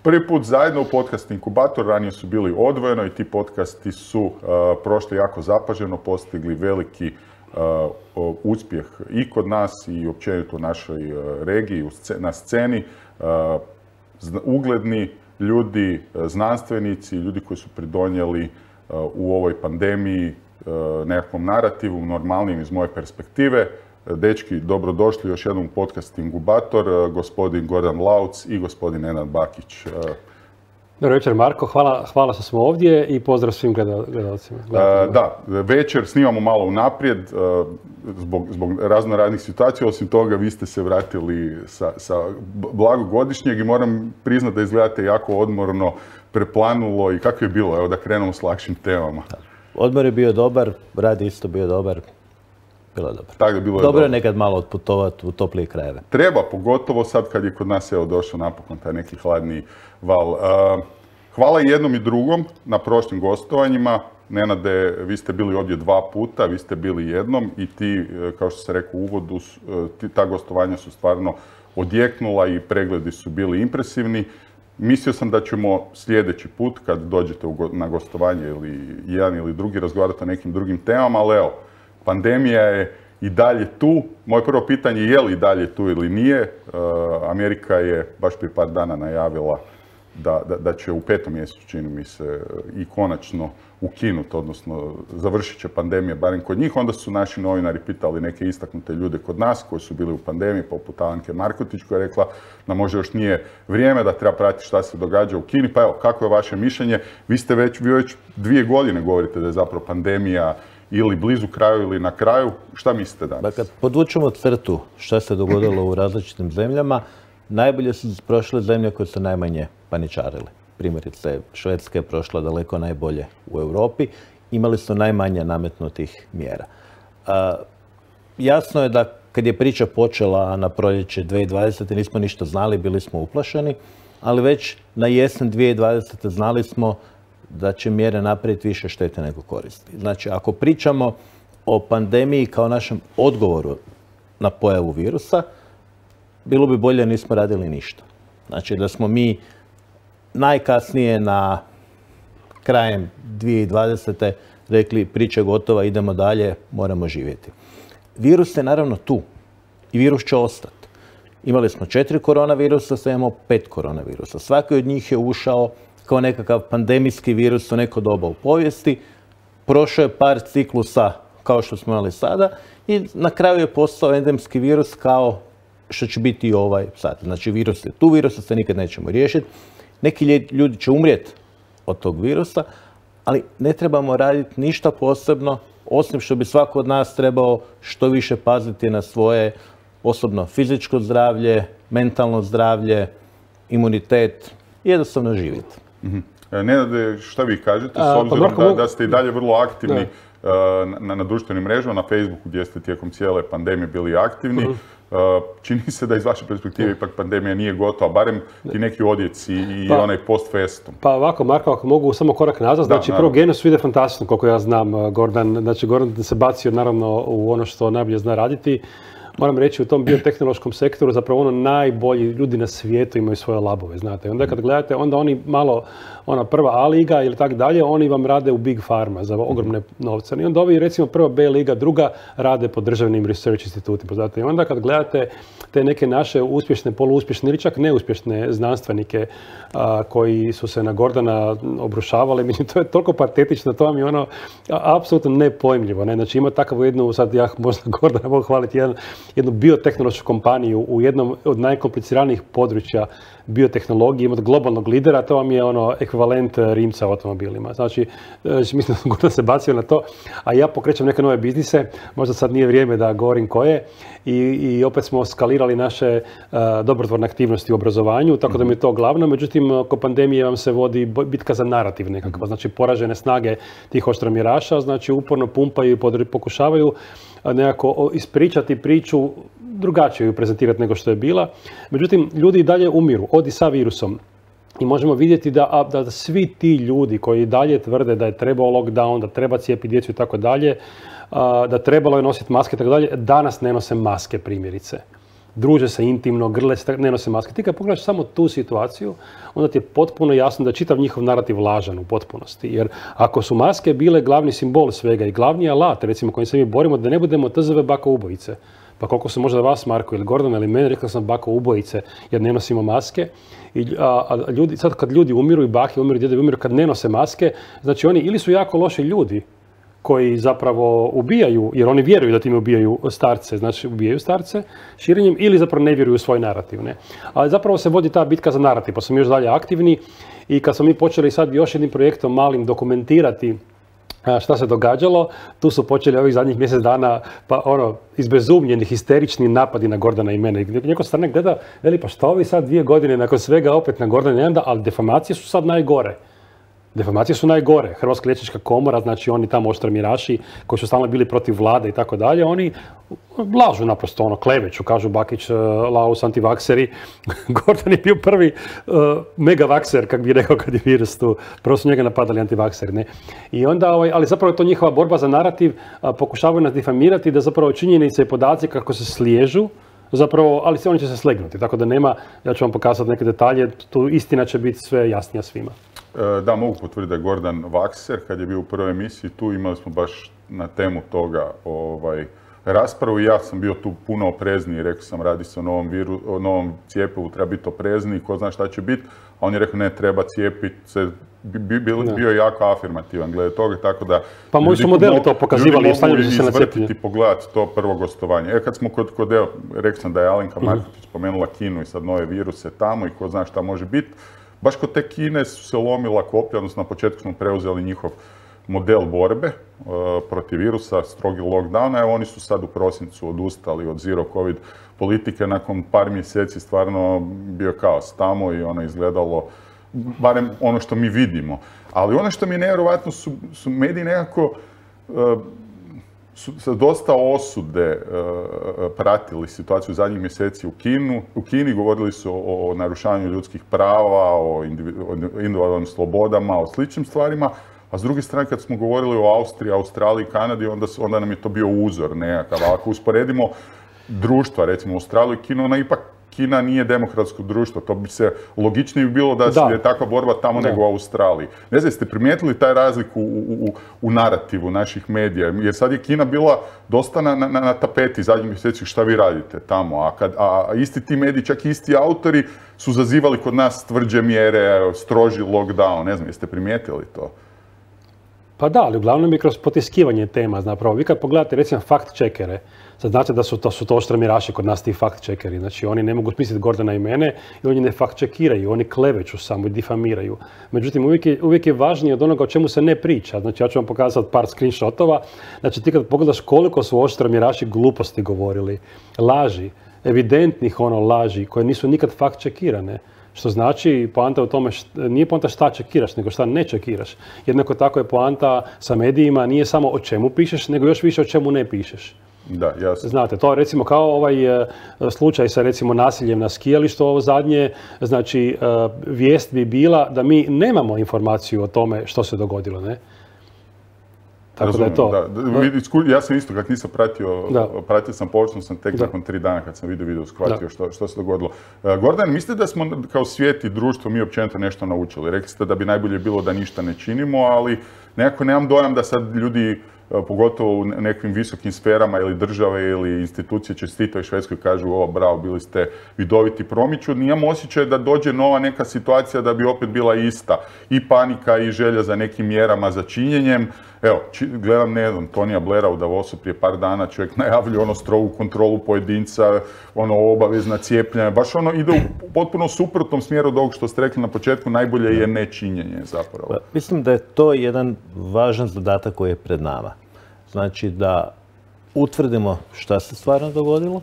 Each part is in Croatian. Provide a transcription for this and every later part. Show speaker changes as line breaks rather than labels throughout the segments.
Prvi put zajedno u podcast Inkubator, ranije su bili odvojeno i ti podcasti su prošli jako zapaženo, postigli veliki uspjeh i kod nas i općenito u našoj regiji, na sceni. Ugledni ljudi, znanstvenici, ljudi koji su pridonijeli u ovoj pandemiji nekakvom narativu, normalnim iz moje perspektive. Dečki, dobrodošli još jednom u podcast Inkubator, gospodin Gordan Lauc i gospodin Nenad Bakić.
Dobro večer Marko, hvala što smo ovdje i pozdrav svim gledalcima.
Da, večer snimamo malo unaprijed zbog raznoraznih situacija, osim toga vi ste se vratili sa blagogodišnjeg i moram priznati da izgledate jako odmorno, preplanulo i kako je bilo, evo da krenemo s lakšim temama.
Odmor je bio dobar, rad isto bio dobar. Bilo je dobro.
Tako, bilo je
dobro je nekad malo otputovati u toplije krajeve.
Treba, pogotovo sad kad je kod nas evo došao napokon taj neki hladni val. Hvala i jednom i drugom na prošlim gostovanjima. Nenade, vi ste bili ovdje 2 puta, vi ste bili jednom i ti, kao što se rekao u uvodu, ta gostovanja su stvarno odjeknula i pregledi su bili impresivni. Mislio sam da ćemo sljedeći put, kad dođete na gostovanje ili jedan ili drugi, razgovarati o nekim drugim temama, ali evo, pandemija je i dalje tu. Moje prvo pitanje je li i dalje tu ili nije. Amerika je baš prije par dana najavila da će u 5. mjesecu, čini mi se, i konačno ukinuti, odnosno završit će pandemija, barem kod njih. Onda su naši novinari pitali neke istaknute ljude kod nas koji su bili u pandemiji, poput Alanke Markotić, koja je rekla da možda još nije vrijeme, da treba pratiti šta se događa u Kini. Pa evo, kako je vaše mišljenje? Vi već 2 godine govorite da je zapravo pandemija ili blizu kraju ili na kraju. Šta mislite danas?
Kad podvučemo crtu šta se dogodilo u različitim zemljama, najbolje su prošle zemlje koje su najmanje paničarili. Primjerice, Švedska je prošla daleko najbolje u Europi. Imali su najmanje nametnutih mjera. Jasno je da kad je priča počela na proljeće 2020. nismo ništa znali, bili smo uplašeni, ali već na jesen 2020. znali smo da će mjere napraviti više štete nego koristi. Znači, ako pričamo o pandemiji kao našem odgovoru na pojavu virusa, bilo bi bolje da nismo radili ništa. Znači, da smo mi najkasnije na krajem 2020. rekli priča je gotova, idemo dalje, moramo živjeti. Virus je naravno tu i virus će ostati. Imali smo 4 koronavirusa, sad imamo 5 koronavirusa. Svaki od njih je ušao kao nekakav pandemijski virus u neko doba u povijesti. Prošao je par ciklusa kao što smo imali sada i na kraju je postao endemski virus kao što će biti i ovaj sad. Znači virus je tu, virusa se nikad nećemo riješiti. Neki ljudi će umrijeti od tog virusa, ali ne trebamo raditi ništa posebno, osim što bi svako od nas trebao što više paziti na svoje osobno fizičko zdravlje, mentalno zdravlje, imunitet i jednostavno živjeti.
Nenade, šta vi kažete, s obzirom da ste i dalje vrlo aktivni na društvenim mrežama, na Facebooku gdje ste tijekom cijele pandemije bili aktivni. Čini se da iz vaše perspektive ipak pandemija nije gotova, barem ti neki odjeci i onaj post festum.
Pa ovako, Marko, ako mogu samo korak nazad, znači prvo Genos ide fantastično, koliko ja znam, Gordan. Znači, Gordan se bacio naravno u ono što najbolje zna raditi. Moram reći, u tom biotehnološkom sektoru zapravo ono najbolji ljudi na svijetu imaju svoje labove, znate. Onda kad gledate, onda oni malo, ona prva A liga ili tak dalje, oni vam rade u Big Pharma za ogromne novce. I onda ovi, recimo, prva B liga, druga rade po državnim research institutima, znate. I onda kad gledate te neke naše uspješne, poluuspješne ili čak neuspješne znanstvenike koji su se na Gordana obrušavali, mislim, to je toliko patetično, to vam je ono apsolutno nepojmljivo, ne? Znači ima takav jednu, sad ja možda Gordana mogu hvaliti, jednu biotehnološku kompaniju u jednom od najkompliciranijih područja biotehnologije, imati globalnog lidera, to vam je ono ekvivalent Rimca u automobilima. Znači, mislim da Gordan se bacio na to, a ja pokrećem neke nove biznise, možda sad nije vrijeme da govorim koje, i opet smo skalirali naše dobrotvorne aktivnosti u obrazovanju, tako da mi je to glavno. Međutim, oko pandemije vam se vodi bitka za narativ nekakva, znači poražene snage tih oštromjeraša, znači uporno pumpaju i pokušavaju nekako ispričati priču, drugačije ju prezentirati nego što je bila. Međutim, ljudi i dalje umiru, i sa virusom. I možemo vidjeti da svi ti ljudi koji dalje tvrde da je trebao lockdown, da treba cijepiti djecu i tako dalje, da trebalo je nositi maske i tako dalje, danas ne nose maske primjerice. druže se intimno, grle se, ne nose maske. Ti kad pogledaš samo tu situaciju, onda ti je potpuno jasno da je čitav njihov narativ lažan u potpunosti. Jer ako su maske bile glavni simbol svega i glavni alat, recimo kojim se mi borimo, da ne budemo TZV bako ubojice. Pa koliko su možda vas, Marko ili Gordon ili mene, rekla sam bako ubojice jer ne nosimo maske. Sad kad ljudi umiru i bake umiru, djedovi umiru kad ne nose maske, znači oni ili su jako loši ljudi koji zapravo ubijaju, jer oni vjeruju da time ubijaju starce, znači ubijaju starce širenjem, ili zapravo ne vjeruju u svoj narativ. Ne? Ali zapravo se vodi ta bitka za narativ, pa smo još dalje aktivni i kad smo mi počeli sad još jednim projektom malim dokumentirati šta se događalo, tu su počeli ovih zadnjih mjesec dana pa izbezumljeni, histerični napadi na Gordana i mene. Neko strane gleda, veli pa šta ovi sad 2 godine nakon svega opet na Gordana i mene, ali defamacije su sad najgore. Defamacije su najgore. Hrvatska liječnička komora, znači oni tamo oštromiraši koji su stalno bili protiv vlade i tako dalje, oni lažu naprosto, kleveću, kažu Bakić, Laus, antivakseri. Gordon je bio prvi megavakser, kak bi rekao kad je virus tu. Prvo su njega napadali antivakseri, ne? I onda, ali zapravo je to njihova borba za narativ, pokušavaju nas difamirati da zapravo činjenice i podaci kako se sliježu, zapravo, ali oni će se slegnuti, tako da nema, ja ću vam pokazati neke detalje, tu istina će biti sve jasnija svima.
Da, mogu potvrditi da je Gordan vakser, kad je bio u prvoj emisiji tu, imali smo baš na temu toga raspravu i ja sam bio tu puno oprezniji, rekao sam radi se o novom cijepivu, treba biti oprezniji, ko zna šta će biti, a on je rekao ne, treba cijepiti se, bio je jako afirmativan glede toga, tako da...
Pa moji su modeli to pokazivali,
ljudi mogu izvrtiti i pogledati to prvo gostovanje. Kad smo kod rekao sam da je Alenka Marković spomenula Kinu i sad nove viruse tamo i ko zna šta može biti, baš kod te Kine su se lomila koplja, odnosno na početku smo preuzeli njihov model borbe protiv virusa, strogi lockdown, evo oni su sad u prosincu odustali od zero covid politike, nakon par mjeseci stvarno bio kaos tamo i ono izgledalo, barem ono što mi vidimo. Ali ono što mi je nevjerojatno su mediji nekako su dosta osude pratili situaciju zadnjih mjeseci u Kini, govorili su o narušavanju ljudskih prava, o individualnim slobodama, o sličnim stvarima, a s druge strane kad smo govorili o Austriji, Australiji, Kanadi, onda nam je to bio uzor nekakav. Ako usporedimo društva, recimo Australiju i Kinu, ipak Kina nije demokratsko društvo, to bi se logičnije bilo da je takva borba tamo nego u Australiji. Ne znam, ste primijetili taj razliku u narativu naših medija, jer sad je Kina bila dosta na tapeti zadnjih mjeseci šta vi radite tamo, a isti ti mediji, čak i isti autori su zazivali kod nas tvrđe mjere, stroži lockdown, ne znam, jeste primijetili to?
Pa da, ali uglavnom je kroz potiskivanje tema, zapravo. Vi kad pogledate recimo fact-checkere, sad znate da su to oštromiraši kod nas ti fact-checkeri, znači oni ne mogu smisliti Gordana i mene i oni ne fact-checkiraju, oni kleveću samo i difamiraju. Međutim, uvijek je važnije od onoga o čemu se ne priča. Znači ja ću vam pokazati par screenshotova, znači ti kad pogledaš koliko su oštromiraši gluposti govorili, laži, evidentnih laži koje nisu nikad fact-checkirane. Što znači, poanta u tome, nije poanta šta čekiraš, nego šta ne čekiraš. Jednako tako je poanta sa medijima, nije samo o čemu pišeš, nego još više o čemu ne pišeš.
Da, jasno.
Znate, to recimo kao ovaj slučaj sa recimo nasiljem na skijalištu, ovo zadnje, znači vijest bi bila da mi nemamo informaciju o tome što se dogodilo, ne? Tako da je to.
Ja sam isto, kako nisam pratio sam, počeo sam tek nakon 3 dana kad sam video shvatio što se dogodilo. Gordan, mislite da smo kao svijet i društvo mi općenito nešto naučili? Rekli ste da bi najbolje bilo da ništa ne činimo, ali nekako nemam dojam da sad ljudi, pogotovo u nekim visokim sferama ili države ili institucije čestitaju Švedskoj i kažu o bravo, bili ste vidoviti, promiču. Nijem osjećaj da dođe nova neka situacija da bi opet bila ista. I panika i želja za nekim mjerama, za činjenjem. Evo, gledam, ne znam, Tonija Blaira u Davosu prije par dana, čovjek najavljuje strogu kontrolu pojedinca, obavezna cijepljenja, baš ide u potpuno suprotnom smjeru od ovog što ste rekli na početku, najbolje je nečinjenje zapravo.
Mislim da je to jedan važan zadatak koji je pred nama. Znači da utvrdimo šta se stvarno dogodilo,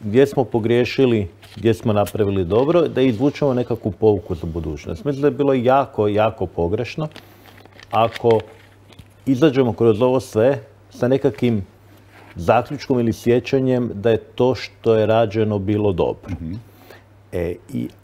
gdje smo pogriješili, gdje smo napravili dobro, da izvučemo nekakvu pouku za budućnost. Mislim da je bilo jako, jako pogrešno ako izađemo kroz ovo sve sa nekakvim zaključkom ili sjećanjem da je to što je rađeno bilo dobro.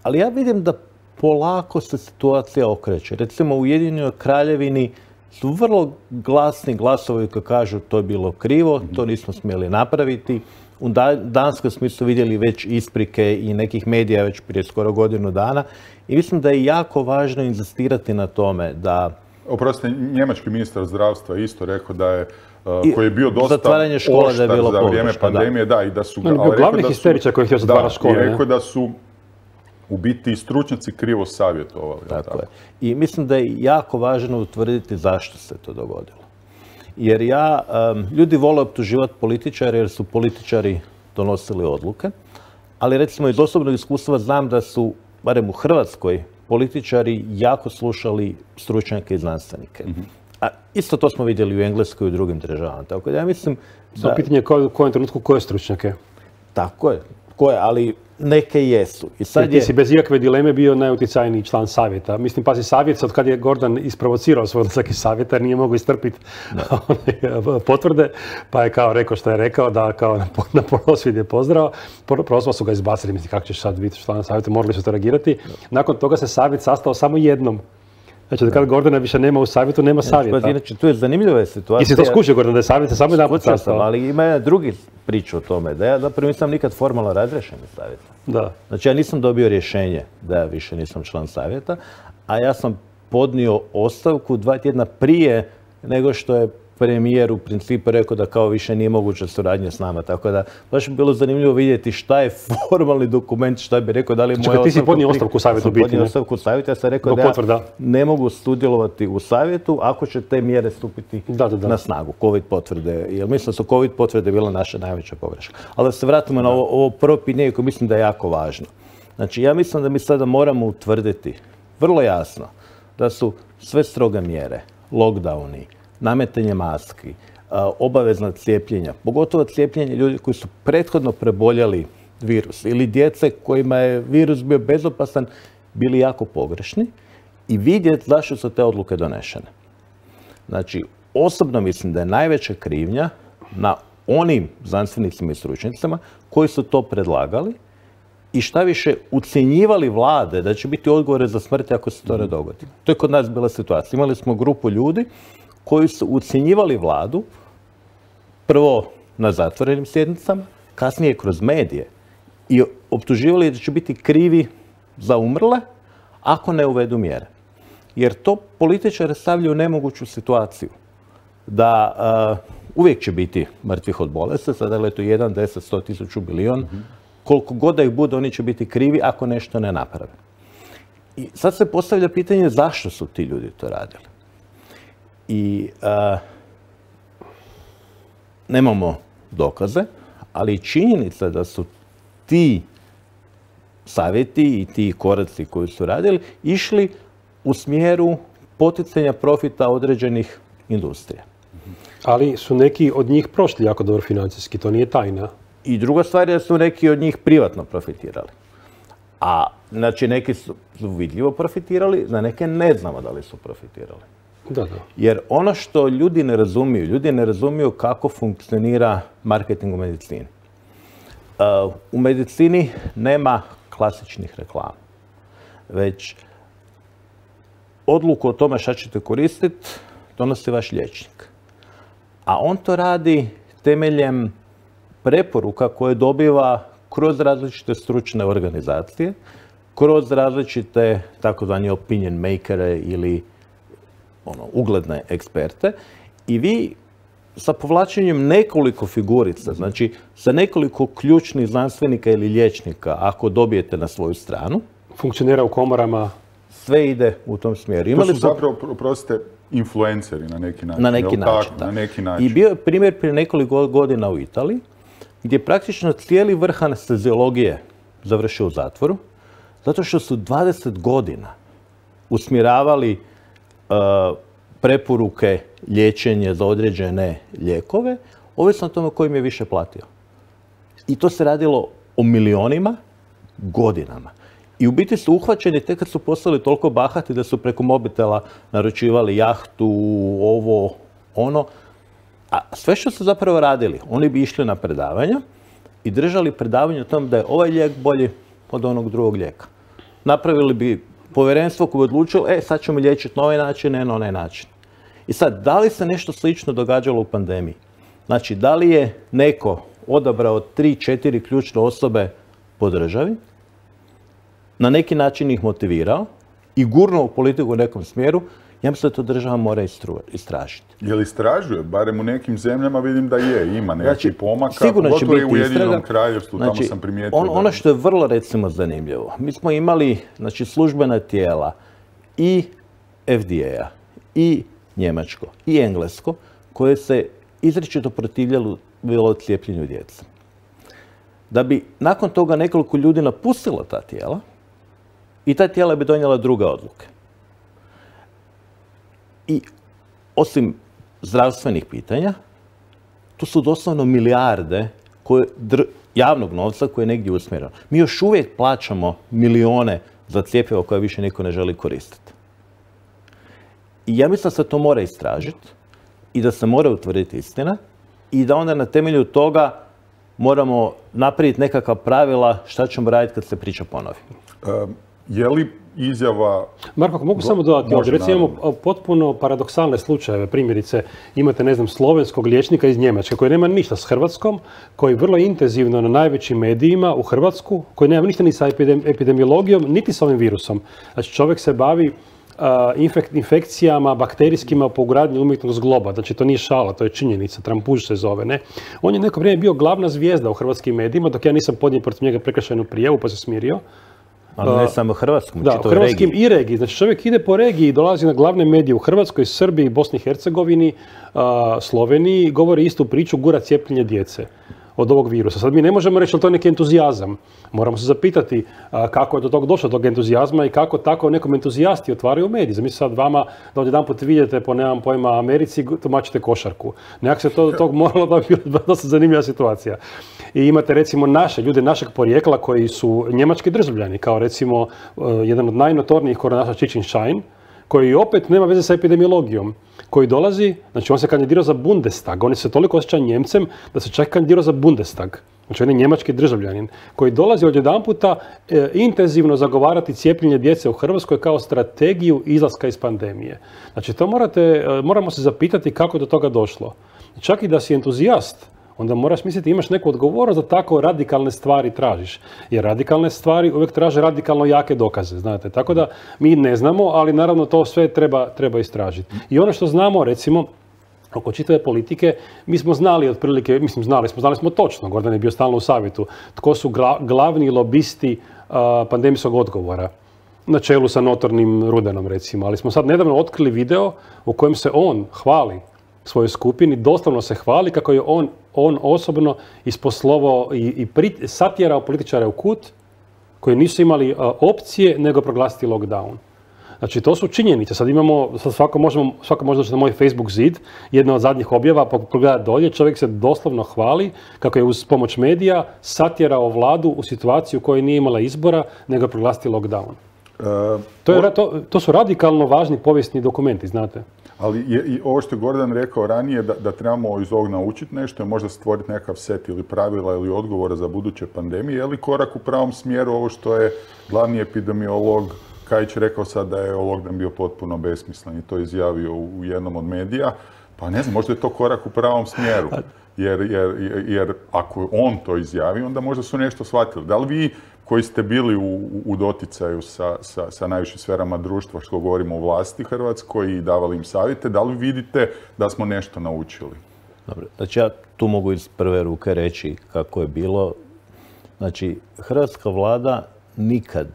Ali ja vidim da polako se situacija okreće. Recimo u Ujedinjenoj Kraljevini su vrlo glasni glasovi koji kažu to je bilo krivo, to nismo smjeli napraviti. u Danskoj smo isto vidjeli već isprike i nekih medija već prije skoro godinu dana. I mislim da je jako važno inzistirati na tome da...
Oprostite, njemački ministar zdravstva isto rekao da je koji je bio dosta
zatvaranje škola da je bilo
za vrijeme pandemije, da, i da su...
On je bio glavni histeričar koji je htio zatvarati škole.
I rekao da su u biti stručnjaci krivo savjetovali.
Tako je. I mislim da je jako važno utvrditi zašto se to dogodilo. Jer ljudi vole optuživati političare jer su političari donosili odluke, ali recimo iz osobnog iskustva znam da su, barem u Hrvatskoj, političari jako slušali stručnjake i znanstvenike. A isto to smo vidjeli u Engleskoj i u drugim državama. Tako da ja mislim
da... Pitanje je u kojem trenutku koje stručnjake?
Tako je. Koje, ali neke jesu. I sad
ti si bez ikakve dileme bio najuticajniji član savjeta. Mislim, pazi, savjet od kad je Gordan isprovocirao svoj odlazak iz savjeta jer nije mogao istrpiti potvrde, pa je kao rekao što je rekao, da kao na prosvjed je pozdrav. Prvo su ga izbacili, mislim, kako ćeš sad biti član savjeta, morali su to reagirati. Nakon toga se savjet sastao samo jednom. Znači, kad Gordana više nema u savjetu, nema savjeta.
Inače, tu je zanimljiva situacija.
I si to skušao, Gordan, da je savjet samo jedan put sastao.
Ali ima jedna drugi priča o tome, da ja zapravo nisam nikad formalno razrješen iz savjeta.
Da.
Znači, ja nisam dobio rješenje da ja više nisam član savjeta, a ja sam podnio ostavku 2 tjedna prije nego što je premijer u principu rekao da kao više nije moguća suradnja s nama. Tako da baš bi bilo zanimljivo vidjeti šta je formalni dokument, šta bi rekao, da li je moja
ostavka... Ti si podnio ostavku u savjetu biti, ne?
Podnio ostavku u savjetu, ja sam rekao da ja ne mogu sudjelovati u savjetu ako će te mjere stupiti na snagu, COVID potvrde. Jer mislim da su COVID potvrde bila naša najveća pogreška. Ali da se vratimo na ovo prvo pitanje koje mislim da je jako važno. Znači, ja mislim da mi sada moramo utvrditi vrlo jasno da su sve stroge mjere, lockdowni, nametanje maski, obavezna cijepljenja, pogotovo cijepljenje ljudi koji su prethodno preboljeli virus ili djece kojima je virus bio bezopasan, bili jako pogrešni i vidjeti zašto su te odluke donešene. Znači, osobno mislim da je najveća krivnja na onim znanstvenicima i stručnjacima koji su to predlagali i šta više ucjenjivali vlade da će biti odgovore za smrt ako se to ne dogodi. To je kod nas bila situacija. Imali smo grupu ljudi koji su ucjenjivali vladu, prvo na zatvorenim sjednicama, kasnije kroz medije i optuživali da će biti krivi za umrle ako ne uvedu mjere. Jer to političare stavljaju u nemoguću situaciju. Da uvijek će biti mrtvih od bolesti, sada je to 1, 10, 100, 1000, bilion. Koliko god da ih bude, oni će biti krivi ako nešto ne naprave. I sad se postavlja pitanje zašto su ti ljudi to radili. I nemamo dokaze, ali činjenica da su ti savjeti i ti koraci koji su radili išli u smjeru poticanja profita određenih industrija.
Ali su neki od njih prošli jako dobro financijski, to nije tajna.
I druga stvar je da su neki od njih privatno profitirali. A znači neki su vidljivo profitirali, za neke ne znamo da li su profitirali.
Da.
Jer ono što ljudi ne razumiju kako funkcionira marketing u medicini. U medicini nema klasičnih reklama, već odluku o tome šta ćete koristiti donosi vaš liječnik. A on to radi temeljem preporuka koje dobiva kroz različite stručne organizacije, kroz različite takozvani opinion makere ili ugledne eksperte i vi sa povlačenjem nekoliko figurica, znači sa nekoliko ključnih znanstvenika ili liječnika, ako dobijete na svoju stranu,
funkcionira u komorama,
sve ide u tom smjeru.
To su zapravo, oprostite, influenceri na neki način.
Na neki način,
na neki način.
I bio je primjer prije nekoliko godina u Italiji, gdje je praktično cijeli vrh anesteziologije završio u zatvoru, zato što su 20 godina usmjeravali preporuke liječenje za određene lijekove, ovisno o tome ko im je više platio. I to se radilo o milionima godinama. I u biti su uhvaćeni tek kad su postali toliko bahati da su preko mobitela naručivali jahtu, ovo, ono. A sve što su zapravo radili, oni bi išli na predavanja i držali predavanje o tom da je ovaj lijek bolji od onog drugog lijeka. Napravili bi povjerenstvo koje bi odlučilo, sad ćemo liječiti na ovaj način, ne na onaj način. I sad, da li se nešto slično događalo u pandemiji? Znači, da li je neko odabrao 3-4 ključne osobe po državi, na neki način ih motivirao i gurnuo u politiku u nekom smjeru, ja mislim da to država mora istražiti.
Je li istražuje? Barem u nekim zemljama vidim da ima nekih pomaka.
Sigurno će biti
u Ujedinjenom Kraljevstvu, tamo sam primijetio.
Ono što je vrlo, recimo, zanimljivo. Mi smo imali, službena tijela i FDA-a, i njemačko, i englesko, koje se izričito protivljalo cijepljenju djece. Da bi nakon toga nekoliko ljudi napustilo ta tijela i ta tijela bi donijela druge odluke. I osim zdravstvenih pitanja, tu su doslovno milijarde javnog novca koje je negdje usmjereno. Mi još uvijek plaćamo milijone za cjepivo koje više niko ne želi koristiti. I ja mislim da se to mora istražiti i da se mora utvrditi istina i da onda na temelju toga moramo napraviti nekakva pravila šta ćemo raditi kad se priča ponovi.
Je li izjava...
Marko, ako mogu samo dodati ovdje, recimo imamo potpuno paradoksalne slučajeve, primjerice imate, slovenskog liječnika iz Njemačke koji nema ništa s Hrvatskom, koji vrlo intenzivno na najvećim medijima u Hrvatsku, koji nema ništa ni sa epidemiologijom, niti sa ovim virusom. Znači čovjek se bavi infekcijama bakterijskima po ugradnji umjetnog zgloba. Znači to nije šala, to je činjenica, trampuž se zove, ne? On je neko vrijeme bio glavna zvijezda u hrvatskim medijima, dok ja nisam podnio protiv njega prekršajnu prijavu pa se smirio.
Ali ne samo Hrvatskom,
da, u hrvatskim i regiji. Znači čovjek ide po regiji i dolazi na glavne medije u Hrvatskoj, Srbiji, Bosni i Hercegovini, Sloveniji i govori istu priču, gura cijepljenje djece od ovog virusa. Sad mi ne možemo reći da to je neki entuzijazam. Moramo se zapitati kako je do tog došlo, tog entuzijazma i kako tako nekom entuzijasti otvaraju mediji. Zamislite sad vama da odjedanput vidite po, nemam pojma, Americi, tumačite košarku. Nekako se tog moralo da bi bila dosta zanimljiva situacija. I imate recimo ljude našeg porijekla koji su njemački državljani, kao recimo jedan od najnotornijih koronaša Čicin-Šajn, koji opet nema veze sa epidemiologijom, koji dolazi, znači on se kandidirao za Bundestag, on se toliko osjeća Njemcem da se čak kandidirao za Bundestag. Znači on je njemački državljanin koji dolazi odjedanputa intenzivno zagovarati cijepljenje djece u Hrvatskoj kao strategiju izlaska iz pandemije. Znači to moramo se zapitati kako je do toga došlo. Čak i da si entuzijast, onda moraš misliti imaš neku odgovornost da tako radikalne stvari tražiš. Jer radikalne stvari uvijek traže radikalno jake dokaze, znate. Tako da mi ne znamo, ali naravno to sve treba istražiti. I ono što znamo, recimo, oko čitave politike, mi smo znali otprilike, znali smo točno, Gordan je bio stalno u savjetu, tko su glavni lobisti pandemijskog odgovora. Na čelu sa notornim Rudanom, recimo. Ali smo sad nedavno otkrili video u kojem se on hvali svojoj skupini, doslovno se hvali kako je on osobno isposlovao i satjerao političare u kut koji nisu imali opcije nego proglasiti lockdown. Znači, to su činjenice. Sad svako može doći na moj Facebook zid, jedna od zadnjih objava, pogledati dolje, čovjek se doslovno hvali kako je uz pomoć medija satjerao vladu u situaciju u kojoj nije imala izbora nego proglasiti lockdown. To su radikalno važni povijesni dokumenti, znate.
Ali i ovo što je Gordan rekao ranije, da trebamo iz ovog naučiti nešto i možda stvoriti nekakav set ili pravila ili odgovora za buduće pandemije, je li korak u pravom smjeru ovo što je glavni epidemiolog Kajić rekao sad da je lockdown bio potpuno besmislen i to izjavio u jednom od medija, pa ne znam, možda je to korak u pravom smjeru. Jer ako on to izjavi, onda možda su nešto shvatili. Da li vi koji ste bili u doticaju sa najvišim sferama društva, što govorimo o vlasti Hrvatskoj i davali im savjete, da li vidite da smo nešto naučili?
Dobro, znači ja tu mogu iz prve ruke reći kako je bilo. Znači, hrvatska vlada nikad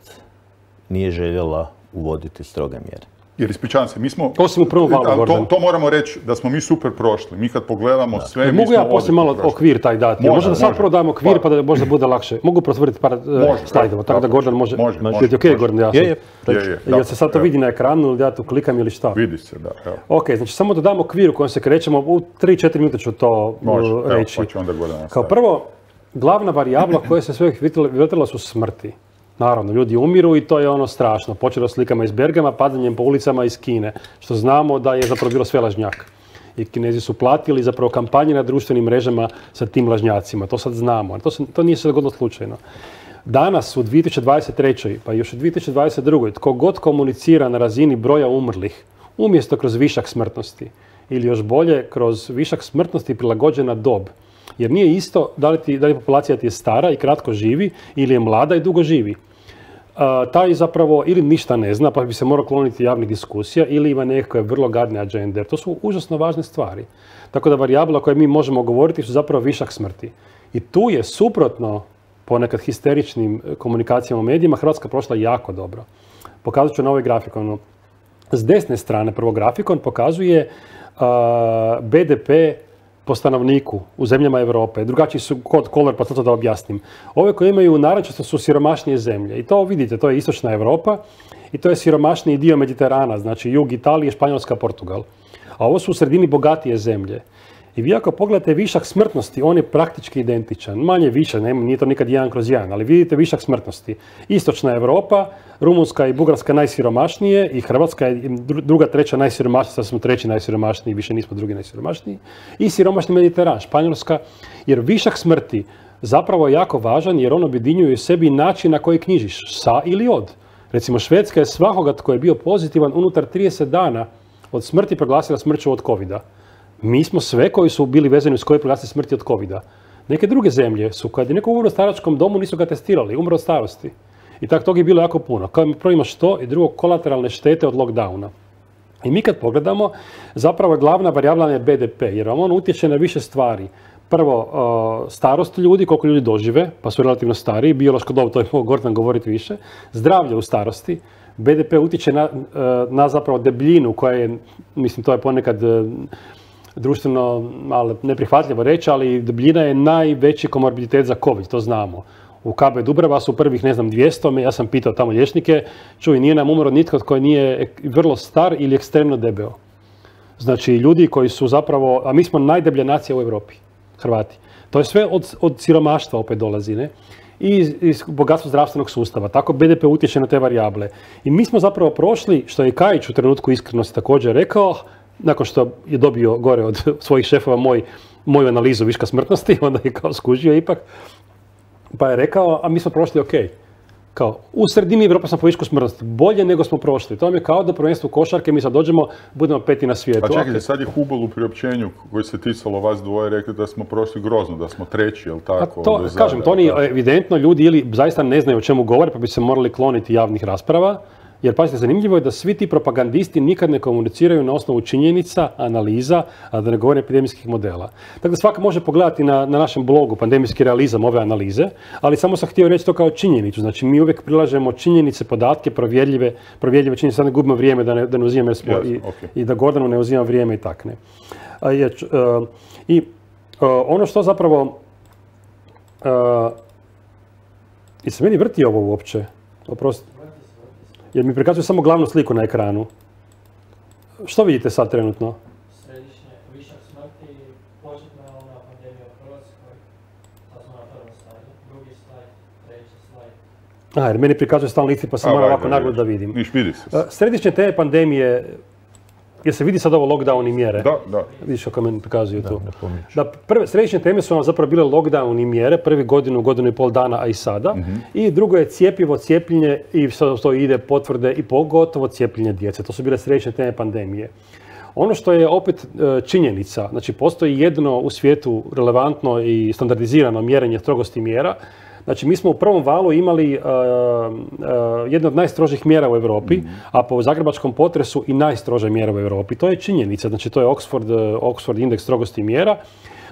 nije željela uvoditi stroge mjere.
Jer ispričavam se, mi smo...
Osim u prvom valu, Gordan.
To moramo reći da smo mi super prošli. Mi kad pogledamo sve...
Mogu ja poslije malo okvir taj dati? Možda sad prvo damo okvir pa da možda bude lakše. Mogu prosvrti par slajdova, tako da Gordan može... Je okej, Gordan, ja sam... Jel se sad to vidi na ekranu ili ja tu klikam ili šta?
Vidi se, da.
Ok, znači samo da damo okvir u kojem se krećemo. U 3-4 minute ću to reći. Kao prvo, glavna varijabla koja se sve vrtila su smrti. Naravno, ljudi umiru i to je ono strašno. Počelo slikama iz Bergama, padanjem po ulicama iz Kine, što znamo da je zapravo bilo sve lažnjak. I Kinezi su platili zapravo kampanje na društvenim mrežama sa tim lažnjacima. To sad znamo. To nije se dogodilo slučajno. Danas u 2023. pa još u 2022. tko god komunicira na razini broja umrlih, umjesto kroz višak smrtnosti, ili još bolje, kroz višak smrtnosti prilagođena dob, Jer nije isto da li populacija ti je stara i kratko živi ili je mlada i dugo živi. Taj zapravo ili ništa ne zna pa bi se morao kloniti javnih diskusija ili ima nekakve vrlo gadne agende. To su užasno važne stvari. Tako da varijabla koje mi možemo govoriti su zapravo višak smrti. I tu je suprotno ponekad histeričnim komunikacijama u medijima Hrvatska prošla jako dobro. Pokazat ću na ovaj grafikon. S desne strane prvo grafikon pokazuje BDP po stanovniku u zemljama Europe. Drugačiji su color, pa to da objasnim. Ove koje imaju narančasto su siromašnije zemlje. I to vidite, to je istočna Europa i to je siromašniji dio Mediterana, znači jug Italije, Španjolska, Portugal. A ovo su u sredini bogatije zemlje. I vi ako pogledate višak smrtnosti, on je praktički identičan. Manje više, nije to nikad 1/1, ali vidite višak smrtnosti. Istočna Europa, Rumunjska i Bugarska najsiromašnije i Hrvatska je druga, treća najsiromašnija, sad smo treći najsiromašniji, više nismo drugi najsiromašniji. I siromašni Mediteran, Španjolska, jer višak smrti zapravo je jako važan jer on objedinjuje u sebi način na koji knjižiš, sa ili od. Recimo Švedska je svakoga tko je bio pozitivan unutar 30 dana od smrti proglasila smrću od covida. Mi smo sve koji su bili vezani uz koje proglasili smrti od covida. Neke druge zemlje su, kad je neko umro u staračkom domu, nisu ga testirali, umro od starosti. I tako tog je bilo jako puno. Prvo imaš to i drugo kolateralne štete od lockdowna. I mi kad pogledamo, zapravo je glavna varijabla je BDP, jer on utječe na više stvari. Prvo, starost ljudi, koliko ljudi dožive, pa su relativno stariji, biološko dob, to je mogao Gordan govoriti više, zdravlje u starosti, BDP utječe na zapravo debljinu koja je, mislim, to je ponekad društveno malo neprihvatljivo reći, ali debljina je najveći komorbiditet za COVID, to znamo. U KB Dubrava su prvih, 200, ja sam pitao tamo liječnike, čuj, nije nam umro nitko tko nije vrlo star ili ekstremno debeo. Znači, ljudi koji su zapravo, a mi smo najdeblja nacija u Europi, Hrvati. To je sve od siromaštva opet dolazi, ne? I iz bogatstva zdravstvenog sustava. Tako BDP utječe na te varijable. I mi smo zapravo prošli, što je Kajić u trenutku iskrenosti također rekao, nakon što je dobio gore od svojih šefova moju analizu viška smrtnosti, onda je kao skužio ipak, pa je rekao, a mi smo prošli ok. Kao, u sredini Evrope smo po višku smrtnosti, bolje nego smo prošli. To vam je kao da prvenstvo košarke, mi sad dođemo, budemo 5. na svijetu.
Pa čekajte, sad je Hubel u priopćenju koji se ticalo vas dvoje rekli da smo prošli grozno, da smo treći, jel tako?
To, kažem, to nije evidentno, ljudi ili zaista ne znaju o čemu govore, pa bi se morali kloniti javnih rasprava. Jer, pazite, zanimljivo je da svi ti propagandisti nikad ne komuniciraju na osnovu činjenica, analiza, a da ne govorim epidemijskih modela. Tako da svaka može pogledati na našem blogu Pandemijski realizam ove analize, ali samo sam htio reći to kao činjenicu. Znači, mi uvijek prilažemo činjenice, podatke, provjerljive činjenice, sad ne gubimo vrijeme da ne uzimam i da Gordanu ne uzimam vrijeme i takne. Ono što zapravo... I se meni vrti ovo uopće? Oprosti. Jer mi prikazuje samo glavnu sliku na ekranu. Što vidite sad trenutno?
Središnje, višak smrti, početna ona pandemija u Hrvatskoj, sad smo na prvom slajdu, drugi slajd, treći slajd.
Jer meni prikazuje stalno listi pa sam moram ovako naglo da vidim.
Vidi se.
Središnje te pandemije, jer se vidi sad ovo lockdown i mjere?
Da.
Vidiš kako meni prikazuju tu. Središnje teme su vam zapravo bile lockdown i mjere, prvi godinu i pol dana, a i sada. I drugo je cjepivo, cijepljenje i to ide potvrde i pogotovo cijepljenje djece. To su bile središnje teme pandemije. Ono što je opet činjenica, znači postoji jedno u svijetu relevantno i standardizirano mjerenje strogosti mjera. Znači, mi smo u prvom valu imali jednu od najstrožih mjera u Europi, a po zagrebačkom potresu i najstrože mjere u Europi. To je činjenica, znači to je Oxford indeks strogosti mjera.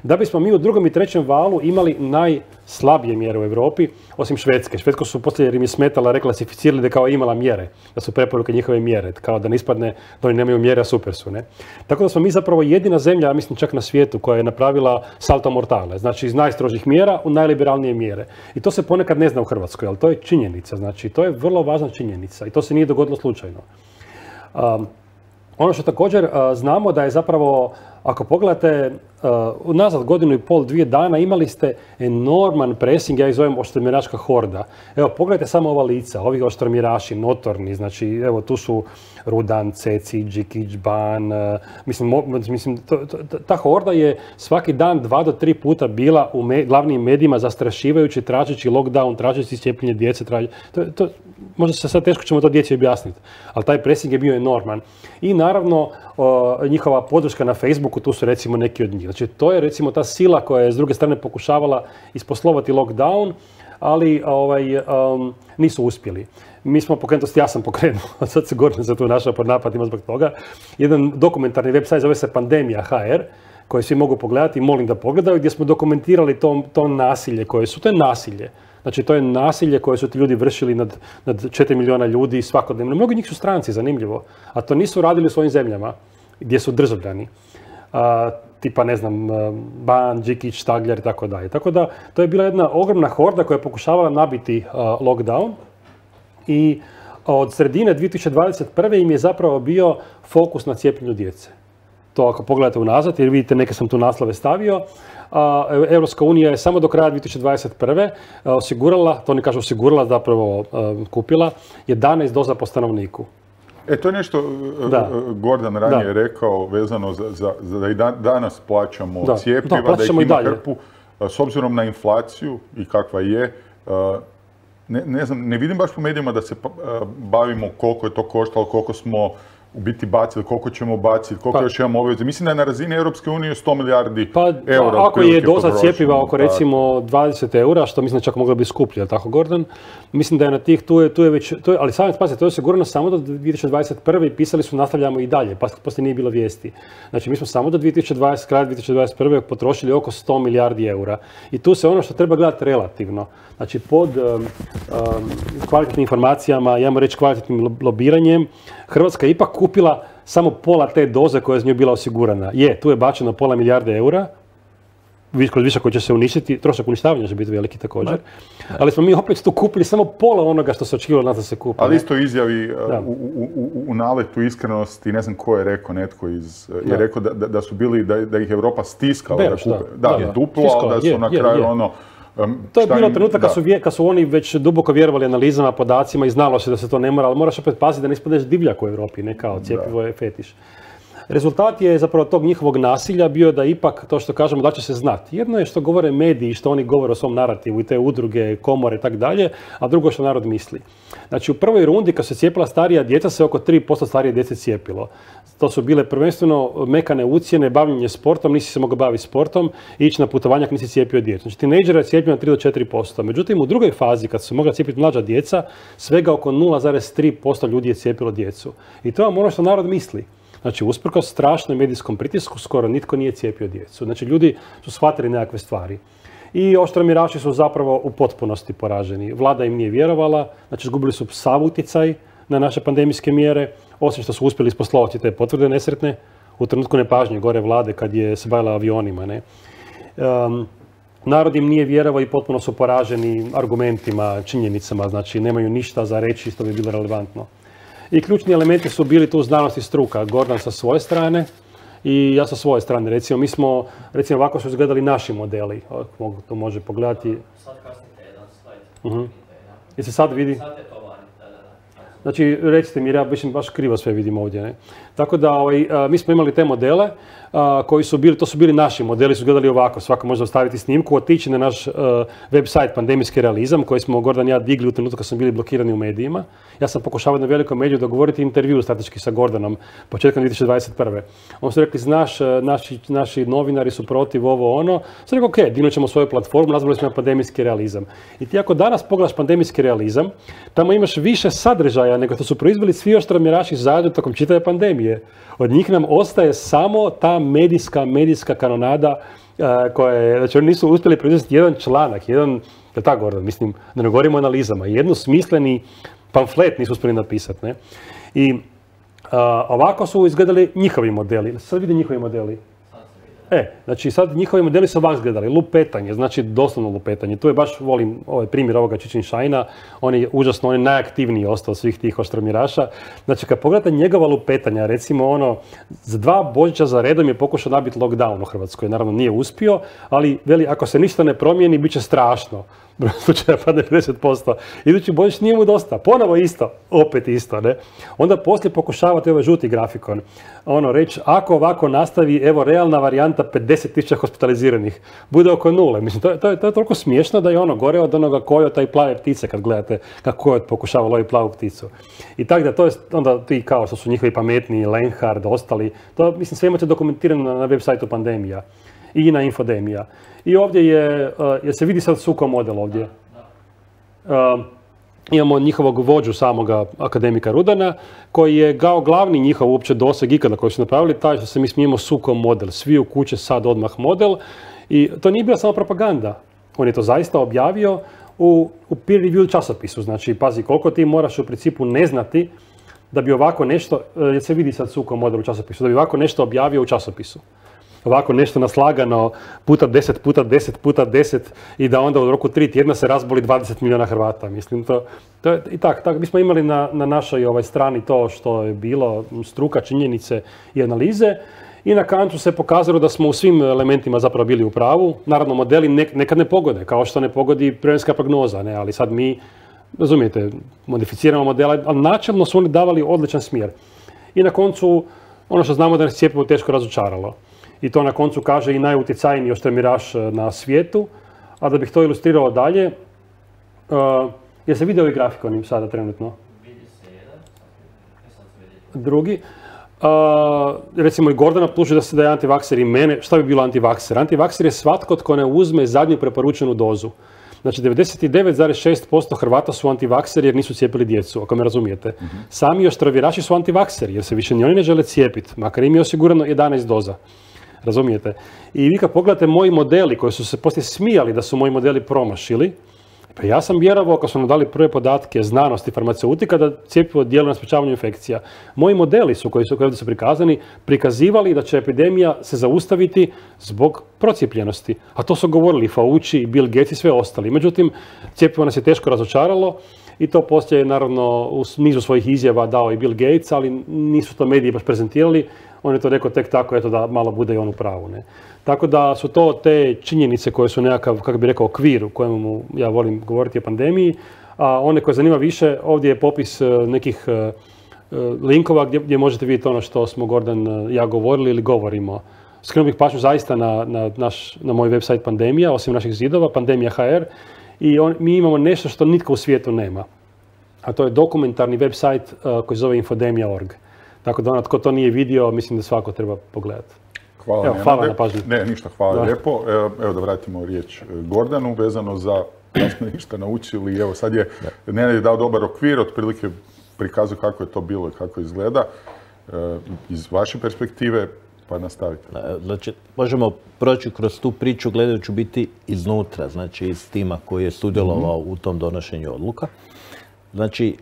Da bismo mi u drugom i trećem valu imali najslabije mjere u Europi, osim Švedske. Švedsko su poslije jer im je smetala reklasificirali da kao imala mjere, da su preporuke njihove mjere, kao da ne ispadne da oni nemaju mjere, a super su, ne? Tako da smo mi zapravo jedina zemlja, ja mislim čak na svijetu, koja je napravila salto mortale, znači iz najstrožih mjera u najliberalnije mjere. I to se ponekad ne zna u Hrvatskoj, ali to je činjenica, znači to je vrlo važna činjenica i to se nije dogodilo slučajno. Ono što također znamo da je zapravo, ako pogledate, unazad godinu i pol, 2 dana imali ste enorman pressing, ja ih zovem oštromjeračka horda. Evo, pogledajte samo ova lica, ovi oštromjeraši, notorni, znači, evo, tu su Rudan, Ceci, Đikić, Ban, mislim, ta horda je svaki dan 2 do 3 puta bila u glavnim medijima zastrašivajući, tražeći lockdown, tražeći cijepljenje djece, možda se sad teško ćemo to djeci objasniti, ali taj pressing je bio enorman. I naravno, njihova podrška na Facebooku, tu su recimo neki od njih. Znači, to je recimo ta sila koja je s druge strane pokušavala isposlovati lockdown, ali nisu uspjeli. Mi smo pokrenuti, ja sam pokrenuo, sad se Gordon za tu našao pod napadima zbog toga, jedan dokumentarni website zove se Pandemija.hr, koji svi mogu pogledati i molim da pogledaju, gdje smo dokumentirali to nasilje koje su. To je nasilje. Znači, to je nasilje koje su ti ljudi vršili nad 4 milijuna ljudi svakodnevno. Mnogi njih su stranci, zanimljivo. A to nisu radili u svojim zemljama, gdje su državljani. Tipa, ne znam, Ban, Đikić, Štagljar i tako dalje. Tako da, to je bila jedna ogromna horda koja je pokušavala nabiti lockdown. I od sredine 2021. im je zapravo bio fokus na cijepljenju djece. To ako pogledate unazad, jer vidite neke sam tu naslove stavio, Europska unija je samo do kraja 2021. Osigurala, to oni kažu osigurala, zapravo kupila, 11 doza po stanovniku.
To je nešto Gordon ranije rekao vezano da i danas plaćamo cijepiva, da ih ima hrpu. S obzirom na inflaciju i kakva je, ne znam, ne vidim baš po medijima da se bavimo koliko je to koštalo, koliko smo u biti bacili, koliko ćemo baciti, koliko još imamo obaveze. Mislim da je na razini Europske unije 100 milijardi eura.
Ako je doza cjepiva oko recimo 20 eura, što mislim da čak moglo biti skuplje, ali tako Gordon, mislim da je na tih, tu je već, ali samo spazite, to je osigurano samo do 2021. i pisali su nastavljamo i dalje, pa poslije nije bilo vijesti. Znači mi smo samo do kraja 2021. potrošili oko 100 milijardi eura. I tu se ono što treba gledati relativno. Znači pod kvalitetnim informacijama, ja moram reći kvalitetnim lobiranjem, Hrvatska je ipak kupila samo pola te doze koja je z njoj bila osigurana. Tu je bačeno pola milijarde eura, kroz višak koji će se uništiti, trošak uništavanja će biti veliki također, ali smo mi opet tu kupili samo pola onoga što se očekivalo nas da se kupi.
Ali isto izjavi u naletu iskrenosti, ne znam ko je rekao, netko je rekao da su bili, da ih Europa stiskala da kupe. Duplo, ali da su na kraju
to je bilo trenutak kad su oni već duboko vjerovali analizama, podacima i znalo se da se to ne mora, ali moraš opet paziti da ne ispadneš divljak u Europi, ne kao cjepivo je fetiš. Rezultat je zapravo tog njihovog nasilja bio da ipak to što kažemo da će se znati. Jedno je što govore mediji, što oni govore o svom narativu i te udruge, komore i tako dalje, a drugo što narod misli. Znači u prvoj rundi kad se cijepila starija djeca se oko 3% starije djece cijepilo. To su bile prvenstveno mekane ucjene, bavljenje sportom, nisi se mogao baviti sportom, ići na putovanja kad nisi cijepio djecu. Znači tinejdžera je cijepljeno 3 do 4%. Međutim u drugoj fazi kad su mogla cijepiti mlađa djeca, svega oko 0,3% ljudi je cijepilo djecu. I to je ono što narod misli. Znači, usprkos strašnom medijskom pritisku, skoro nitko nije cijepio djecu. Znači, ljudi su shvatili nekakve stvari. I oštromjeraši su zapravo u potpunosti poraženi. Vlada im nije vjerovala, znači, izgubili su sav utjecaj na naše pandemijske mjere, osim što su uspjeli isposlovati te potvrde nesretne u trenutku nepažnje gore vlade kad je se bavila avionima. Ne? Narod im nije vjerovao i potpuno su poraženi argumentima, činjenicama, znači, nemaju ništa za reći što bi bilo relevantno. I ključni elementi su bili tu znanost i struka. Gordon sa svoje strane i ja sa svoje strane. Recimo, mi smo, ovako su izgledali naši modeli. To može pogledati.
Sad kasnite jedan slajd.
I se sad vidi?
Sad je to vani, da.
Znači, recite mi, ja baš krivo sve vidim ovdje. Ne? Tako da, mi smo imali te modele koji su bili, to su bili naši modeli, su gledali ovako. Svako može ostaviti snimku, otići na naš website Pandemijski realizam, koji smo Gordon i ja digli u trenutku kad smo bili blokirani u medijima. Ja sam pokušavao na velikom mediju dogovoriti intervju strateški sa Gordonom početkom 2021. On su rekli, znaš, naši novinari su protiv ovo ono. Sam rekao, ok, dignut ćemo svoju platformu, nazvali smo je Pandemijski realizam. I ti ako danas pogledaš Pandemijski realizam, tamo imaš više sadržaja nego što su proizveli svi oštromjeraši zajedno tokom čitave pandemije. Od njih nam ostaje samo ta medijska kanonada koja je, znači oni nisu uspjeli proizvesti jedan članak, je tako Gordon, mislim, da ne govorimo o analizama, jednu smisleni pamflet nisu uspjeli napisati, ne? I ovako su izgledali njihovi modeli. Sad vidi njihovi modeli. Znači sad njihovi modeli su ovako izgledali. Lupetanje, znači doslovno lupetanje. Tu je baš, volim ovaj primjer ovoga Čičin Šajna. On je užasno, on je najaktivniji ostao od svih tih oštromjeraša. Znači kad pogledate njegova lupetanja, recimo za 2 Božića za redom je pokušao nabiti lockdown u Hrvatskoj. Naravno nije uspio, ali veli, ako se ništa ne promijeni, bit će strašno. broj slučaja padne 50%. Idući Božić nije mu dosta. Ponovo isto, opet isto, ne? Onda poslije pokušavate ovaj žuti grafikon. Reći, ako ovako nastavi, evo, realna varijanta 50.000 hospitaliziranih. Bude oko 0. Mislim, to je toliko smiješno da je gore od onoga kojota i plave ptice kad gledate kako kojot pokušava loviti plavu pticu. I tako da, to je onda ti kao što su njihovi pametni, Lenhard, ostali. To, mislim, sve imate dokumentirano na web sajtu Pandemija i na Infodemija. I ovdje je se vidi sad suko model ovdje. Imamo njihovog vođu samoga akademika Rudana, koji je kao glavni njihov uopće doseg ikada koji su napravili, taj što se mi smijemo suko model. Svi u kuće sad odmah model. I to nije bila samo propaganda. On je to zaista objavio u peer review časopisu. Znači, pazi, koliko ti moraš u principu ne znati da bi ovako nešto, jer se vidi sad suko model u časopisu, da bi ovako nešto objavio u časopisu. Ovako nešto naslagano puta 10 puta 10 puta 10 i da onda u roku 3 tjedna se razboli 20 milijuna Hrvata. Mislim, to je i tako. Mi smo imali na našoj strani to što je bilo, struka, činjenice i analize. I na koncu se pokazalo da smo u svim elementima zapravo bili u pravu. Naravno, modeli nekad ne pogode, kao što ne pogodi vremenska prognoza, ne? Ali sad mi, razumijete, modificiramo modele, ali načelno su oni davali odličan smjer. I na koncu, ono što znamo da nas cjepivo teško razočaralo. I to na koncu kaže i najutjecajniji oštremiraš na svijetu. A da bih to ilustrirao dalje, je se vidio ovaj grafikon sada trenutno?
Vidi se jedan,
drugi. Recimo i Gordana optužuje da je antivakser i mene. Šta bi bilo antivakser? Antivakser je svatko tko ne uzme zadnju preporučenu dozu. Znači 99,6% Hrvata su antivakseri jer nisu cijepili djecu, ako me razumijete. Sami oštraviraši su antivakseri jer se više ni oni ne žele cijepiti, makar im je osigurano 11 doza. Razumijete? I vi kad pogledate moji modeli koji su se poslije smijali da su moji modeli promašili, pa ja sam vjerovao kad su nam dali prve podatke znanosti farmaceutika da cjepivo djeluje na sprječavanju infekcija. Moji modeli koji ovdje su prikazani, prikazivali da će epidemija se zaustaviti zbog procijepljenosti. A to su govorili Fauci, Bill Gates i sve ostali. Međutim, cjepivo nas je teško razočaralo i to poslije naravno u nizu svojih izjava dao i Bill Gates, ali nisu to mediji baš prezentirali. On je to rekao tek tako, eto da malo bude i on u pravu. Ne? Tako da su to te činjenice koje su nekakav, kako bi rekao, okvir u kojemu ja volim govoriti o pandemiji. A one koje zanima više, ovdje je popis nekih linkova gdje možete vidjeti ono što smo Gordan ja govorili ili govorimo. Skrenuo bih pažnju zaista na moj website Pandemija, osim naših zidova, Pandemija.hr. I mi imamo nešto što nitko u svijetu nema. A to je dokumentarni website koji se zove Infodemija.org. Tako da tko to nije vidio, mislim da svako treba pogledati. Hvala na pažnji.
Ne, ništa, hvala lijepo. Evo da vratimo riječ Gordanu vezano za da smo ništa naučili. Evo sad je Nenad je dao dobar okvir, otprilike prikazuje kako je to bilo i kako izgleda. Iz vaše perspektive, pa nastavite.
Znači, možemo proći kroz tu priču gledajući biti iznutra, znači iz tima koji je sudjelovao u tom donošenju odluka. Znači,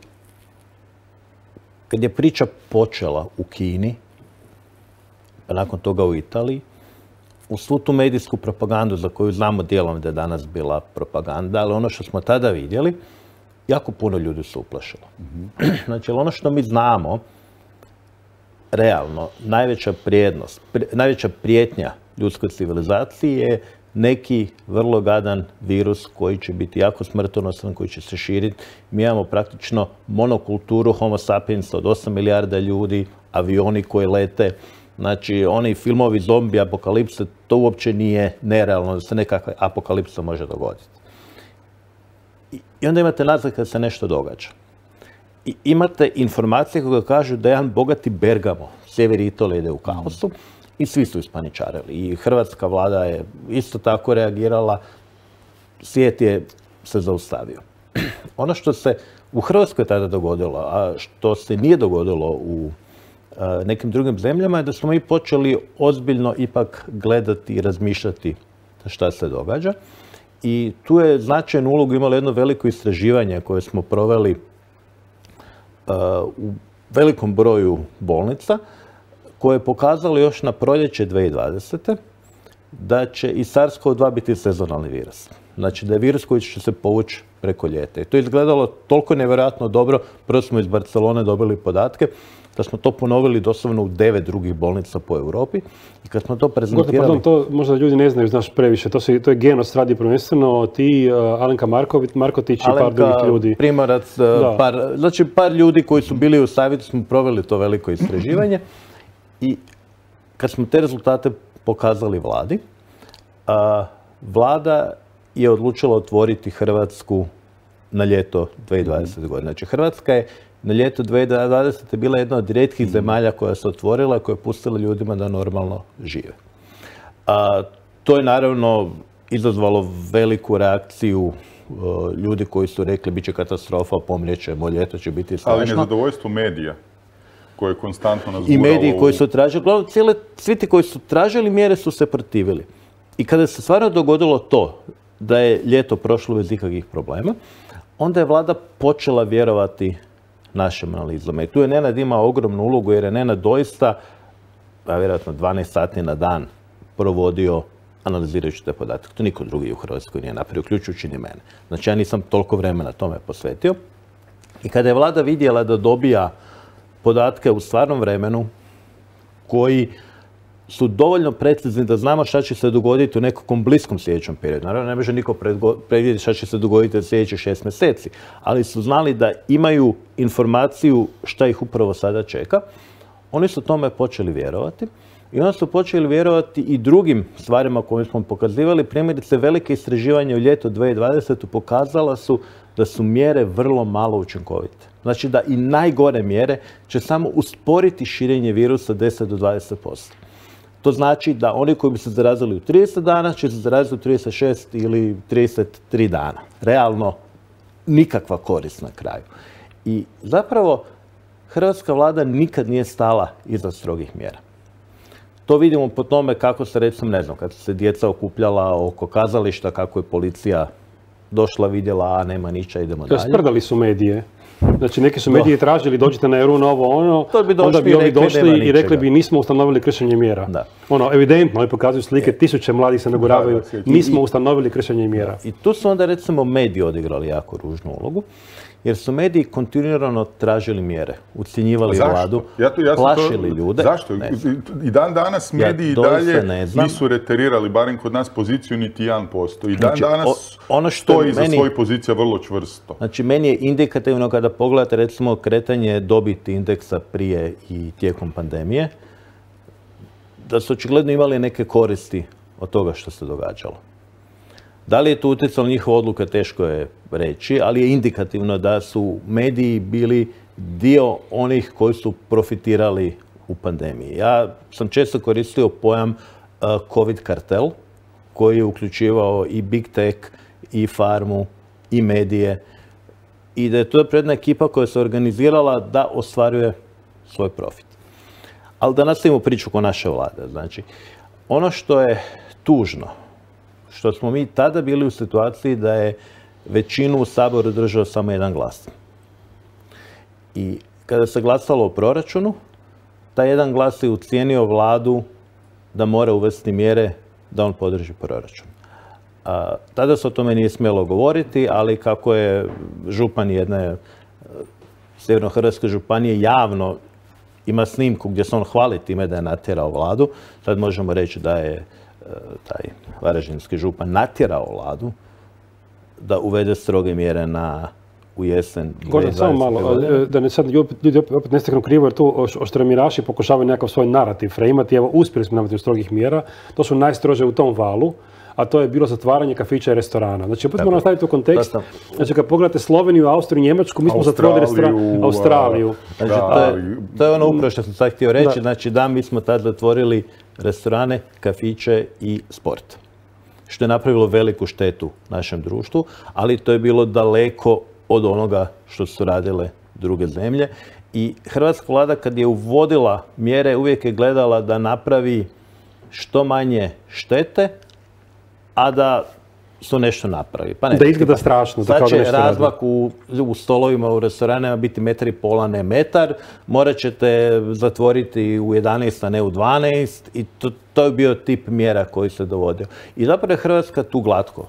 kad je priča počela u Kini, pa nakon toga u Italiji, u svu tu medijsku propagandu za koju znamo dijelom da je danas bila propaganda, ali ono što smo tada vidjeli, jako puno ljudi su uplašilo. Znači, ono što mi znamo, realno, najveća prijetnja ljudskoj civilizaciji je neki vrlo gadan virus koji će biti jako smrtonosan, koji će se širiti. Mi imamo praktično monokulturu Homo sapiens od 8 milijarda ljudi, avioni koji lete. Znači, oni filmovi zombi, apokalipse, to uopće nije nerealno da se nekakva apokalipsa može dogoditi. I onda imate naznake da se nešto događa. I imate informacije koje kažu da jedan bogati Bergamo, sjever Italije, ide u kaosu i svi su ispaničarili. I hrvatska vlada je isto tako reagirala, svijet je se zaustavio. Ono što se u Hrvatskoj tada dogodilo, a što se nije dogodilo u nekim drugim zemljama, je da smo mi počeli ozbiljno ipak gledati i razmišljati šta se događa. I tu je značajnu ulogu imalo jedno veliko istraživanje koje smo proveli u velikom broju bolnica, koje je pokazalo još na proljeće 2020. da će i SARS-CoV-2 biti sezonalni virus. Znači da je virus koji će se povući preko ljeta. I to je izgledalo toliko nevjerojatno dobro. Prvo smo iz Barcelone dobili podatke. da smo to ponovili doslovno u 9 drugih bolnica po Europi. I kad smo to prezentirali...
Pardon, to možda ljudi ne znaju, znaš previše. To je Genos radi prvenstveno, ti, Alenka Markotić i par drugih ljudi.
Primorac, par ljudi koji su bili u savjetu, smo proveli to veliko istraživanje. I kad smo te rezultate pokazali vladi, vlada je odlučila otvoriti Hrvatsku na ljeto 2020. godine. Znači, Hrvatska je na ljeto 2020. bila jedna od rijetkih zemalja koja se otvorila, koja je pustila ljudima da normalno žive. To je naravno izazvalo veliku reakciju ljudi koji su rekli bit će katastrofa, pomrijećemo, ljeto će biti strašno.
Ali nezadovoljstvo medija koje je konstantno nas guralo.
I mediji koji su tražili, uglavnom svi ti koji su tražili mjere su se protivili. I kada se stvarno dogodilo to da je ljeto prošlo bez ikakvih problema, onda je vlada počela vjerovati našim analizama. I tu je Nenad imao ogromnu ulogu jer je Nenad doista, vjerojatno 12 sati na dan provodio analizirajući te podatke. To niko drugi u Hrvatskoj nije napravio, uključujući ni mene. Znači ja nisam toliko vremena tome posvetio. I kada je vlada vidjela da dobija podatke u stvarnom vremenu koji su dovoljno precizni da znamo šta će se dogoditi u nekakvom bliskom sljedećem periodu. Naravno, ne može niko predvidjeti šta će se dogoditi u sljedećih 6 mjeseci, ali su znali da imaju informaciju šta ih upravo sada čeka. Oni su tome počeli vjerovati i onda su počeli vjerovati i drugim stvarima koje smo pokazivali. Primjerice, velike istraživanje u ljeto 2020. pokazala su da su mjere vrlo malo učinkovite. Znači da i najgore mjere će samo usporiti širenje virusa 10 do 20%. To znači da oni koji bi se zarazili u 30 dana će se zaraziti u 36 ili 33 dana. Realno nikakva korist na kraju. I zapravo hrvatska vlada nikad nije stala iza strogih mjera. To vidimo po tome kako se, recimo, ne znam, kad su se djeca okupljala oko kazališta, kako je policija došla, vidjela, a nema niča, idemo dalje.
Sprdali su medije. Znači, neki su mediji tražili, dođite na Eru, novo, ono, onda bi ovi došli i rekli bi nismo ustanovili kršenje mjera. Ono, evidentno, oni pokazuju slike, tisuće mladih se naguravaju, nismo ustanovili kršenje mjera.
I tu su onda, recimo, mediji odigrali jako ružnu ulogu, jer su mediji kontinuirano tražili mjere, ucjenjivali vladu, plašili ljude.
Zašto? I dan danas mediji dalje nisu reterirali, barem kod nas, poziciju niti 1%. I dan danas stoji za svoju poziciju vrlo čvrsto.
Znači, meni je indikativno kada pogledate, recimo, kretanje dobiti indeksa prije i tijekom pandemije, da su očigledno imali neke koristi od toga što se događalo. Da li je to utjecalo njihove odluke, teško je reći, ali je indikativno da su mediji bili dio onih koji su profitirali u pandemiji. Ja sam često koristio pojam COVID kartel, koji je uključivao i big tech, i farmu, i medije. I da je to jedna ekipa koja se organizirala da ostvaruje svoj profit. Ali da nastavimo priču ko naše vlade. Znači, ono što je tužno, što smo mi tada bili u situaciji da je većinu u Saboru držao samo jedan glas. I kada se glasalo o proračunu, taj jedan glas je ucijenio vladu da mora uvesti mjere da on podrži proračun. Tada se o tome nije smjelo govoriti, ali kako je župan jedne sjevernohrvatske županije javno ima snimku gdje se on hvali time da je natjerao vladu, sad možemo reći da je taj varaždinski župan natjerao vladu da uvede stroge mjere u jesen 2020.
Gordan, samo malo, da ne sad ljudi opet ne steknu krivo, jer tu oštremiraši pokušavaju nekakav svoj narativ freimati. Evo, uspjeli smo nametiti strogih mjera, to su najstrože u tom valu, a to je bilo zatvaranje kafića i restorana. Znači, opet moramo staviti u kontekst. Znači, kad pogledate Sloveniju, Austriju, Njemačku, mi smo zatvorili Australiju.
Znači, to je ono upravo što sam sad htio reći. Znači, da, mi smo tad zatvorili restorane, kafiće i sport. Što je napravilo veliku štetu našem društvu, ali to je bilo daleko od onoga što su radile druge zemlje. I hrvatska vlada kad je uvodila mjere uvijek je gledala da napravi što manje štete, a da su nešto napravi. Pa ne,
da izgleda strašno.
Sad će razmak u stolovima u restoranima biti 1,5 m, ne metar. Morat ćete zatvoriti u 11, a ne u 12. I to je bio tip mjera koji se dovodio. I zapravo je Hrvatska tu glatko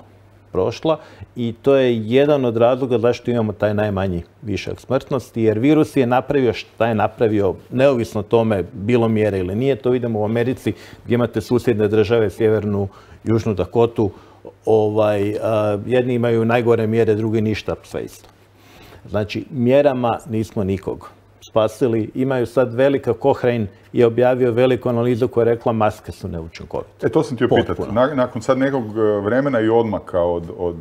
prošla i to je jedan od razloga zašto imamo taj najmanji višak smrtnosti, jer virus je napravio šta je napravio, neovisno tome bilo mjere ili nije. To vidimo u Americi gdje imate susjedne države, Sjevernu, Južnu Dakotu, jedni imaju najgore mjere, drugi ništa, sve isto. Znači, mjerama nismo nikog spasili. Imaju sad velika, Cochrane je objavio veliku analizu koja je rekla maske su neučinkovite.
To sam ti pitati. Nakon sad nekog vremena i odmaka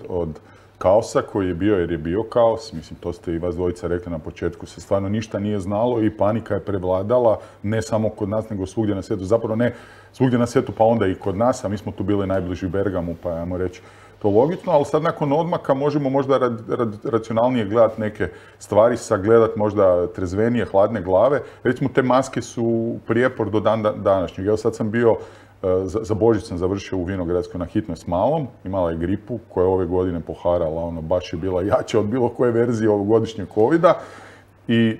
od kaosa koji je bio, jer je bio kaos, mislim, to ste i vas dvojica rekli na početku, se stvarno ništa nije znalo i panika je prevladala, ne samo kod nas, nego svugdje na svijetu. Zapravo ne svugdje na svijetu, pa onda i kod nas, a mi smo tu bili najbliži Bergamu, pa ajmo reći to logično, ali sad nakon odmaka možemo možda racionalnije gledati neke stvari, sagledati možda trezvenije, hladne glave. Recimo, te maske su prijepor do današnjeg. Evo sad sam bio, za Božić sam završio u Vinogradskoj na hitnoj s malom, imala je gripu koja je ove godine poharala, baš je bila jača od bilo koje verzije ovogodišnjeg covida. I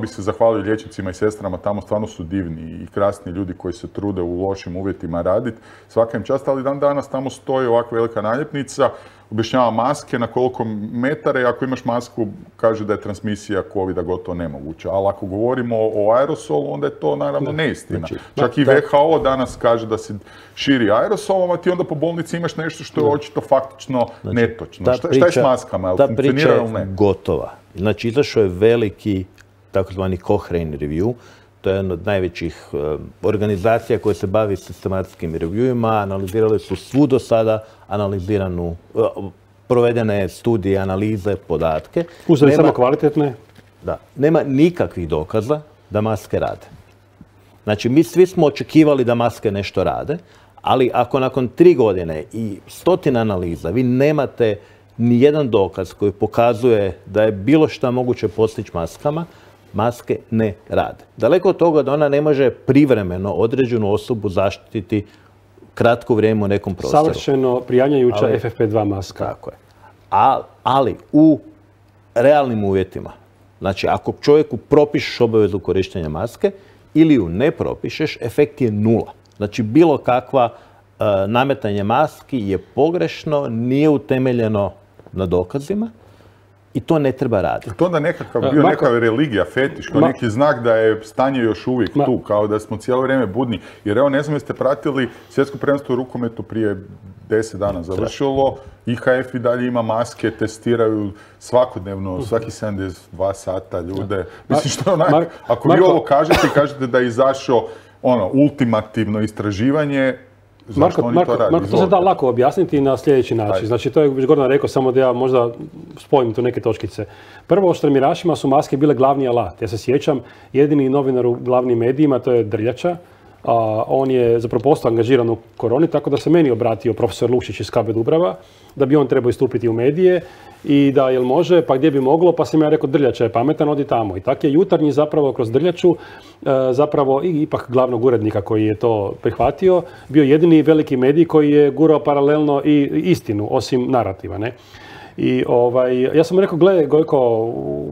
bi se zahvalio liječnicima i sestrama, tamo stvarno su divni i krasni ljudi koji se trude u lošim uvjetima raditi. Svaka im čast, ali dan danas tamo stoji ovakva velika naljepnica, objašnjava maske na koliko metara i ako imaš masku kaže da je transmisija covida gotovo nemoguća. Ali ako govorimo o aerosolu, onda je to naravno neistina. Čak i WHO danas kaže da se širi aerosolom, a ti onda po bolnici imaš nešto što je očito faktično netočno. Šta je s maskama?
Ta priča je gotova. Znači, izašao je veliki takozvani Cochrane review. To je jedna od najvećih organizacija koja se bavi sistematskim reviewima. Analizirali su svu do sada provedene studije, analize, podatke.
Uzeli samo kvalitetne?
Da. Nema nikakvih dokaza da maske rade. Znači, mi svi smo očekivali da maske nešto rade, ali ako nakon 3 godine i 100 analiza vi nemate ni jedan dokaz koji pokazuje da je bilo šta moguće postići maskama, maske ne rade. Daleko od toga da ona ne može privremeno određenu osobu zaštititi kratko vrijeme u nekom prostoru.
Savršeno prijanjajuća FFP2 maska.
Tako je. Ali u realnim uvjetima, znači ako čovjeku propišeš obavezu korištenja maske ili ju ne propišeš, efekt je 0. Znači bilo kakva nametanje maski je pogrešno, nije utemeljeno na dokazima i to ne treba raditi.
To onda bio neka religija, fetiš, kao neki znak da je stanje još uvijek tu, kao da smo cijelo vrijeme budni. Jer evo, ne znam jeste pratili svjetsko prvenstvo u rukometu prije 10 dana završilo, IHF i dalje ima maske, testiraju svakodnevno, svaki 72 sata ljude. Mislim što je onak, ako vi ovo kažete da je izašao ultimativno istraživanje, Marko,
to se da lako objasniti na sljedeći način. Znači, to je već Gordan rekao, samo da ja možda spojim tu neke točkice. Prvo, štremirašima su maske bile glavni alat. Ja se sjećam, jedini novinar u glavnim medijima, to je Drljača. On je zapravo postao angažiran u koroni, tako da se meni obratio profesor Lukšić iz KB Dubrava, da bi on trebao istupiti u medije i da jel može, pa gdje bi moglo, pa sam ja rekao Drljača je pametan, odi tamo. I tako je Jutarnji zapravo kroz Drljaču, zapravo i ipak glavnog urednika koji je to prihvatio, bio jedini veliki medij koji je gurao paralelno i istinu, osim narativa, ne? I ja sam rekao, gledaj Gojko,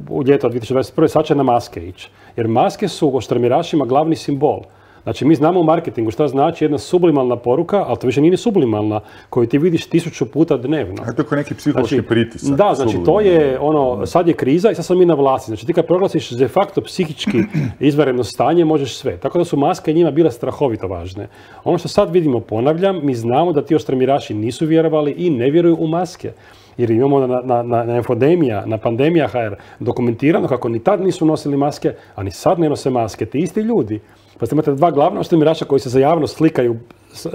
u ljeto 2021. sad će na maske ići. Jer maske su o štremirašima glavni simbol. Znači, mi znamo u marketingu šta znači jedna sublimalna poruka, ali to više nije ni sublimalna, koju ti vidiš 1000 puta dnevno.
A to je kao neki psihološki pritisak.
Da, znači, to je sad je kriza i sad smo mi na vlasti. Znači, ti kad proglasiš de facto psihički izvanredno stanje, možeš sve. Tako da su maske njima bile strahovito važne. Ono što sad vidimo, ponavljam, mi znamo da ti oštremiraši nisu vjerovali i ne vjeruju u maske. Jer imamo na infodemija, na pandemija HR dokumentirano kako ni tad nisu nosili maske, a ni sad ne nose maske. Ti isti ljudi. Pa ste imate 2 glavna oštremirača koji se za javnost slikaju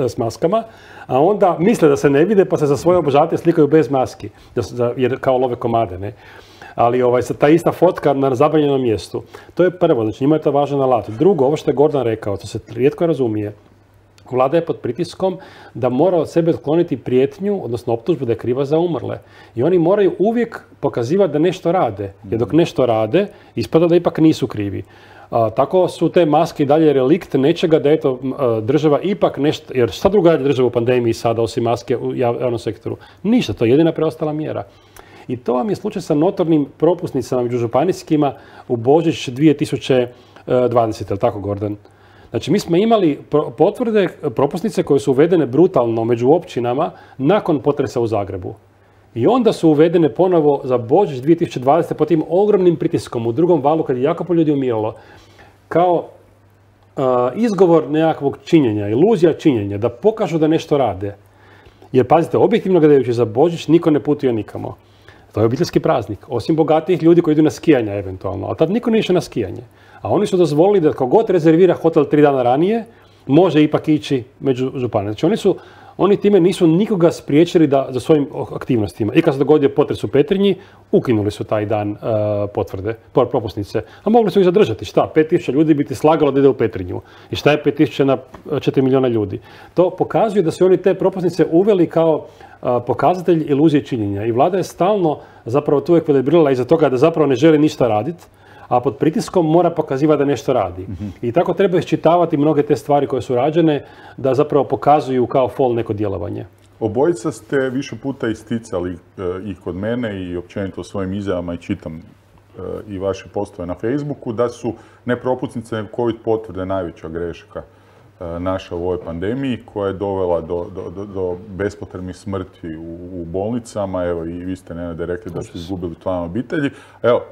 s maskama, a onda misle da se ne vide pa se za svoje obožavatelje slikaju bez maski, jer kao love komade, ne? Ali ta ista fotka na zabranjenom mjestu. To je prvo, znači njima je to važan alat. Drugo, ovo što je Gordan rekao, to se rijetko razumije. Vlada je pod pritiskom da mora od sebe otkloniti prijetnju, odnosno optužbu da je kriva za umrle. I oni moraju uvijek pokazivati da nešto rade. Jer dok nešto rade, ispada da ipak nisu krivi. Tako su te maske i dalje relikt nečega da eto država ipak nešto, jer šta druga je država u pandemiji sada osim maske u javnom sektoru? Ništa, to je jedina preostala mjera. I to vam je slučaj sa notornim propusnicama među županijskima u Božić 2020, je li tako Gordan? Znači, mi smo imali potvrde, propusnice koje su uvedene brutalno među općinama nakon potresa u Zagrebu. I onda su uvedene ponovo za Božić 2020. pod tim ogromnim pritiskom u drugom valu kad je jako puno ljudi umiralo. Kao izgovor nekakvog činjenja, iluzija činjenja, da pokažu da nešto rade. Jer pazite, objektivno gledajući za Božić niko ne putuje nikamo. To je obiteljski praznik. Osim bogatijih ljudi koji idu na skijanja eventualno. Ali tad niko ne išao na skijanje. A oni su dozvolili da kako god rezervira hotel 3 dana ranije, može ipak ići među županije. Znači oni time nisu nikoga spriječili za svojim aktivnostima. I kad se dogodio potres u Petrinji, ukinuli su taj dan propusnice. A mogli su ih zadržati. Šta? 5000 ljudi bi ti slagalo da ide u Petrinju. I šta je 5000 na 4 milijuna ljudi? To pokazuje da su oni te propusnice uveli kao pokazatelj iluzije činjenja. I vlada je stalno zapravo tu uvijek velebrila iza toga da zapravo ne želi ništa raditi, a pod pritiskom mora pokazivati da nešto radi. I tako treba iščitavati mnoge te stvari koje su rađene, da zapravo pokazuju kao fol neko djelovanje.
Obojica ste više puta isticali i kod mene i općenito u svojim izjavama i čitam i vaše postove na Facebooku, da su ne propusnice, nego COVID potvrde najveća greška naša u ovoj pandemiji, koja je dovela do bespotrebnih smrti u bolnicama. Evo, i vi ste, Nenade, rekli da ste izgubili člana obitelji. Evo,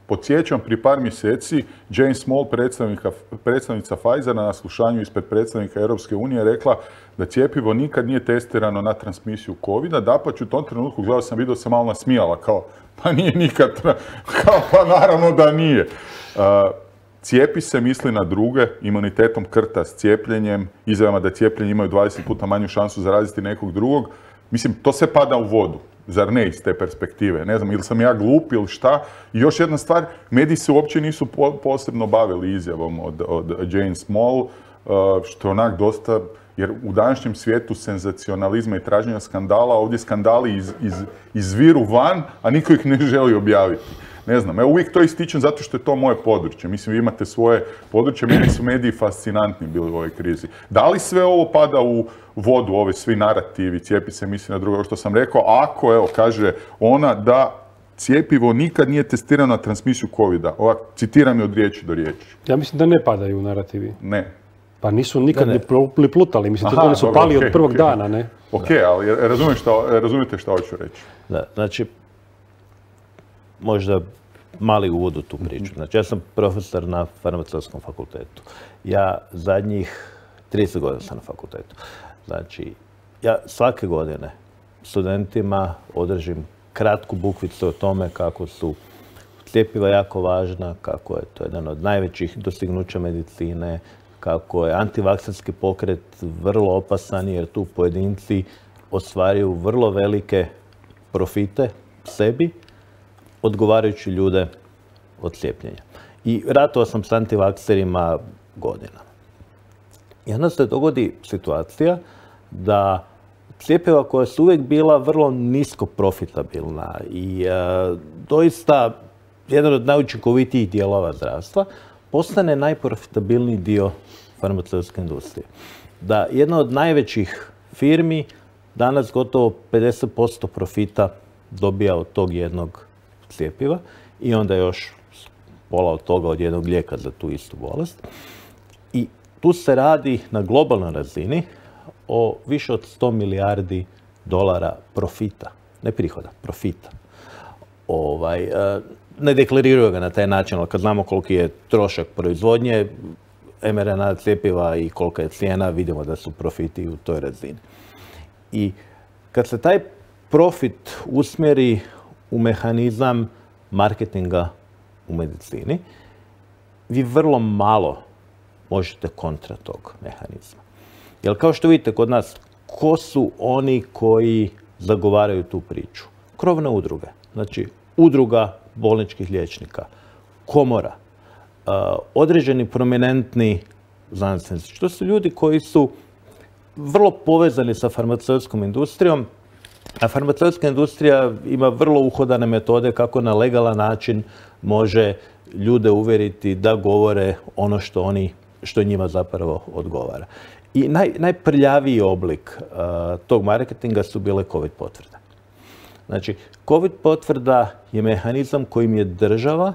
podsjećam, prije par mjeseci Jane Small, predstavnica Pfizera, na slušanju ispred predstavnika Europske unije rekla da cjepivo nikad nije testirano na transmisiju COVID-a. Dapače, u tom trenutku, gledao sam video, se malo nasmijala, kao, pa nije nikad, kao, pa naravno da nije. Cijepi se, misli na druge, imunitetom krta s cijepljenjem, izjavama da cijepljenje imaju 20 puta manju šansu zaraziti nekog drugog. Mislim, to sve pada u vodu. Zar ne iz te perspektive? Ne znam, ili sam ja glup ili šta. I još jedna stvar, mediji se uopće nisu posebno bavili izjavom od Jane Small, što je onak dosta, jer u današnjem svijetu senzacionalizma i traženja skandala, ovdje skandali izviru van, a niko ih ne želi objaviti. Ne znam, uvijek to ističem zato što je to moje područje. Mislim, vi imate svoje područje, meni su mediji fascinantni bili u ovoj krizi. Da li sve ovo pada u vodu, ovi svi narativi, cijepi se, misli na drugo, što sam rekao, ako, evo, kaže ona da cijepivo nikad nije testirano na transmisiju COVID-a. Ovak, citiram je od riječi do riječi.
Ja mislim da ne padaju narativi.
Ne.
Pa nisu nikad ni plutali, mislim, oni su pali od prvog dana, ne?
Ok, ali razumijete što hoću reći?
Da, znači, možda mali uvod u tu priču. Znači, ja sam profesor na farmaceutskom fakultetu. Ja zadnjih 30 godina sam na fakultetu. Znači, ja svake godine studentima održim kratku bukvicu o tome kako su cjepiva jako važna, kako je to jedan od najvećih dostignuća medicine, kako je antivakserski pokret vrlo opasan jer tu pojedinci ostvaruju vrlo velike profite sebi, odgovarajući ljude od cijepljenja. I ratovao sam s antivakserima godinama. I onda se dogodi situacija da cjepiva koja su uvijek bila vrlo nisko profitabilna i doista jedan od najučinkovitijih dijelova zdravstva, postane najprofitabilniji dio farmaceutske industrije. Da jedna od najvećih firmi danas gotovo 50% profita dobija od tog jednog cjepiva i onda još pola od toga od jednog lijeka za tu istu bolest. I tu se radi na globalnoj razini o više od 100 milijardi dolara profita. Ne prihoda, profita. Ne deklariraju ga na taj način, ali kad znamo koliki je trošak proizvodnje mRNA cjepiva i kolika je cijena, vidimo da su profiti u toj razini. I kad se taj profit usmjeri u mehanizam marketinga u medicini, vi vrlo malo možete kontra tog mehanizma. Jer kao što vidite kod nas, ko su oni koji zagovaraju tu priču? Krovne udruge. Znači, udruga bolničkih liječnika, komora, određeni prominentni znanstvenici. To su ljudi koji su vrlo povezani sa farmaceutskom industrijom, a farmaceutska industrija ima vrlo uhodane metode kako na legalan način može ljude uvjeriti da govore ono što njima zapravo odgovara. I najprljaviji oblik tog marketinga su bile COVID potvrde. Znači, COVID potvrda je mehanizam kojim je država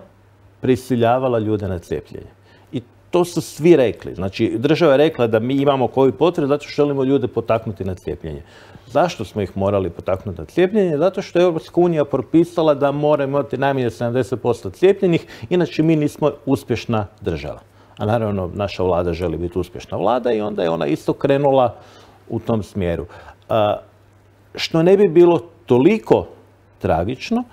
prisiljavala ljude na cijepljenje. I to su svi rekli. Znači, država je rekla da mi imamo COVID potvrde zato što želimo ljude potaknuti na cijepljenje. Zašto smo ih morali potaknuti na cijepljenje? Zato što je Europska unija propisala da moramo imati najmanje 70% cijepljenih, inače mi nismo uspješna država. A naravno, naša vlada želi biti uspješna vlada i onda je ona isto krenula u tom smjeru. Što ne bi bilo toliko tragično,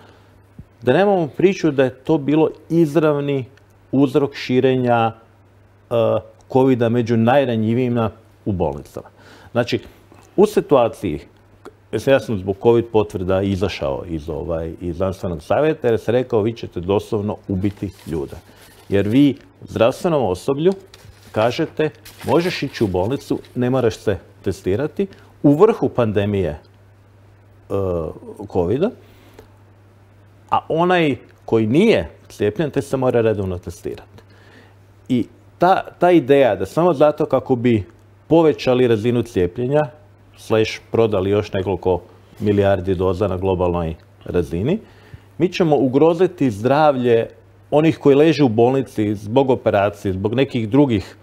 da nemamo priču da je to bilo izravni uzrok širenja COVID-a među najranjivijima u bolnicama. Znači, u situaciji, ja sam zbog COVID potvrda izašao iz znanstvenog savjeta jer sam rekao vi ćete doslovno ubiti ljude. Jer vi zdravstvenom osoblju kažete možeš ići u bolnicu, ne moraš se testirati u vrhu pandemije COVID-a, a onaj koji nije cijepljen te se mora redovno testirati. I ta ideja da samo zato kako bi povećali razinu cijepljenja, prodali još nekoliko milijardi doza na globalnoj razini, mi ćemo ugroziti zdravlje onih koji leže u bolnici zbog operacije, zbog nekih drugih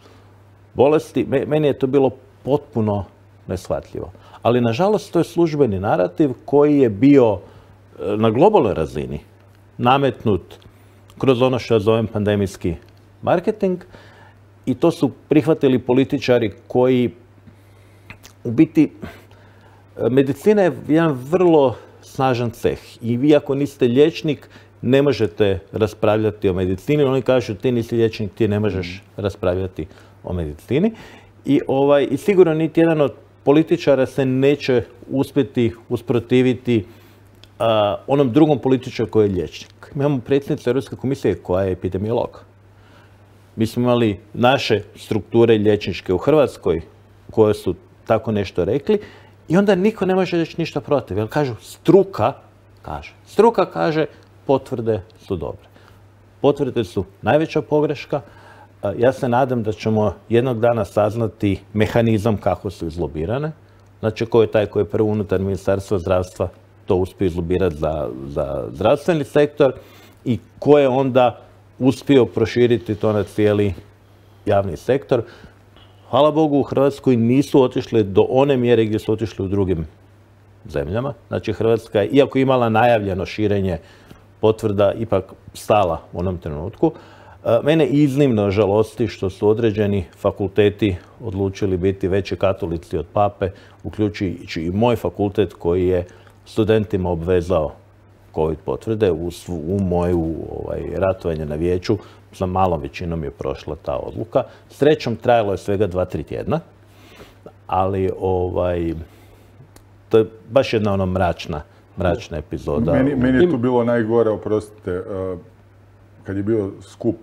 bolesti. Meni je to bilo potpuno neshvatljivo. Ali, nažalost, to je službeni narativ koji je bio na globalnoj razini nametnut kroz ono što ja zovem pandemijski marketing i to su prihvatili političari koji u biti, medicina je jedan vrlo snažan ceh i vi ako niste liječnik ne možete raspravljati o medicini. Oni kažu ti nisi liječnik, ti ne možeš raspravljati o medicini. I sigurno niti jedan od političara se neće uspjeti usprotiviti onom drugom političaru koji je liječnik. Mi imamo predsjednicu Europske komisije koja je epidemiolog. Mi smo imali naše strukture liječničke u Hrvatskoj koje su tako nešto rekli i onda niko ne može reći ništa protiv. Jer kažu, struka kaže potvrde su dobre. Potvrde su najveća pogreška. Ja se nadam da ćemo jednog dana saznati mehanizam kako su izlobirane. Znači, ko je taj koji je prvo unutar Ministarstva zdravstva to uspio izlobirati za zdravstveni sektor i ko je onda uspio proširiti to na cijeli javni sektor. Hvala Bogu, u Hrvatskoj nisu otišli do one mjere gdje su otišli u drugim zemljama. Znači, Hrvatska je, iako imala najavljeno širenje potvrda, ipak stala u onom trenutku. Mene iznimno žalosti što su određeni fakulteti odlučili biti veći katolici od pape, uključujući i moj fakultet koji je studentima obvezao COVID potvrde. U moju ratovanje na vijeću sa malom većinom je prošla ta odluka. Srećom trajalo je svega 2-3 tjedna, ali to je baš jedna mračna epizoda.
Meni je tu bilo najgore, oprostite, kad je bio skup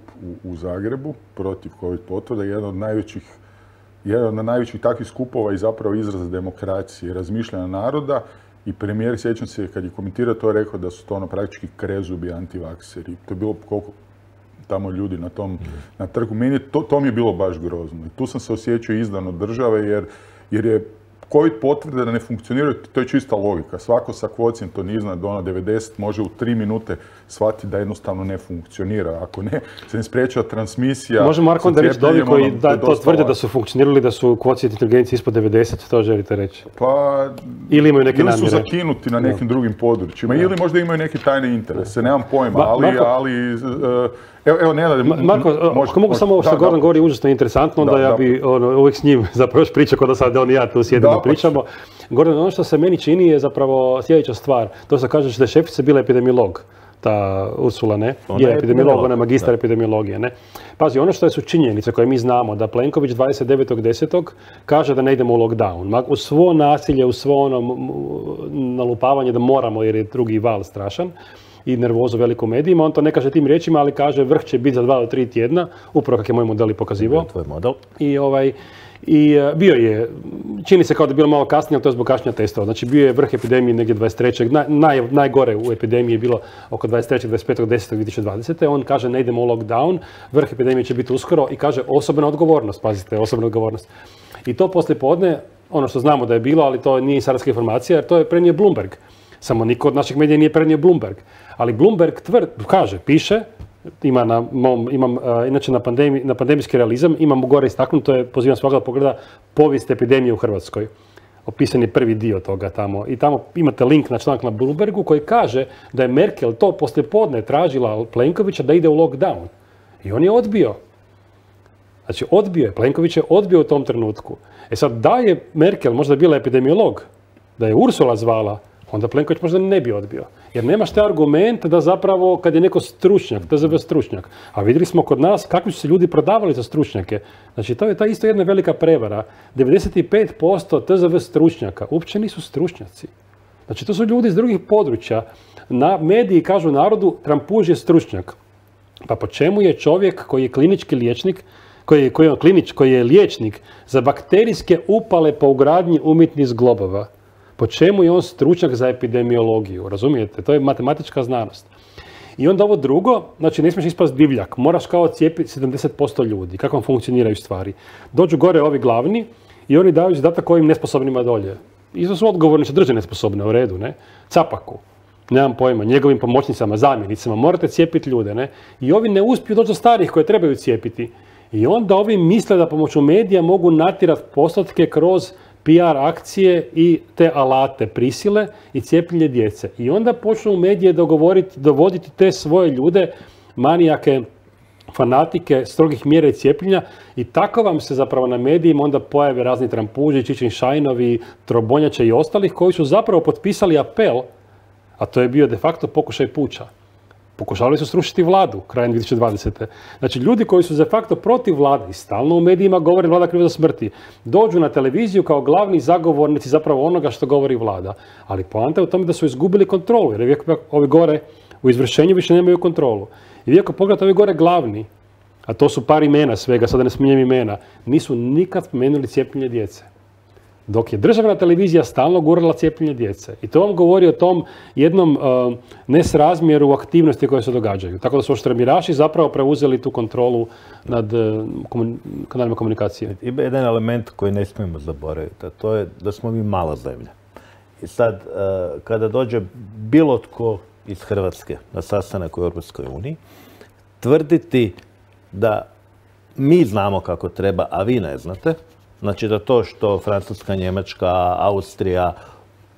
u Zagrebu protiv COVID potvrda, jedan od najvećih takvih skupova i zapravo izraz demokracije, razmišljanja naroda. I premijer, sjećam se, kad je komentirao to, rekao da su to praktički krezubi antivakseri. To je bilo koliko tamo ljudi na trgu. Meni to mi je bilo baš grozno. I tu sam se osjećao izdan od države jer je COVID potvrde da ne funkcioniraju, to je čista logika. Svako sa kvocijentom iznad 90 može u 3 minute shvatiti da jednostavno ne funkcionira. Ako ne, se ne spriječava transmisija.
Može Marko onda reći da ovi koji to tvrde da su funkcionirali, da su kvocijent inteligencije ispod 90, to želite reći?
Pa,
ili imaju neke namjere?
Ili su zakinuti na nekim drugim područjima, ili možda imaju neke tajne interese, nemam pojma, ali evo, Nenade,
Marko, ako mogu samo ovo što Goran govori užasno interesantno, onda ja bi uvijek s njim zapravo još pričao kod da sad on i ja tu sjedimo pričamo. Goran, ono što se meni čini je zapravo sljedeća stvar. To što kažeš da je šefica bila epidemiolog, ta Ursula, ne? Je epidemiolog, ona je magistar epidemiologije, ne? Pazi, ono što su činjenice koje mi znamo, da Plenković 29.10. kaže da ne idemo u lockdown. Uz svo nasilje, uz svo ono nalupavanje da moramo jer je drugi val strašan, i nervozu veliku medijima, on to ne kaže tim riječima, ali kaže vrh će biti za 2 do 3 tjedna, upravo kak je moj model i pokazivao.
Tvoj model.
I bio je, čini se kao da je bilo malo kasnije, ali to je zbog kašnjenja testova. Znači bio je vrh epidemije negdje 23. Najgore u epidemiji je bilo oko 23. 25.10.2020. On kaže ne idemo u lockdown, vrh epidemije će biti uskoro i kaže osobna odgovornost, pazite, osobna odgovornost. I to poslijepodne, ono što znamo da je bilo, ali to nije insajderska informacija, jer to je prenio Bloomberg. Samo niko od naših medija nije prenio Bloomberg. Ali Bloomberg piše inače na pandemijski realizam, imam gore istaknuto, pozivam svakoga da pogleda povijest epidemije u Hrvatskoj. Opisan je prvi dio toga tamo. I tamo imate link na članak na Bloombergu koji kaže da je Merkel to poslijepodne tražila Plenkovića da ide u lockdown. I on je odbio. Znači, Plenković je odbio u tom trenutku. Sad, da je Merkel možda bila epidemiolog, da je Ursula zvala, onda Plenković možda ne bi odbio. Jer nemaš te argumente da zapravo kad je neko stručnjak, TZV stručnjak, a vidjeli smo kod nas kakvi su se ljudi prodavali za stručnjake. Znači, to je ta isto jedna velika prevara. 95% TZV stručnjaka uopće nisu stručnjaci. Znači, to su ljudi iz drugih područja. Mediji kažu narodu, Trampuž je stručnjak. Pa po čemu je čovjek koji je klinički liječnik, koji je liječnik za bakterijske upale po ugradnji umjetnih zglobova? Po čemu je on stručnjak za epidemiologiju? Razumijete? To je matematička znanost. I onda ovo drugo, znači ne smiješ ispast divljak. Moraš kao cijepiti 70% ljudi. Kako vam funkcioniraju stvari? Dođu gore ovi glavni i oni daju zadatak ovim nesposobnima dolje. Isto su odgovorni što drže nesposobne, u redu, ne? Capaku. Nemam pojma, njegovim pomoćnicama, zamjenicama, morate cijepiti ljude, ne? I ovi ne uspiju doći do starih koje trebaju cijepiti. I onda ovi misle da pomoću medija mogu natjerati postotke kroz PR akcije i te alate prisile i cijepljenje djece. I onda počnu medije dovoditi te svoje ljude, manijake, fanatike, strogih mjera i cijepljenja i tako vam se zapravo na medijima onda pojave razni Trampuži, Čičin Šajnovi, Trobonjače i ostalih koji su zapravo potpisali apel, a to je bio de facto pokušaj puča. Pokušavali su srušiti vladu krajem 2020. Znači, ljudi koji su de facto protiv vlade i stalno u medijima govore vlada kriva za smrti, dođu na televiziju kao glavni zagovornici zapravo onoga što govori vlada. Ali poanta je u tome da su izgubili kontrolu, jer ovi gore u izvršenju više nemaju kontrolu. I vi ako pogledate ovi gore glavni, a to su par imena svega, sada ne spominjem imena, nisu nikad spomenuli cijepljenje djece. Dok je državna televizija stalno gurala cijepljenje djece. I to vam govori o tom jednom nesrazmjeru aktivnosti koje se događaju. Tako da su oštramiraši zapravo preuzeli tu kontrolu nad kanalima komunikacije.
Ima jedan element koji ne smijemo zaboraviti, a to je da smo mi mala zemlja. I sad, kada dođe bilo tko iz Hrvatske na sastanak u Europskoj uniji, tvrditi da mi znamo kako treba, a vi ne znate, znači da to što Francuska, Njemačka, Austrija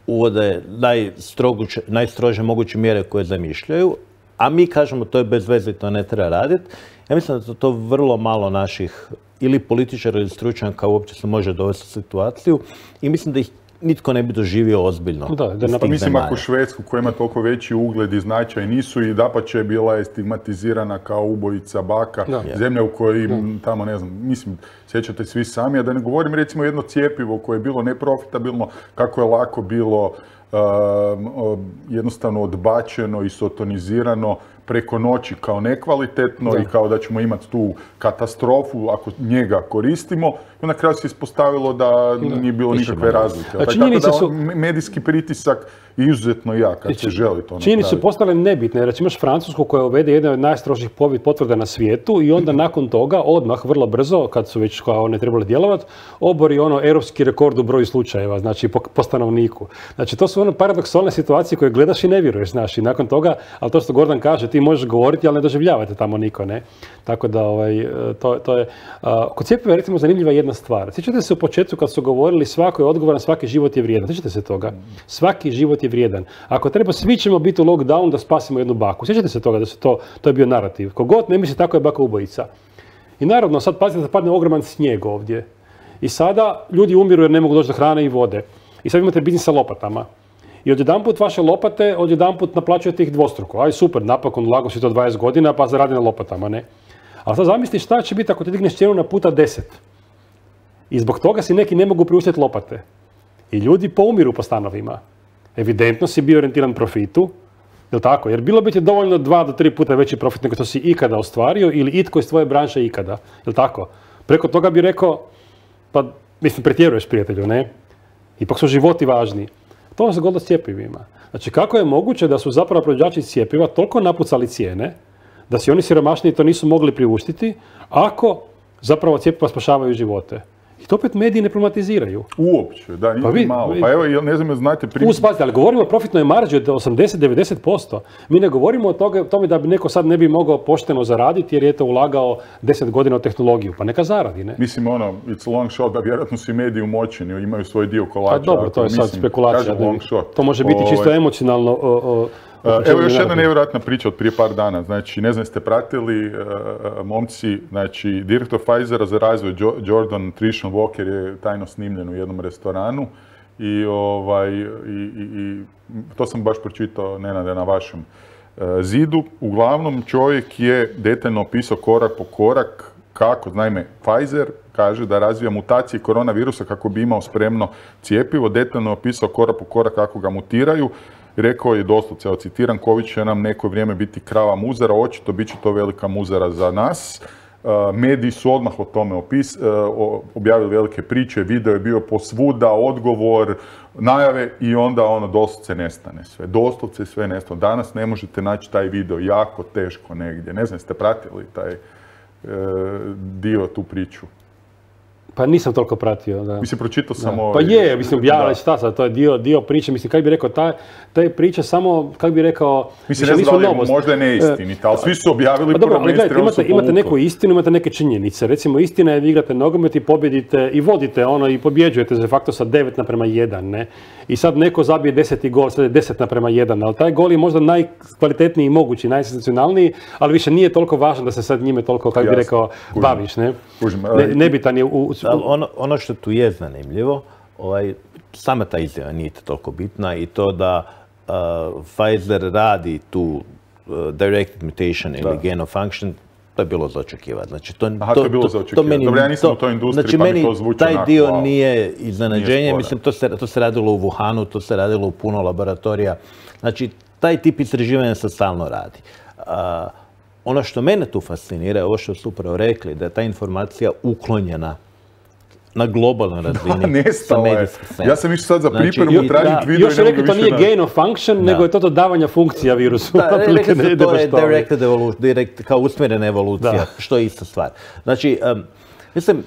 uvode najstrože moguće mjere koje zamišljaju, a mi kažemo to je bez veze i to ne treba raditi. Ja mislim da to vrlo malo naših ili političara ili stručnjaka uopće se može dovesti u situaciju i mislim da ih nitko ne bi doživio ozbiljno.
Mislim ako Švedsku koja ima toliko veći ugled i značaj nisu i dapače bila je stigmatizirana kao ubojica baka, zemlja u kojoj tamo ne znam, mislim, sjećate svi sami, a da ne govorim recimo jedno cjepivo koje je bilo neprofitabilno, kako je lako bilo jednostavno odbačeno i sotonizirano preko noći kao nekvalitetno i kao da ćemo imati tu katastrofu ako njega koristimo. I na kraju se ispostavilo da nije bilo nikakve razlike. Tako da medijski pritisak je izuzetno jak kad se želi to napraviti.
Činjenice su postale nebitne. Recimo imaš Francusku koja uvede jedne od najstrožih potvrda na svijetu i onda nakon toga odmah, vrlo brzo, kad su već kao one trebali djelovati, obori europski rekord u broju slučajeva, znači po stanovniku. Znači to su paradoksalne situacije koje gledaš i ne vjeruješ, znaš, i nakon toga, ali to što Gordan kaže, ti možeš govoriti, ali ne doživljavate tamo niko, ne? Tako da, to je... Kod cjepiva je recimo zanimljiva jedna stvar. Sjećate se u početku kad su govorili svako je odgovoran, svaki život je vrijedan. Sjećate se toga? Svaki život je vrijedan. Ako treba, svi ćemo biti u lockdown da spasimo jednu baku. Sjećate se toga da se to je bio narativ. Kogod ne misli tako je baka ubojica. I naravno, sad pazite da padne ogroman snijeg ovdje. I sada ljudi umiru jer ne mogu doći do hrane i vode. I sad imate biznis sa lopatama. I odjedanput vaše lopate, odjedanput naplaćujete ih dvostruko. Aj super, napokon lago si to 20 godina pa zaradi na lopatama, ne? Ali sad zamisli šta će biti ako ti digneš cijenu na puta 10. I zbog toga si neki ne mogu priuštiti lopate. I ljudi poumiru po stanovima. Evidentno si bio orijentiran profitu, jel tako? Jer bilo bi ti dovoljno 2 do 3 puta veći profit nego što si ikada ostvario ili itko iz tvoje branše ikada, jel tako? Preko toga bi rekao, pa mislim pretjeruješ prijatelju, ne? Ipak su životi važni. To vam se govorilo s cjepivima. Znači kako je moguće da su zapravo proizvođači cjepiva toliko napucali cijene da si oni siromašniji to nisu mogli priuštiti ako zapravo cjepiva spašavaju živote. I to opet mediji ne problematiziraju.
Uopće, da, niti malo. Pa evo, ne znam, znate primjer.
Uspazite, ali govorimo o profitnoj marži od 80-90%. Mi ne govorimo o tome da bi neko sad ne bi mogao pošteno zaraditi jer je to ulagao 10 godina u tehnologiju. Pa neka zaradi, ne?
Mislim, it's a long shot, da vjerojatno su i mediji umoćeni, imaju svoj dio kolača.
Pa dobro, to je sad spekulacija. To može biti čisto emocionalno.
Evo još jedna nevjerojatna priča od prije par dana. Znači, ne znam, ste pratili, momci, znači, direktor Pfizera za razvoj Jordan Nutrition Walker je tajno snimljen u jednom restoranu i to sam baš pročitao, Nenade, na vašem zidu. Uglavnom, čovjek je detaljno opisao korak po korak kako, naime, Pfizer kaže da razvija mutacije koronavirusa kako bi imao spremno cjepivo, detaljno opisao korak po korak kako ga mutiraju. Rekao je doslovce, citiram, Covid će nam neko vrijeme biti krava muzara, očito bit će to velika muzara za nas. Mediji su odmah o tome objavili velike priče, video je bio posvuda, odgovor, najave i onda doslovce nestane sve. Doslovce sve nestane. Danas ne možete naći taj video, jako teško negdje. Ne znam, ste pratili taj dio, tu priču?
Pa nisam toliko pratio, da.
Mislim, pročitao sam
Pa je, mislim, objavila šta sad, to je dio priče, mislim, kako bi rekao, ta je priča samo, kako bi rekao,
mislim, ne znam da li možda je neistinita, ali svi su objavili
pa dobro, gledajte, imate neku istinu, imate neke činjenice. Recimo, istina je, vi igrate nogomet i pobjedite i vodite i pobjeđujete de facto sa 9:1, ne? I sad neko zabije 10. gol, sad je 10:1, ali taj gol je možda najkvalitetniji mogući, najsenzacionalniji, ali više nije toliko važno da se sad njime toliko, kako bi rekao, baviš, ne? Nebitan je
Ono što tu je zanimljivo, sama ta izjava nije toliko bitna i to da Pfizer radi tu directed mutation ili gain of function, to je bilo za očekivati. Znači,
to je bilo za očekivati. Dobro, ja nisam u toj industriji, pa mi to zvuči
onako. Taj dio nije iznenađenje. Mislim, to se radilo u Wuhanu, to se radilo u puno laboratorija. Znači, taj tip istraživanja se stalno radi. Ono što mene tu fascinira, ovo što su upravo rekli, da je ta informacija uklonjena na globalnoj razini.
Nestalo je. Ja sam išao sad za pripremu tražiti video.
Još je rekli to nije gain of function, nego je to dodavanja funkcija virusu.
Da, rekli su to je directed evolution, kao usmjerena evolucija, što je ista stvar. Znači, mislim,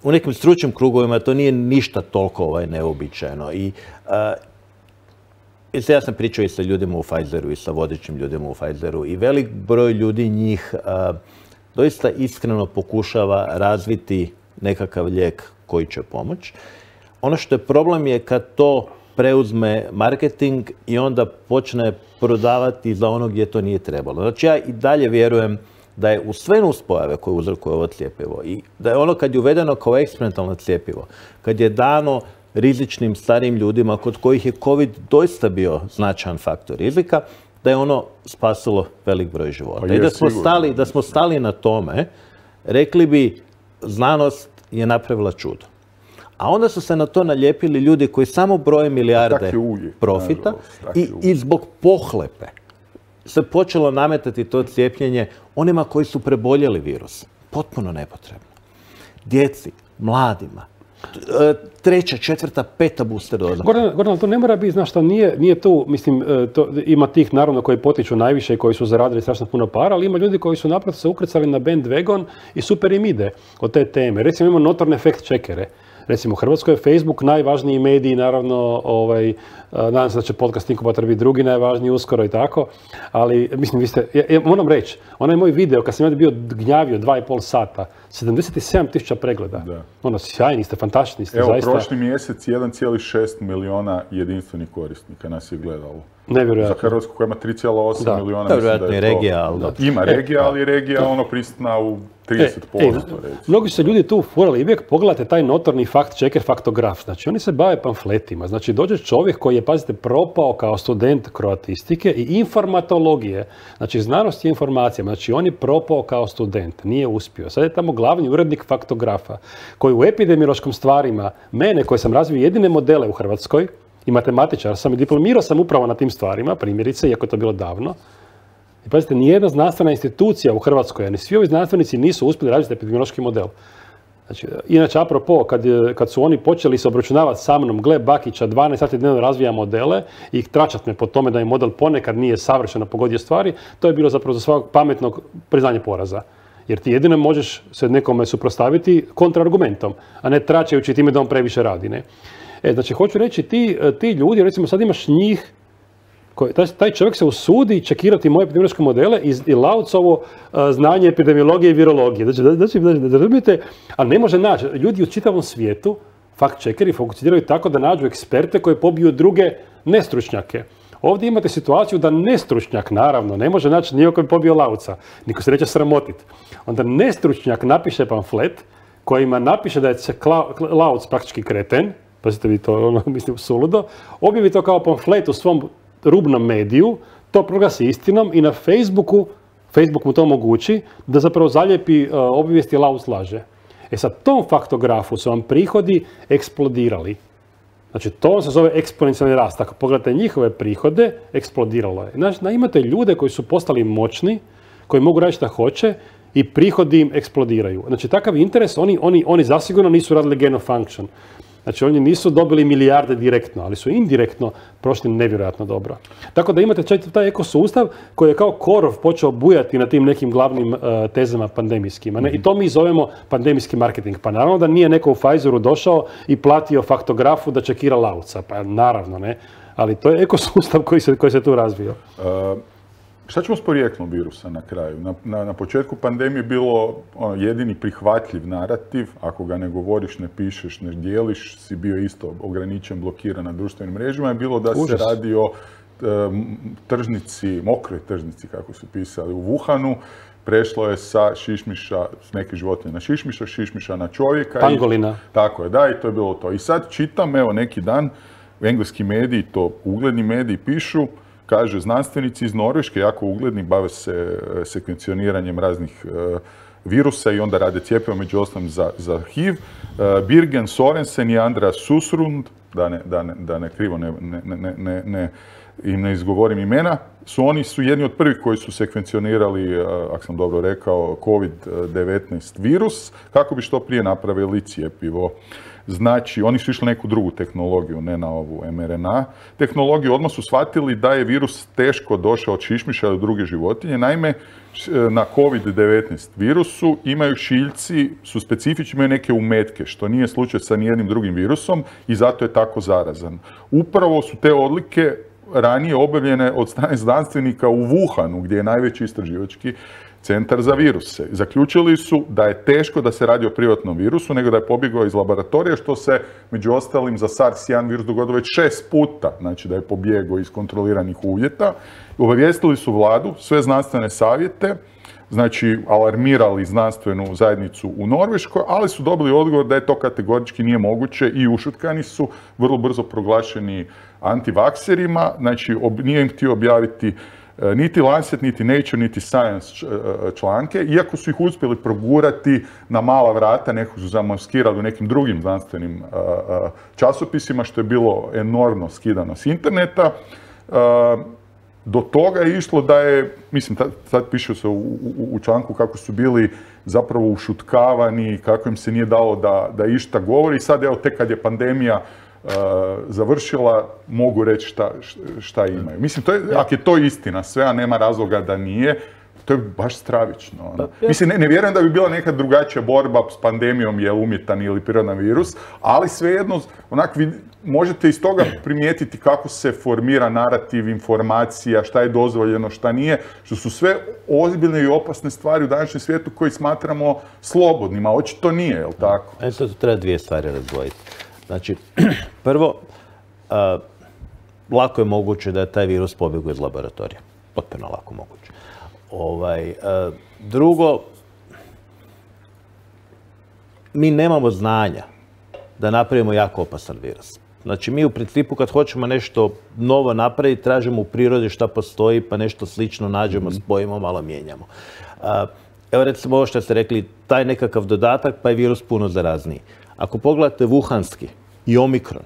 u nekim stručnim krugovima to nije ništa toliko neobičajno. I ja sam pričao i sa ljudima u Pfizeru i sa vodećim ljudima u Pfizeru i velik broj ljudi njih doista iskreno pokušava razviti nekakav lijek koji će pomoći. Ono što je problem je kad to preuzme marketing i onda počne prodavati za ono gdje to nije trebalo. Znači ja i dalje vjerujem da je u sve nuspojave koje uzrokuje ovo cjepivo i da je ono kad je uvedeno kao eksperimentalno cjepivo, kad je dano rizičnim starijim ljudima kod kojih je COVID doista bio značajan faktor rizika, da je ono spasilo velik broj života. I da smo stali na tome, rekli bi znanost je napravila čudo. A onda su se na to nalijepili ljudi koji samo broje milijarde profita i zbog pohlepe se počelo nametati to cijepljenje onima koji su preboljeli virus. Potpuno nepotrebno. Djeci, mladima, 3., 4., 5. booster doza.
Gordon, to ne mora biti, znaš šta, nije tu, mislim, ima tih naravno koji potiču najviše i koji su zaradili strašno puno para, ali ima ljudi koji su naprosto se ukrcali na bandwagon i super im ide od te teme. Recimo imamo notorne fact-checkere. Recimo u Hrvatskoj je Facebook najvažniji medij, naravno, nadam se da će podcast Inkubator biti drugi najvažniji uskoro i tako, ali mislim, vi ste, moram reći, onaj moj video kad sam ja bio gnjavio 2,5 sata, 77.000 pregleda. Sjajni ste, fantastični ste, zaista.
Evo, prošli mjesec 1,6 miliona jedinstvenih korisnika nas je gledalo.
Nevjerojatno.
Za Hrvatsku koja ima 3,8 miliona.
To je vjerojatno i regija, ali da.
Ima regija, ali regija prisutna u 30%.
Mnogi su se ljudi tu furali i uvijek pogledate taj notorni fact-checker, faktograf. Znači, oni se bave pamfletima. Znači, dođe čovjek koji je, pazite, propao kao student kroatistike i informatologije. Znači, znanost je informacijama. Znači, on je propao kao student. Nije uspio. Sad je tamo glavni urednik faktografa koji u epidemiološkim stvarima, mene koji sam razvio jedine modele u Hrvatskoj i matematičar sam i diplomirao sam upravo na tim stvarima, primjerice, iako je to bilo davno. I pazite, nijedna znanstvena institucija u Hrvatskoj, ni svi ovi znanstvenici nisu uspjeli razviti epidemiološki model. Znači, inače, apropo, kad su oni počeli se obračunavati sa mnom, gle Bakića, 12 sati dnevno razvija modele i tračat me po tome da je model ponekad nije savršeno pogodio stvari, to je bilo zapravo za svakog pametnog priznanje poraza. Jer ti jedino možeš se nekome suprotstaviti kontraargumentom, a ne tračajući time da on previše radi. Ne? Znači, hoću reći, ti ljudi, recimo sad imaš njih, taj čovjek se usudi čekirati moje epidemiološke modele i Laucovo znanje epidemiologije i virologije. Znači, da razumijete, ali ne može naći. Ljudi u čitavom svijetu, fact-checkeri, fokusiraju tako da nađu eksperte koji pobiju druge nestručnjake. Ovdje imate situaciju da nestručnjak, naravno, ne može naći niko koji bi pobio Lauca. Niko se neće sramotiti. Onda nestručnjak napiše pamflet kojima napiše da je Lauc praktički kreten, pazite vi to, mislim, suludo, objavi to kao pamflet u svom rubnom mediju, to proglasi istinom i na Facebook mu to omogući da zapravo zalijepi obavijesti Lauc laže. Sad, tom faktografu su vam prihodi eksplodirali. Znači, to se zove eksponencijalni rast. Ako pogledate njihove prihode, eksplodiralo je. Znači, imate ljude koji su postali moćni, koji mogu raditi šta hoće i prihodi im eksplodiraju. Znači, takav interes, oni zasigurno nisu radili gain of function. Znači, oni nisu dobili milijarde direktno, ali su indirektno prošli nevjerojatno dobro. Tako da imate taj ekosustav koji je kao korov počeo bujati na tim nekim glavnim tezama pandemijskima. Ne? I to mi zovemo pandemijski marketing. Pa naravno da nije neko u Pfizeru došao i platio faktografu da čekira Lauca. Pa naravno, ne. Ali to je ekosustav koji se tu razvio.
Šta ćemo s porijeklom virusa na kraju? Na početku pandemije je bilo jedini prihvatljiv narativ, ako ga ne govoriš, ne pišeš, ne dijeliš, si bio isto ograničen, blokiran na društvenim mrežama, je bilo da se radi o tržnici, mokroj tržnici, kako su pisali, u Wuhanu. Prešlo je sa šišmiša, s neke životinje na šišmiša na čovjeka.
Pangolina.
Tako je, da, i to je bilo to. I sad čitam, evo, neki dan, engleski mediji, to ugledni mediji pišu, kaže, znanstvenici iz Norveške, jako ugledni, bave se sekvencioniranjem raznih virusa i onda rade cjepivo, među ostalim za HIV. Birgen Sorensen i Andreas Susrund, da ne krivo ne izgovorim imena, oni su jedni od prvih koji su sekvencionirali, ako sam dobro rekao, COVID-19 virus, kako bi što prije napravili cjepivo. Znači, oni su išli neku drugu tehnologiju, ne na ovu mRNA tehnologiju. Odmah su shvatili da je virus teško došao od šišmiša do druge životinje. Naime, na COVID-19 virusu imaju šiljci, su specifični, imaju neke umetke, što nije slučaj sa nijednim drugim virusom i zato je tako zarazan. Upravo su te odlike ranije objavljene od strane znanstvenika u Wuhanu, gdje je najveći istraživački centar za viruse. Zaključili su da je teško da se radi o privatnom virusu, nego da je pobjegao iz laboratorija, što se, među ostalim, za SARS-1 virus dogodilo već 6 puta, znači da je pobjegao iz kontroliranih uvjeta. Obavijestili su vladu, sve znanstvene savjete, znači alarmirali znanstvenu zajednicu u Norveškoj, ali su dobili odgovor da je to kategorički nije moguće i ušutkani su, vrlo brzo proglašeni antivakserima, znači nije im htio objaviti niti Lancet, niti Nature, niti Science članke, iako su ih uspjeli progurati na mala vrata, neko su zamaskirali u nekim drugim znanstvenim časopisima, što je bilo enormno skidano s interneta. Do toga je išlo da je, mislim, sad piše se u članku kako su bili zapravo ušutkavani, kako im se nije dalo da išta govori. I sad, evo, tek kad je pandemija završila, mogu reći šta imaju. Mislim, ako je to istina sve, a nema razloga da nije, to je baš stravično. Mislim, ne vjerujem da bi bila neka drugačija borba s pandemijom, je umjetan ili prirodan virus, ali svejedno, onak, možete iz toga primijetiti kako se formira narativ, informacija, šta je dozvoljeno, šta nije, što su sve ozbiljne i opasne stvari u današnjem svijetu koji smatramo slobodnima. Očito nije, je li tako?
Sad tu treba dvije stvari razdvojiti. Znači, prvo, lako je moguće da je taj virus pobjegao iz laboratorija. Potpuno lako moguće. Drugo, mi nemamo znanja da napravimo jako opasan virus. Znači, mi u principu kad hoćemo nešto novo napraviti, tražimo u prirodi šta postoji, pa nešto slično nađemo, spojimo, malo mijenjamo. Evo recimo ovo što ste rekli, taj nekakav dodatak, pa je virus puno zarazniji. Ako pogledate wuhanski i omikron,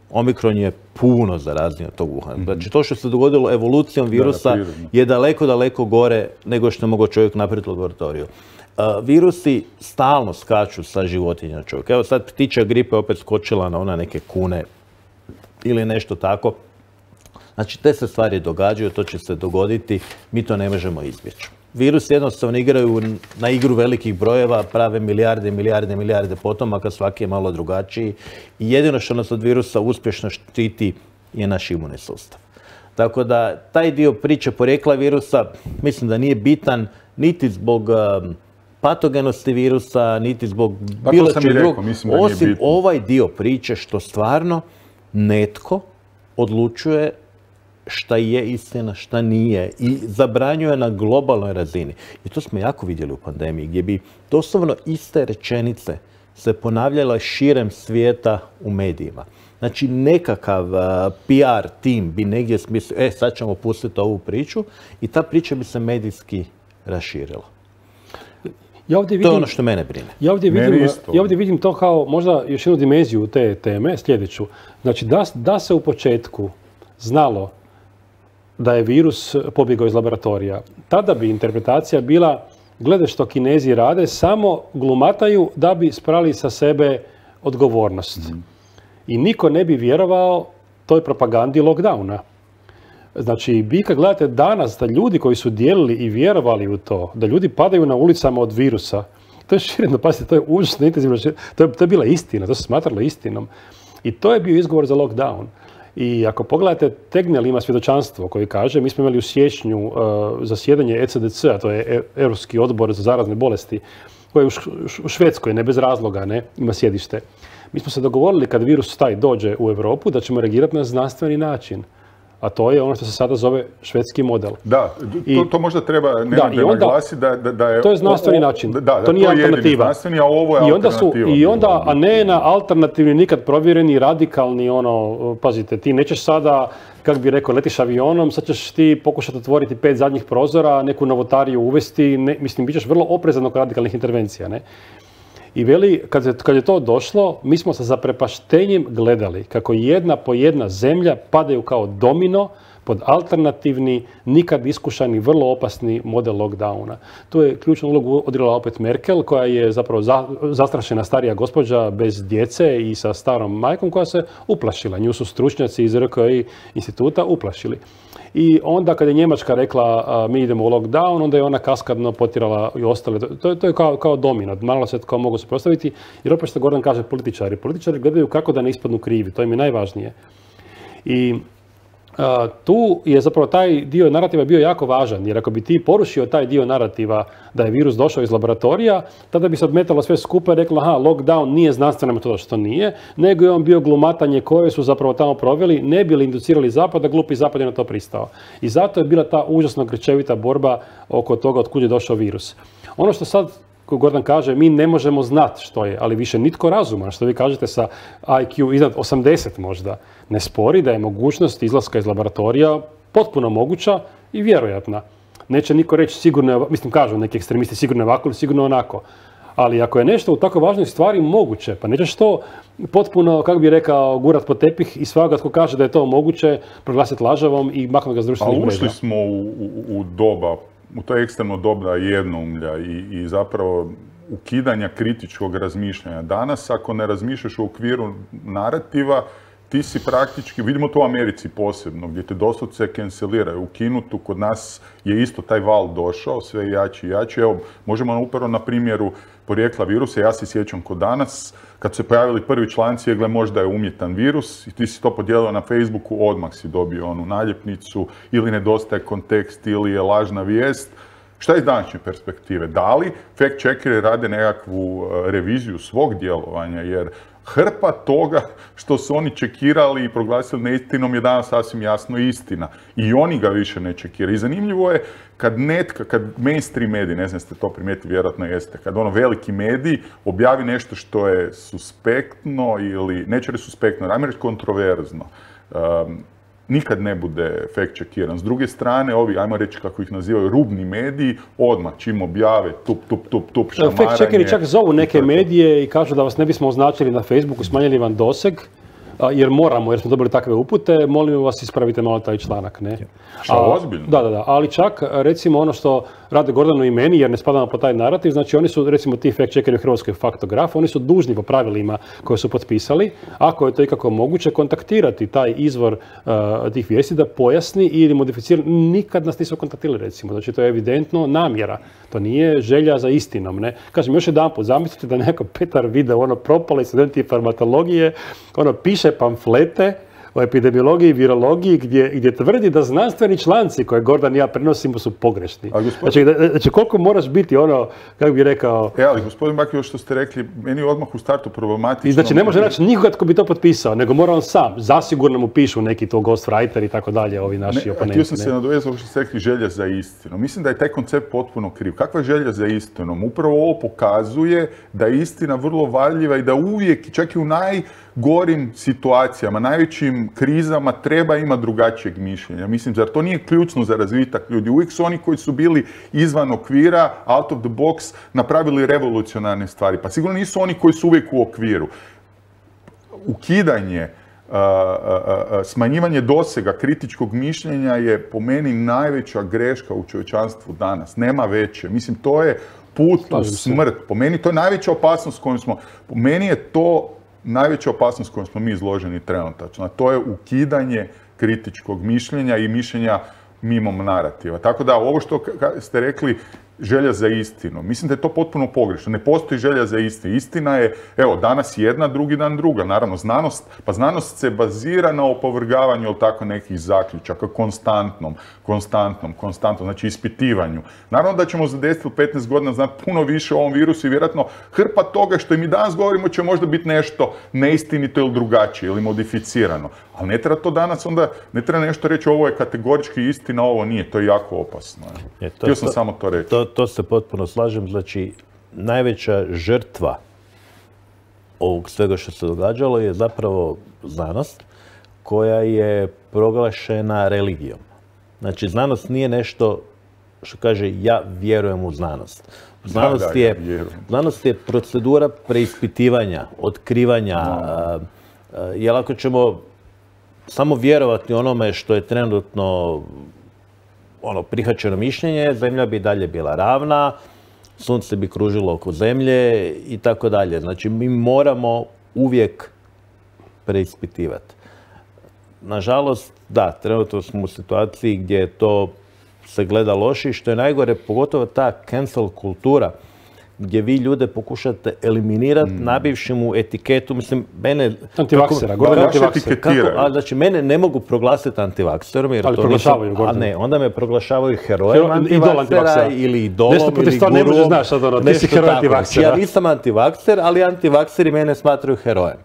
omikron je puno zarazniji od tog Wuhana. Znači, to što se dogodilo evolucijom virusa je daleko, daleko gore nego što je mogao čovjek napraviti u laboratoriju. Virusi stalno skaču sa životinja na čovjek. Evo sad ptičja gripa je opet skočila na neke kune ili nešto tako. Znači, te se stvari događaju, to će se dogoditi, mi to ne možemo izbjeći. Virusi jednostavno igraju na igru velikih brojeva, prave milijarde potomaka, svaki je malo drugačiji. I jedino što nas od virusa uspješno štiti je naš imunni sustav. Tako da taj dio priče porijekla virusa mislim da nije bitan niti zbog patogenosti virusa, niti zbog bilo čeg drugog, osim ovaj dio priče što stvarno netko odlučuje šta je istina, šta nije i zabranjuje na globalnoj razini. I to smo jako vidjeli u pandemiji, gdje bi doslovno iste rečenice se ponavljala širem svijeta u medijima. Znači, nekakav PR tim bi negdje smislio, sad ćemo pustiti ovu priču i ta priča bi se medijski raširila. To je ono što mene brine.
Ja ovdje vidim to kao možda još jednu dimenziju te teme, sljedeću. Znači, da se u početku znalo da je virus pobjegao iz laboratorija, tada bi interpretacija bila, glede što Kinezi rade, samo glumataju da bi sprali sa sebe odgovornost. I niko ne bi vjerovao toj propagandi lockdowna. Znači, vi kad gledate danas da ljudi koji su dijelili i vjerovali u to, da ljudi padaju na ulicama od virusa, to je šireno, pazite, to je užasno intenzivno, to je bila istina, to se smatralo istinom. I to je bio izgovor za lockdown. I ako pogledate, Tegnell ima svjedočanstvo koji kaže, mi smo imali u siječnju zasjedanje ECDC-a, to je Europski odbor za zarazne bolesti, koji je u Švedskoj, ne bez razloga, ima sjedište. Mi smo se dogovorili kad virus taj dođe u Europu da ćemo reagirati na znanstveni način. A to je ono što se sada zove švedski model.
Da, to možda treba naglasiti da je...
To je znanstveni način, to nije alternativa.
A ovo je alternativa.
I onda, a ne na alternativni, nikad provjereni, radikalni, pazite, ti nećeš sada, kako bi rekao, letiš avionom, sad ćeš ti pokušati otvoriti 5 zadnjih prozora, neku novotariju uvesti, mislim, bit ćeš vrlo oprezan oko radikalnih intervencija, ne? I veli, kad je to došlo, mi smo sa zaprepaštenjem gledali kako jedna po jedna zemlja padaju kao domino pod alternativni, nikad iskušani, vrlo opasni model lockdowna. Tu je ključnu ulogu odigrala opet Merkel, koja je zapravo zastrašena starija gospođa bez djece i sa starom majkom koja se uplašila. Nju su stručnjaci iz RKI instituta uplašili. I onda kad je Njemačka rekla mi idemo u lockdown, onda je ona kaskadno potjerala i ostale. To je kao domino, malo se kao mogu se postaviti. Jer opet što Gordan kaže političari. Političari gledaju kako da ne ispadnu krivi, to im je najvažnije. I tu je zapravo taj dio narativa bio jako važan, jer ako bi ti porušio taj dio narativa da je virus došao iz laboratorija, tada bi se odmetalo sve skupa i reklo, lockdown nije znanstvena metoda, što nije, nego je on bio glumatanje koje su zapravo tamo proveli, ne bi li inducirali Zapad, a glupi Zapad je na to pristao. I zato je bila ta užasno grčevita borba oko toga od kud je došao virus. Ono što sad Gordan kaže, mi ne možemo znati što je, ali više nitko razuman, što vi kažete sa IQ iznad 80 možda, ne spori da je mogućnost izlaska iz laboratorija potpuno moguća i vjerojatna. Neće niko reći sigurno, mislim kažu neki ekstremisti sigurno ovako ili sigurno onako. Ali ako je nešto u tako važnoj stvari moguće, pa nećeš to potpuno, kako bi rekao, gurat pod tepih i svaga tko kaže da je to moguće, proglasiti lažavom i maknuti ga s društvenih mreža.
A ušli smo u doba, u to ekstremno doba jednoumlja i zapravo ukidanja kritičkog razmišljanja. Danas, ako ne razmišljaš u okviru narativa, ti si praktički, vidimo to u Americi posebno, gdje te doslovce canceliraju, ukinutu, kod nas je isto taj val došao, sve jači i jači. Evo, možemo upravo na primjeru porijekla virusa, ja se sjećam kod danas, kad su se pojavili prvi članci, gle možda je umjetan virus i ti si to podijelio na Facebooku, odmah si dobio onu naljepnicu, ili nedostaje kontekst, ili je lažna vijest. Šta je iz današnje perspektive? Da li fact-checkeri rade nekakvu reviziju svog djelovanja, jer hrpa toga što su oni čekirali i proglasili neistinom je danas sasvim jasno istina. I oni ga više ne čekiraju. I zanimljivo je kad mainstream mediji, ne znam ste to primijetili, vjerojatno jeste, kad veliki mediji objavi nešto što je suspektno ili, neće reći suspektno, ajmo reći kontroverzno, nikad ne bude fact-checkiran. S druge strane, ovi, ajmo reći kako ih nazivaju, rubni mediji, odmah čim objave tup, šamaranje.
Fact-checkeri čak zovu neke medije i kažu da vas ne bismo označili na Facebooku, smanjili vam doseg, jer moramo, jer smo dobili takve upute, molim vas ispravite malo taj članak, ne?
Ozbiljno?
Da, ali čak recimo ono što rade Gordanu i meni, jer ne spadamo po taj narativ, znači oni su recimo ti fact-checkeri u Hrvatskoj Faktograf, oni su dužni po pravilima koje su potpisali, ako je to ikako moguće, kontaktirati taj izvor tih vijesti da pojasni ili modificira. Nikad nas nisu kontaktirali recimo, znači to je evidentno namjera, to nije želja za istinom, ne? Kažem još jedanput, zamislite da neko Petar video propali studenti farmakologije, piše pamflete o epidemiologiji i virologiji gdje tvrdi da znanstveni članci koje Gordan i ja prenosimo su pogrešni. Znači koliko moraš biti kako bi rekao...
Ali gospodin Baki, ovo što ste rekli, meni je odmah u startu problematično.
I znači ne može naći nikoga tko bi to potpisao, nego mora on sam. Zasigurno mu pišu neki to ghostwriter i tako dalje, ovi naši oponenti.
Htio sam se nadovezati što ste rekli želja za istinu. Mislim da je taj koncept potpuno kriv. Kakva je želja za istinom? Upravo ovo pokazuje da je istina vrlo varljiva i da uvijek, čak i u najgorim situacijama, najvećim krizama treba imati drugačijeg mišljenja. Mislim, zar to nije ključno za razvitak ljudi? Uvijek su oni koji su bili izvan okvira, out of the box, napravili revolucionarne stvari. Pa sigurno nisu oni koji su uvijek u okviru. Ukidanje, smanjivanje dosega kritičkog mišljenja je po meni najveća greška u čovječanstvu danas. Nema veće. Mislim, to je put u smrt. Po meni to je najveća opasnost kojom smo... Po meni je to najveća opasnost kojom smo mi izloženi trenutačno. To je ukidanje kritičkog mišljenja i mišljenja mimo narativa. Tako da, ovo što ste rekli, želja za istinu. Mislim da je to potpuno pogrešno. Ne postoji želja za istinu. Istina je, evo, danas jedna, drugi dan druga. Naravno, znanost se bazira na opovrgavanju tako nekih zaključaka, konstantnom, znači ispitivanju. Naravno da ćemo za 10 ili 15 godina znati puno više o ovom virusu i vjerojatno hrpa toga što i mi danas govorimo će možda biti nešto neistinito ili drugačije ili modificirano. Ali ne treba to danas onda, ne treba nešto reći ovo je kategorički istina, ovo nije. To je jako opasno. Htio sam samo to reći.
To se potpuno slažem. Znači, najveća žrtva ovog svega što se događalo je zapravo znanost koja je proglašena religijom. Znači, znanost nije nešto što kaže ja vjerujem u znanost. Znanost je procedura preispitivanja, otkrivanja. Jer ako ćemo samo vjerovati onome što je trenutno prihvaćeno mišljenje, zemlja bi dalje bila ravna, sunce bi kružilo oko zemlje i tako dalje. Znači, mi moramo uvijek preispitivati. Nažalost, da, trenutno smo u situaciji gdje to se gleda loše i što je najgore, pogotovo ta cancel kultura, gdje vi ljude pokušate eliminirati, nabivši mu etiketu, mislim, mene...
Antivaksera,
znači, mene ne mogu proglasiti antivakserom, jer
ali
to
proglašavaju,
a ne, onda me proglašavaju herojem antivaksera ili idolom ili gurom.
Ne može znaš, ti si heroj antivaksera.
Ja nisam antivakser, ali antivakseri mene smatraju herojem.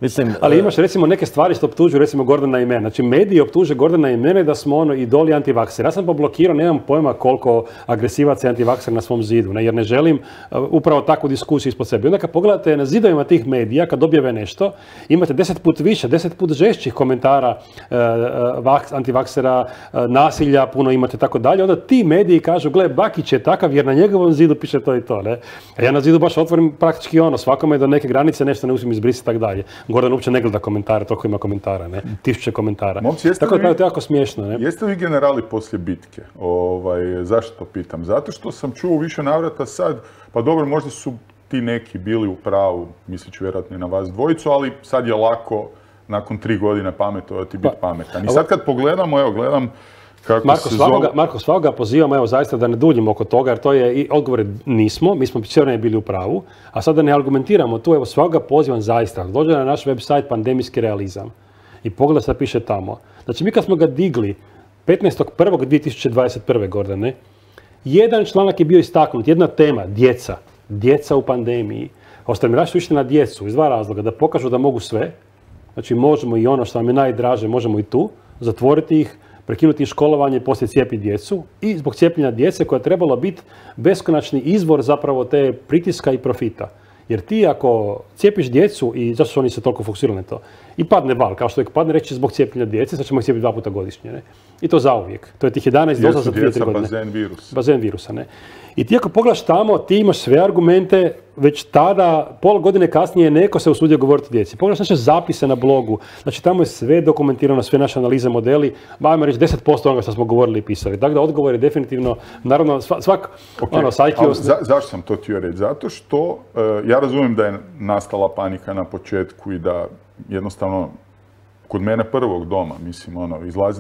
Mislim,
ali imaš recimo neke stvari što optužuju recimo Gordana i mene. Znači mediji optuže Gordana i mene da smo idoli antivaksera. Ja sam poblokirao, nemam pojma koliko agresivaca je antivakser na svom zidu, jer ne želim upravo takvu diskusiju ispod sebe. Onda kad pogledate na zidovima tih medija, kad objave nešto, imate 10 put više, 10 put žešćih komentara antivaksera, nasilja, puno imate tako dalje. Onda ti mediji kažu, gle, Bakić je takav jer na njegovom zidu piše to i to. Ne? A ja na zidu baš otvorim praktički svakome do neke granice nešto ne uspijem izbrisati tako dalje. Gordon uopće ne gleda komentare, toliko ima komentara, ne? 1000 komentara. Tako da je to jako smiješno, ne?
Jeste li generali poslije bitke? Zašto to pitam? Zato što sam čuo više navrata sad, pa dobro, možda su ti neki bili u pravu, misleći vjerojatno i na vas dvojicu, ali sad je lako nakon 3 godine pametovati biti pametan. I sad kad pogledamo, gledam
Marko, svakoga pozivamo, zaista da ne duljimo oko toga, jer to je odgovor nismo, mi smo sve bili u pravu, a sada ne argumentiramo tu, svakoga pozivam zaista, dođe na naš website Pandemijski realizam i pogleda šta piše tamo. Znači, mi kad smo ga digli 15.1.2021. Gordane, jedan članak je bio istaknut, jedna tema, djeca u pandemiji. Ostavljeni su išli na djecu iz 2 razloga, da pokažu da mogu sve, znači možemo i ono što nam je najdraže, možemo i tu, zatvoriti ih, prekinuti školovanje i poslije cijepiti djecu i zbog cijepljenja djece koja je trebala biti beskonačni izvor zapravo te pritiska i profita. Jer ti ako cijepiš djecu i zašto su oni se toliko fokusirali na to i padne val, kao što je padne reći zbog cijepljenja djece, sad ćemo ih cijepiti 2 puta gdje. Ne? I to zauvijek. To je tih 11 doza za 2-3 godine.
Bazen virusa.
Bazen virusa, ne? I ti ako pogledaš tamo, ti imaš sve argumente, već tada, pola godine kasnije, neko se usudio govoriti o djeci. Pogledaš naše zapise na blogu, znači tamo je sve dokumentirano, sve naše analize, modeli, ajmo reći 10% onoga što smo govorili i pisali. Dakle, odgovor je definitivno, naravno,
Zašto sam to htio reći? Zato što ja razumijem da je nastala panika na početku i da jednostavno kod mene prvog doma, mislim,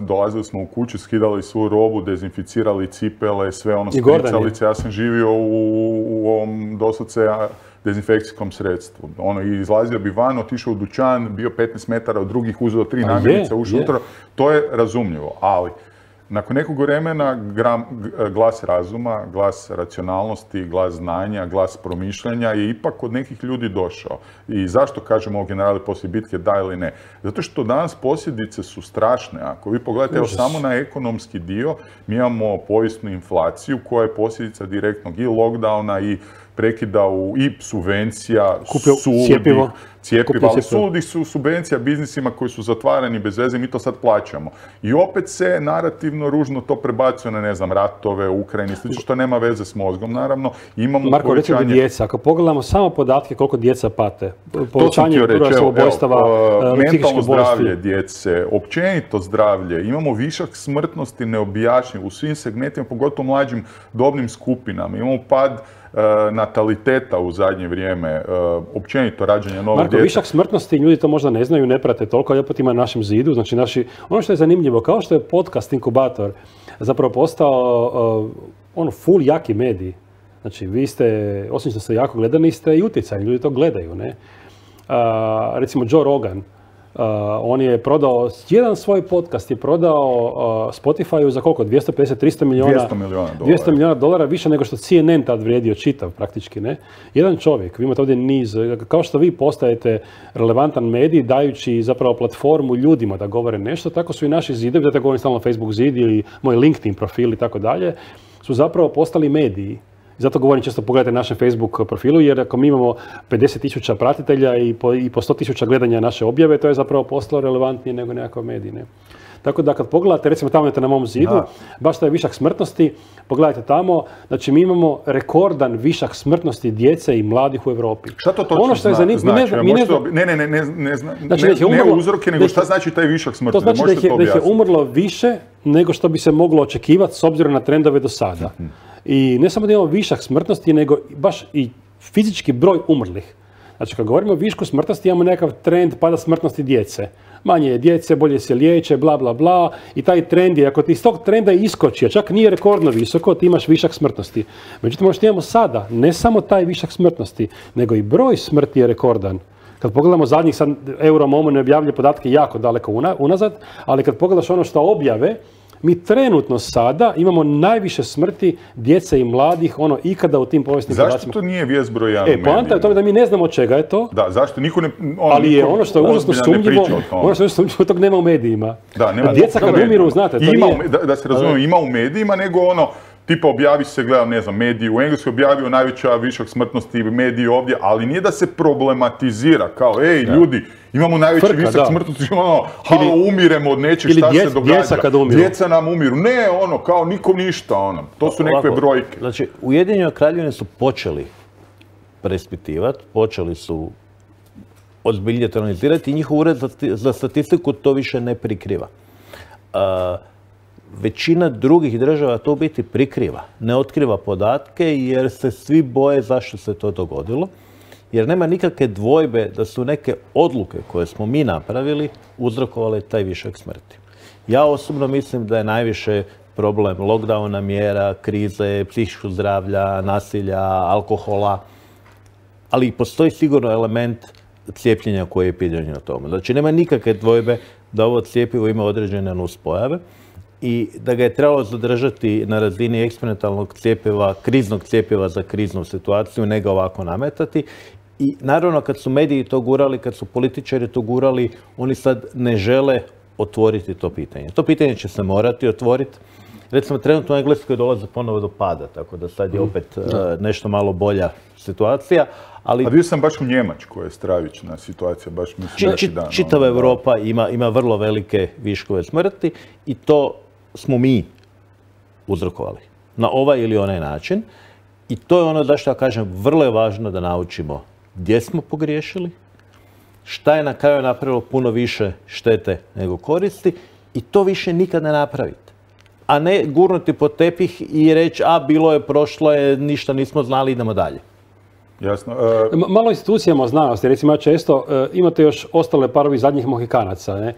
dolazili smo u kuću, skidali svu robu, dezinficirali cipele, sve spricalice. Ja sam živio u ovom doslovce dezinfekcijskom sredstvu. Izlazio bi van, otišao u dućan, bio 15 metara od drugih, uzeo 3 namirnice, ušao unutra. To je razumljivo, ali nakon nekog vremena glas razuma, glas racionalnosti, glas znanja, glas promišljanja je ipak kod nekih ljudi došao. I zašto kažemo o generali poslije bitke da ili ne? Zato što danas posljedice su strašne. Ako vi pogledate evo samo na ekonomski dio, mi imamo povijesnu inflaciju koja je posljedica direktnog i lockdowna i prekida i subvencija, cijepiva, ali suludih su subvencija biznisima koji su zatvarani bez veze, mi to sad plaćamo. I opet se narativno ružno to prebacuje na, ne znam, ratove u Ukrajini, slično što nema veze s mozgom, naravno. Imamo
Marko, recimo djeca, ako pogledamo samo podatke koliko djeca pate, povećanje broja samoubojstava,
mentalno zdravlje djece, općenito zdravlje, imamo višak smrtnosti neobjašnjiv u svim segmentima, pogotovo mlađim dobnim skupinama, imamo pad nataliteta u zadnje vrijeme, općenito rađanje novog djeta.
Marko, višak smrtnosti, ljudi to možda ne znaju, ne prate toliko, ali opet ima na našem zidu. Znači, ono što je zanimljivo, kao što je podcast Inkubator zapravo postao full jaki medij. Znači, vi ste, osim što ste jako gledani, ste i utjecajni, ljudi to gledaju, ne? Recimo Joe Rogan, on je prodao, jedan svoj podcast je prodao Spotify-u za koliko? 250-300 milijuna? 200 milijuna dolara, više nego što CNN tad vrijedio čitav praktički, ne? Jedan čovjek, vi imate ovdje niz, kao što vi postajete relevantan medij dajući zapravo platformu ljudima da govore nešto, tako su i naši zidovi, da govorim stalno Facebook zid ili moj LinkedIn profil i tako dalje, su zapravo postali mediji. Zato govorim često pogledajte našem Facebook profilu, jer ako mi imamo 50.000 pratitelja i po 100.000 gledanja naše objave, to je zapravo postalo relevantnije nego nekakav medij. Ne? Tako da kad pogledate, recimo tamo na mom zidu, baš taj višak smrtnosti, pogledajte tamo, znači mi imamo rekordan višak smrtnosti djece i mladih u Europi.
Šta to točno znači? Ne uzroke, nego šta znači taj višak smrtnosti?
To znači da ih je umrlo više nego što bi se moglo očekivati s obzirom na trendove do sada. I ne samo da imamo višak smrtnosti, nego baš i fizički broj umrlih. Znači, kad govorimo o višku smrtnosti, imamo nekakav trend pada smrtnosti djece. Manje je djece, bolje se liječe, bla, bla, bla. I taj trend je, ako ti iz tog trenda iskoči, a čak nije rekordno visoko, ti imaš višak smrtnosti. Međutim, ono što imamo sada, ne samo taj višak smrtnosti, nego i broj smrti je rekordan. Kad pogledamo zadnjih, sad Euromomo ne objavlja podatke jako daleko unazad, ali kad pogledaš ono što objave, mi trenutno sada imamo najviše smrti djece i mladih ikada u tim povijesnim podacima.
Zašto to nije vijest broj 1 u medijima?
Poanta je u tome da mi ne znamo od čega je to.
Da, zašto? Niko ne...
Ali je ono što je užasno sumnjivo, tog nema u medijima.
Da, nema.
A djeca kad umiru, znate, to
nije... Da se razumijemo, ima u medijima, nego tipa objavi se, gledam, ne znam, mediji u Engleskoj objavio najveća višak smrtnosti mediji ovdje, ali nije da se problematizira kao, ljudi, imamo najveći višak smrtnosti, umiremo od nečeg, šta se događa. Djeca nam umiru. Ne, kao nikom ništa, to su nekakve brojke.
Znači, Ujedinjene Kraljevine su počeli preispitivati, počeli su ozbiljnije analizirati i njihov ured za statistiku to više ne prikriva. Većina drugih država to u biti prikriva, ne otkriva podatke jer se svi boje zašto se to dogodilo. Jer nema nikakve dvojbe da su neke odluke koje smo mi napravili uzrokovale taj višak smrti. Ja osobno mislim da je najviše problem lockdowna mjera, krize, psihičkog zdravlja, nasilja, alkohola, ali postoji sigurno element cijepljenja koji je pitanje na tome. Znači nema nikakve dvojbe da ovo cjepivo ima određene nuspojave i da ga je trebalo zadržati na razini eksperimentalnog cjepiva, kriznog cjepiva za kriznu situaciju, ne ga ovako nametati. I naravno kad su mediji to gurali, kad su političari to gurali, oni sad ne žele otvoriti to pitanje. To pitanje će se morati otvoriti. Recimo, trenutno u Engleskoj dolazi ponovo do pada, tako da sad je opet nešto malo bolja situacija. Ali...
A bio sam baš u Njemačkoj, je stravična situacija, baš mislim da
čitava Europa ima vrlo velike viškove smrti i to smo mi uzrokovali na ovaj ili onaj način. I to je ono zašto ja kažem, vrlo je važno da naučimo gdje smo pogriješili, šta je na kraju napravilo puno više štete nego koristi i to više nikad ne napraviti. A ne gurnuti pod tepih i reći, bilo je, prošlo je, ništa nismo znali, idemo dalje.
Jasno.
Malo institucijama znanosti, recimo često imate još ostale parovi zadnjih Mohikanaca, ne?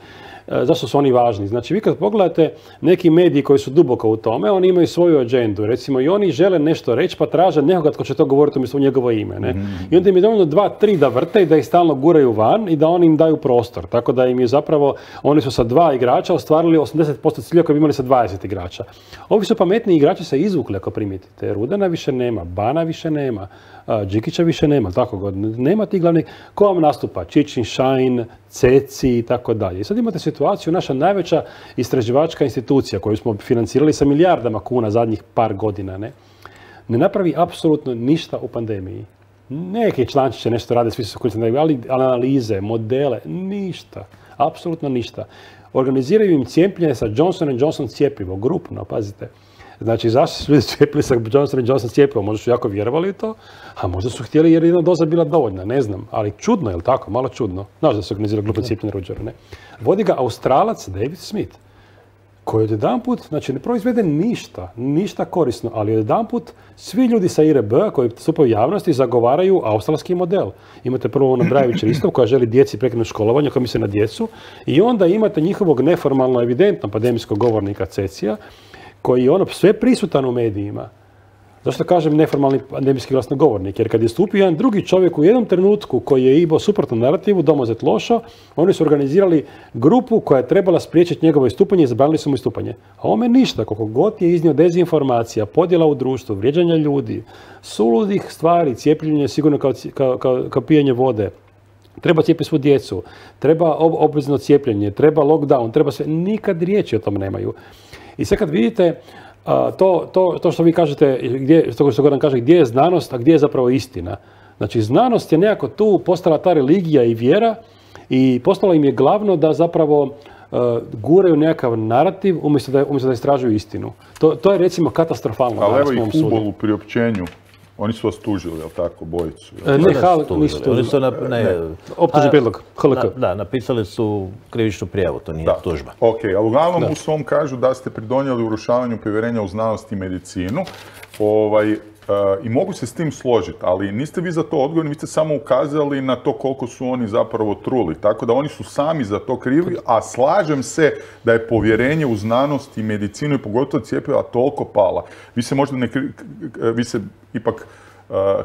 Zašto su oni važni? Znači, vi kad pogledate neki mediji koji su duboko u tome, oni imaju svoju agendu, recimo, i oni žele nešto reći, pa traže nekoga tko će to govoriti umjesto u njegovo ime, ne? I onda im je dovoljno 2-3 da vrte i da ih stalno guraju van i da oni im daju prostor. Tako da im je zapravo, oni su sa 2 igrača ostvarili 80% cilja koji bi imali sa 20 igrača. Ovi su pametni igrači se izvukli, ako primijetite. Rudana više nema, Bana više nema, Džikića više nema, tako god. Nema tih glavnih, ko vam nastupa? Čičin, Šajn, Ceci i tako dalje. I sad imate situaciju, naša najveća istraživačka institucija koju smo financirali sa milijardama kuna zadnjih par godina, ne napravi apsolutno ništa u pandemiji. Neki člančiće nešto rade, svi su korisni, ali analize, modele, ništa. Apsolutno ništa. Organiziraju im cijepljenje sa Johnson & Johnson cjepivo, grupno, pazite. Znači, zašto su ljudi cijepili sa Johnson & Johnson cjepivom? Možda su jako vjerovali u to, a možda su htjeli jer jedna doza bila dovoljna, ne znam. Ali čudno, je li tako? Malo čudno. Znaš da se organizira grupno cijepljenje Ruđera, ne? Vodi ga Australac David Smith, koji odjedanput, znači ne proizvede ništa korisno, ali odjedanput svi ljudi sa IRB koji stupaju u javnosti zagovaraju australski model. Imate prvo ono Brajević Ristov koja želi djeci prekinuti školovanje, koja misle na djecu, i onda imate njihovog neformalno evidentno pandemijskog govornika Cecija, koji je ono sve prisutan u medijima. Zašto kažem neformalni pandemijski glasnogovornik? Jer kad je stupio jedan drugi čovjek u jednom trenutku koji je imao suprotnu narativu, Domozet Lošo, oni su organizirali grupu koja je trebala spriječiti njegovo istupanje i zabranili su mu istupanje. A ome ništa, koliko god je iznio dezinformacija, podjela u društvu, vrijeđanja ljudi, suludih stvari, cijepljenje sigurno kao pijenje vode, treba cijepiti svu djecu, treba obvezno cijepljenje, treba lockdown, treba sve, nikad riječi o tom nemaju. I sad kad vidite to što vi kažete, što Goran kaže, gdje je znanost, a gdje je zapravo istina. Znači, znanost je nekako tu postala ta religija i vjera i postalo im je glavno da zapravo guraju nekakav narativ umjesto da istražuju istinu. To je recimo katastrofalno.
Ali evo i Hubol u priopćenju. Oni su vas tužili, je li tako, bojicu?
Nisu tužili. Optužni prijedlog, HLK.
Da, napisali su krivičnu prijavu, to nije tužba.
Ok, ali uglavnom u svom kažu da ste pridonijeli urušavanju povjerenja u znanost i medicinu. I mogu se s tim složiti, ali niste vi za to odgovorni, vi ste samo ukazali na to koliko su oni zapravo truli. Tako da oni su sami za to krivi, a slažem se da je povjerenje u znanost i medicinu i pogotovo cjepiva toliko pala. Vi se ipak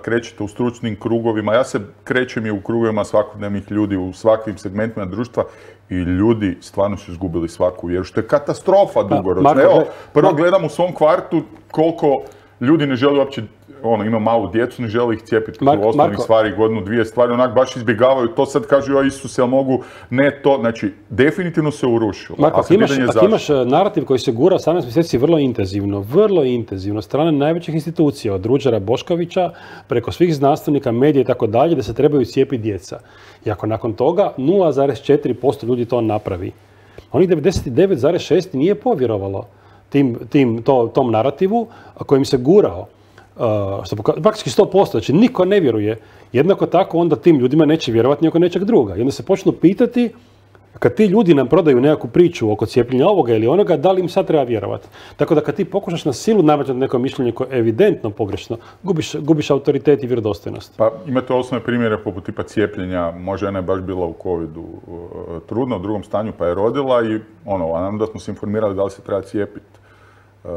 krećete u stručnim krugovima, ja se krećem i u krugovima svakodnevnih ljudi, u svakim segmentima društva i ljudi stvarno su izgubili svaku vjeru, što je katastrofa dugoročno. Evo, prvo gledam u svom kvartu koliko ljudi ne žele uopće, ima malu djecu, ne žele ih cijepiti u osnovnih stvari, godinu, dvije stvari, onak baš izbjegavaju to, sad kažu, joj Isuse, jel mogu, ne to, znači, definitivno se urušilo.
Marko, ako imaš narativ koji se gura 18 mjeseci vrlo intenzivno, strane najvećih institucija, od Ruđera Boškovića, preko svih znanstvenika, medija i tako dalje, da se trebaju cijepiti djeca. I ako nakon toga 0,4% ljudi to napravi, onih 99,6% nije povjerovalo tom narativu kojim se gurao, praktički 100%, znači niko ne vjeruje. Jednako tako onda tim ljudima neće vjerovati ni oko nečeg druga. I onda se počnu pitati, kad ti ljudi nam prodaju nekakvu priču oko cijepljenja ovoga ili onoga, da li im sad treba vjerovati. Tako da kad ti pokušaš na silu nametati neko mišljenje koje je evidentno pogrešno, gubiš autoritet i vjerodostojnost.
Pa imate osnovne primjere poput tipa cijepljenja. Moja žena je baš bila u covidu trudna, u drugom stanju pa je rodila i a nam da smo se informirali da li se treba cijepiti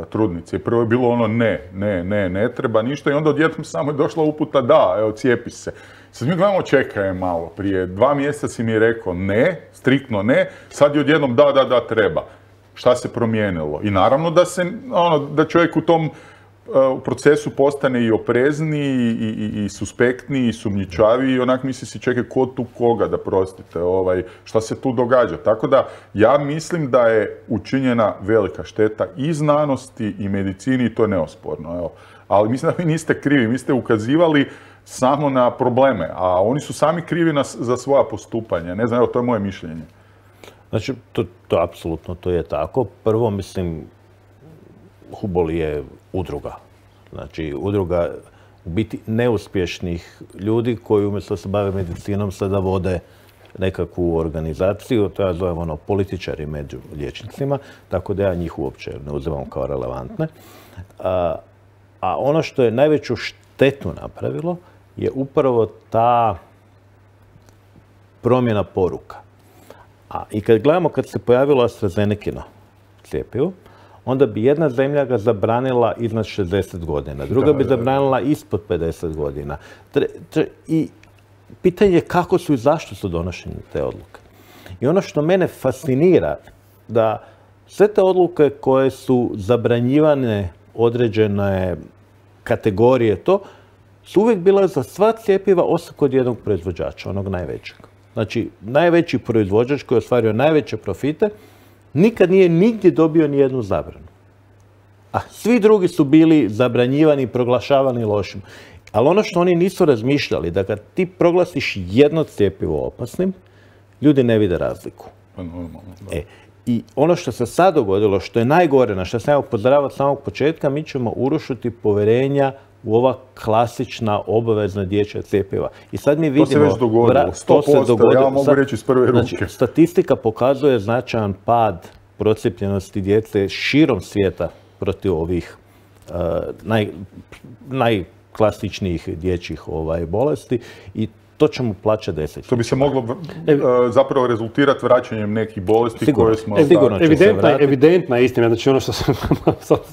trudnice. Prvo je bilo ne treba ništa i onda odjednom samo je došla uputa da, evo cijepi se. Sad mi gledamo, čekaj malo, prije 2 mjeseca si mi je rekao ne, striktno ne, sad je odjednom da, treba. Šta se promijenilo? I naravno da čovjek u tom procesu postane i oprezniji, i suspektniji, i sumnjičaviji, i onak misli si čekaj ko tu koga, da prostite, šta se tu događa. Tako da ja mislim da je učinjena velika šteta i znanosti i medicini i to je neosporno. Evo. Ali mislim da vi niste krivi, vi ste ukazivali samo na probleme, a oni su sami krivi za svoja postupanja. Ne znam, evo, to je moje mišljenje.
Znači, to apsolutno to je tako. Prvo, mislim, Hubol je udruga. Znači, udruga u biti neuspješnih ljudi koji umjesto se bave medicinom sada vode nekakvu organizaciju, to ja zovem političari među liječnicima, tako da ja njih uopće ne uzimam kao relevantne. A ono što je najveću štetu napravilo je upravo ta promjena poruka. I kad gledamo kad se pojavilo AstraZenecino cjepivo, onda bi jedna zemlja ga zabranila iznad 60 godina, druga bi zabranila ispod 50 godina. I pitanje je kako su i zašto su donošene te odluke. I ono što mene fascinira, da sve te odluke koje su zabranjivane određene kategorije, su uvijek bile za sva cjepiva osim kod jednog proizvođača, onog najvećeg. Znači, najveći proizvođač koji je ostvario najveće profite, nikad nije nigdje dobio ni jednu zabranu. A svi drugi su bili zabranjivani i proglašavani lošim. Ali ono što oni nisu razmišljali, da kad ti proglasiš jedno cjepivo opasnim, ljudi ne vide razliku. I ono što se sad dogodilo, što je najgore, na što sam ja upozoravao od samog početka, mi ćemo urušiti povjerenja u ova klasična obavezna dječja cjepiva. I sad mi vidimo...
To se već dogodilo, 100%, ja mogu reći iz prve ruke.
Znači, statistika pokazuje značajan pad procijepljenosti djece širom svijeta protiv ovih najklasičnijih dječjih bolesti i to ćemo plaćati desetljećima.
To bi se moglo zapravo rezultirati vraćanjem nekih bolesti koje smo...
Evidentna istina, znači ono što sam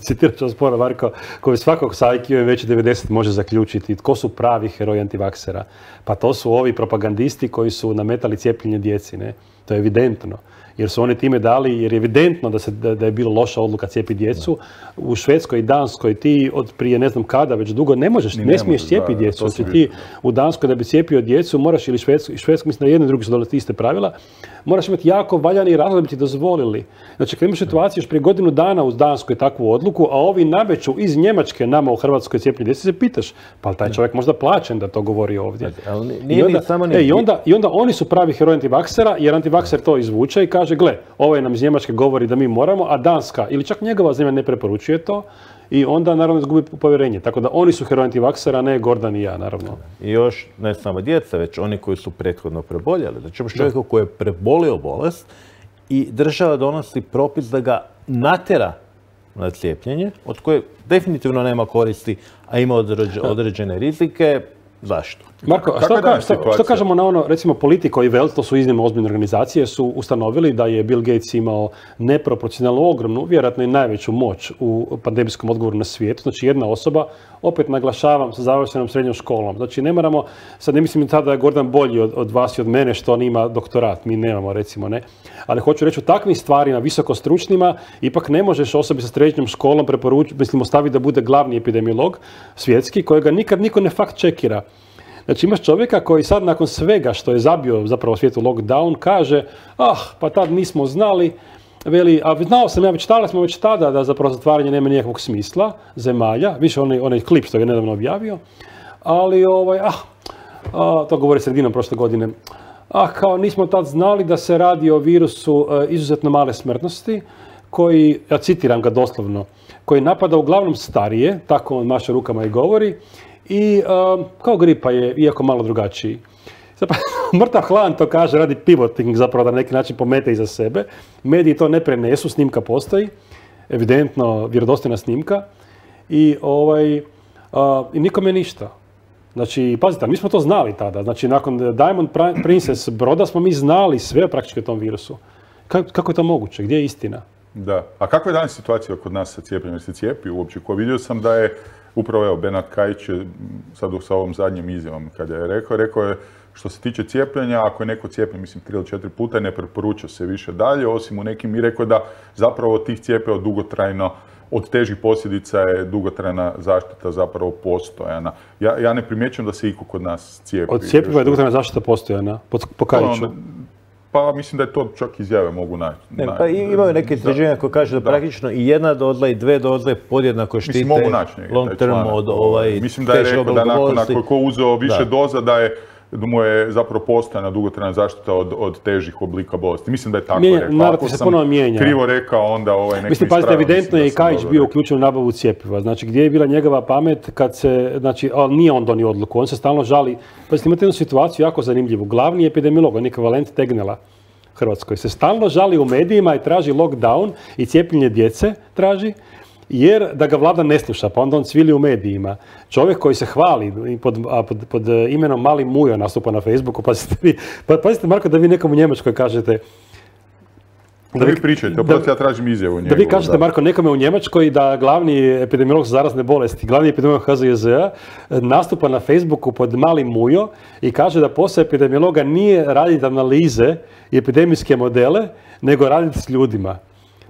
citirat ću sporo Marko, koji svakog sa IQ-em veći 90 može zaključiti tko su pravi heroji antivaksera. Pa to su ovi propagandisti koji su nametali cijepljenje djeci, ne? To je evidentno. Jer su oni time dali, jer je evidentno da je bilo loša odluka cijepiti djecu. U Švedskoj i Danskoj ti od prije ne znam kada, već dugo ne smiješ cijepiti djecu. Znači ti u Danskoj da bi cijepio djecu moraš, ili Švedskoj, mislim da jedno i drugi su dolazili iste pravila, moraš imati jako valjani razlog da bi ti dozvolili. Znači kad imaš situaciju još prije godinu dana u Danskoj takvu odluku, a ovi nameću iz Njemačke nama u Hrvatskoj cijepljenje djece, se pitaš, pa taj čovjek možda plaćen da to govori ovdje. I onda oni su pravi heroji antivaksera, jer antivakser to izvuče i kaže, gle, ovaj nam iz Njemačke govori da mi moramo, a Danska ili čak njegova zemlja ne preporučuje to i onda naravno izgubi povjerenje. Tako da oni su heroji antivaksera, ne Gordan i ja, naravno.
I još ne samo djeca, već oni koji su prethodno preboljeli. Znači imaš čovjeka koji je prebolio bolest i država donosi propis da ga natjera na cijepljenje, od koje definitivno nema koristi, a ima određene rizike. Zašto?
Marko, a što kažemo na ono, recimo Politico i Welt, to su iznimno ozbiljne organizacije, su ustanovili da je Bill Gates imao neproporcionalno ogromnu, vjerojatno i najveću moć u pandemijskom odgovoru na svijetu. Znači jedna osoba, opet naglašavam, sa završenom srednjom školom. Znači ne moramo, sad ne mislim tada da je Gordan bolji od vas i od mene što on ima doktorat, mi nemamo recimo, ne. Ali hoću reći o takvim stvarima, visokostručnima, ipak ne možeš osobi sa srednjom školom ostaviti da bude glavni epidemiolog svjetski, kojega nikad niko ne fakt čekira. Znači imaš čovjeka koji sad nakon svega što je zabio zapravo svijetu lockdown kaže pa tad nismo znali, veli, a znao sam ja smo već tada da zapravo zatvaranje nema nikakvog smisla zemalja, više onaj klip što je nedavno objavio, ali to govori sredinom prošle godine, kao nismo tad znali da se radi o virusu izuzetno male smrtnosti koji, ja citiram ga doslovno, koji napada uglavnom starije, tako on maše rukama i govori, i kao gripa je, iako malo drugačiji. Zapravo, mrtav hladan to kaže, radi pivoting zapravo da na neki način pomete iza sebe. Mediji to ne prenesu, snimka postoji, evidentno vjerodostojna snimka i nikome ništa. Znači, pazite, mi smo to znali tada. Znači, nakon Diamond Princess broda smo mi znali sve praktički o tom virusu. Kako je to moguće? Gdje je istina?
Da. A kakva je danas situacija kod nas sa cijepljenjem? Se cijepi uopće? Vidio sam da je upravo Bernard Kajić sad sa ovom zadnjom izjavom kada je rekao je što se tiče cijepljenja, ako je neko cijepljen, mislim 3 ili 4 puta, ne preporuča se više dalje, osim u nekim i rekao da zapravo tih cijepiva dugotrajno, od težih posljedica je dugotrajna zaštita zapravo postojana. Ja ne primjećujem da se iko kod nas cijepi.
Od cijepiva je dugotrajna zaštita postojana, po Kajiću.
Pa mislim da je to čak izjave mogu naći.
Pa imaju neke istraživanja koje kaže da praktično i jedna doza i 2 doze podjednako štite long term od
Mislim da je rekao da nakon ako je ko uzeo više doza da je mu je zapravo postojana dugotrajna zaštita od težih oblika bolesti. Mislim da je tako rekao.
Narativ se ponovno mijenja.
Krivo rekao, onda nek
mislim, pazite, evidentno je i Kajić bio uključen u nabavu cjepiva. Znači, gdje je bila njegova pamet kad se, znači, ali nije on donio odluku, on se stalno žali. Pazite, imate jednu situaciju jako zanimljivu. Glavni epidemiolog, on je ekvivalent Tegnella Hrvatskoj, se stalno žali u medijima i traži lockdown i cijepljenje djece traži, jer da ga vlada ne sluša, pa onda on cvili u medijima. Čovjek koji se hvali pod imenom Mali Mujo nastupa na Facebooku, pazite Marko, da vi nekom u Njemačkoj kažete...
Da vi pričajte, oproti ja tražim izjavu njegovu.
Da vi kažete, Marko, nekome u Njemačkoj da glavni epidemiolog za zarazne bolesti, glavni epidemiolog HZJZ-a nastupa na Facebooku pod Mali Mujo i kaže da posao epidemiologa nije raditi analize i epidemijske modele, nego raditi s ljudima.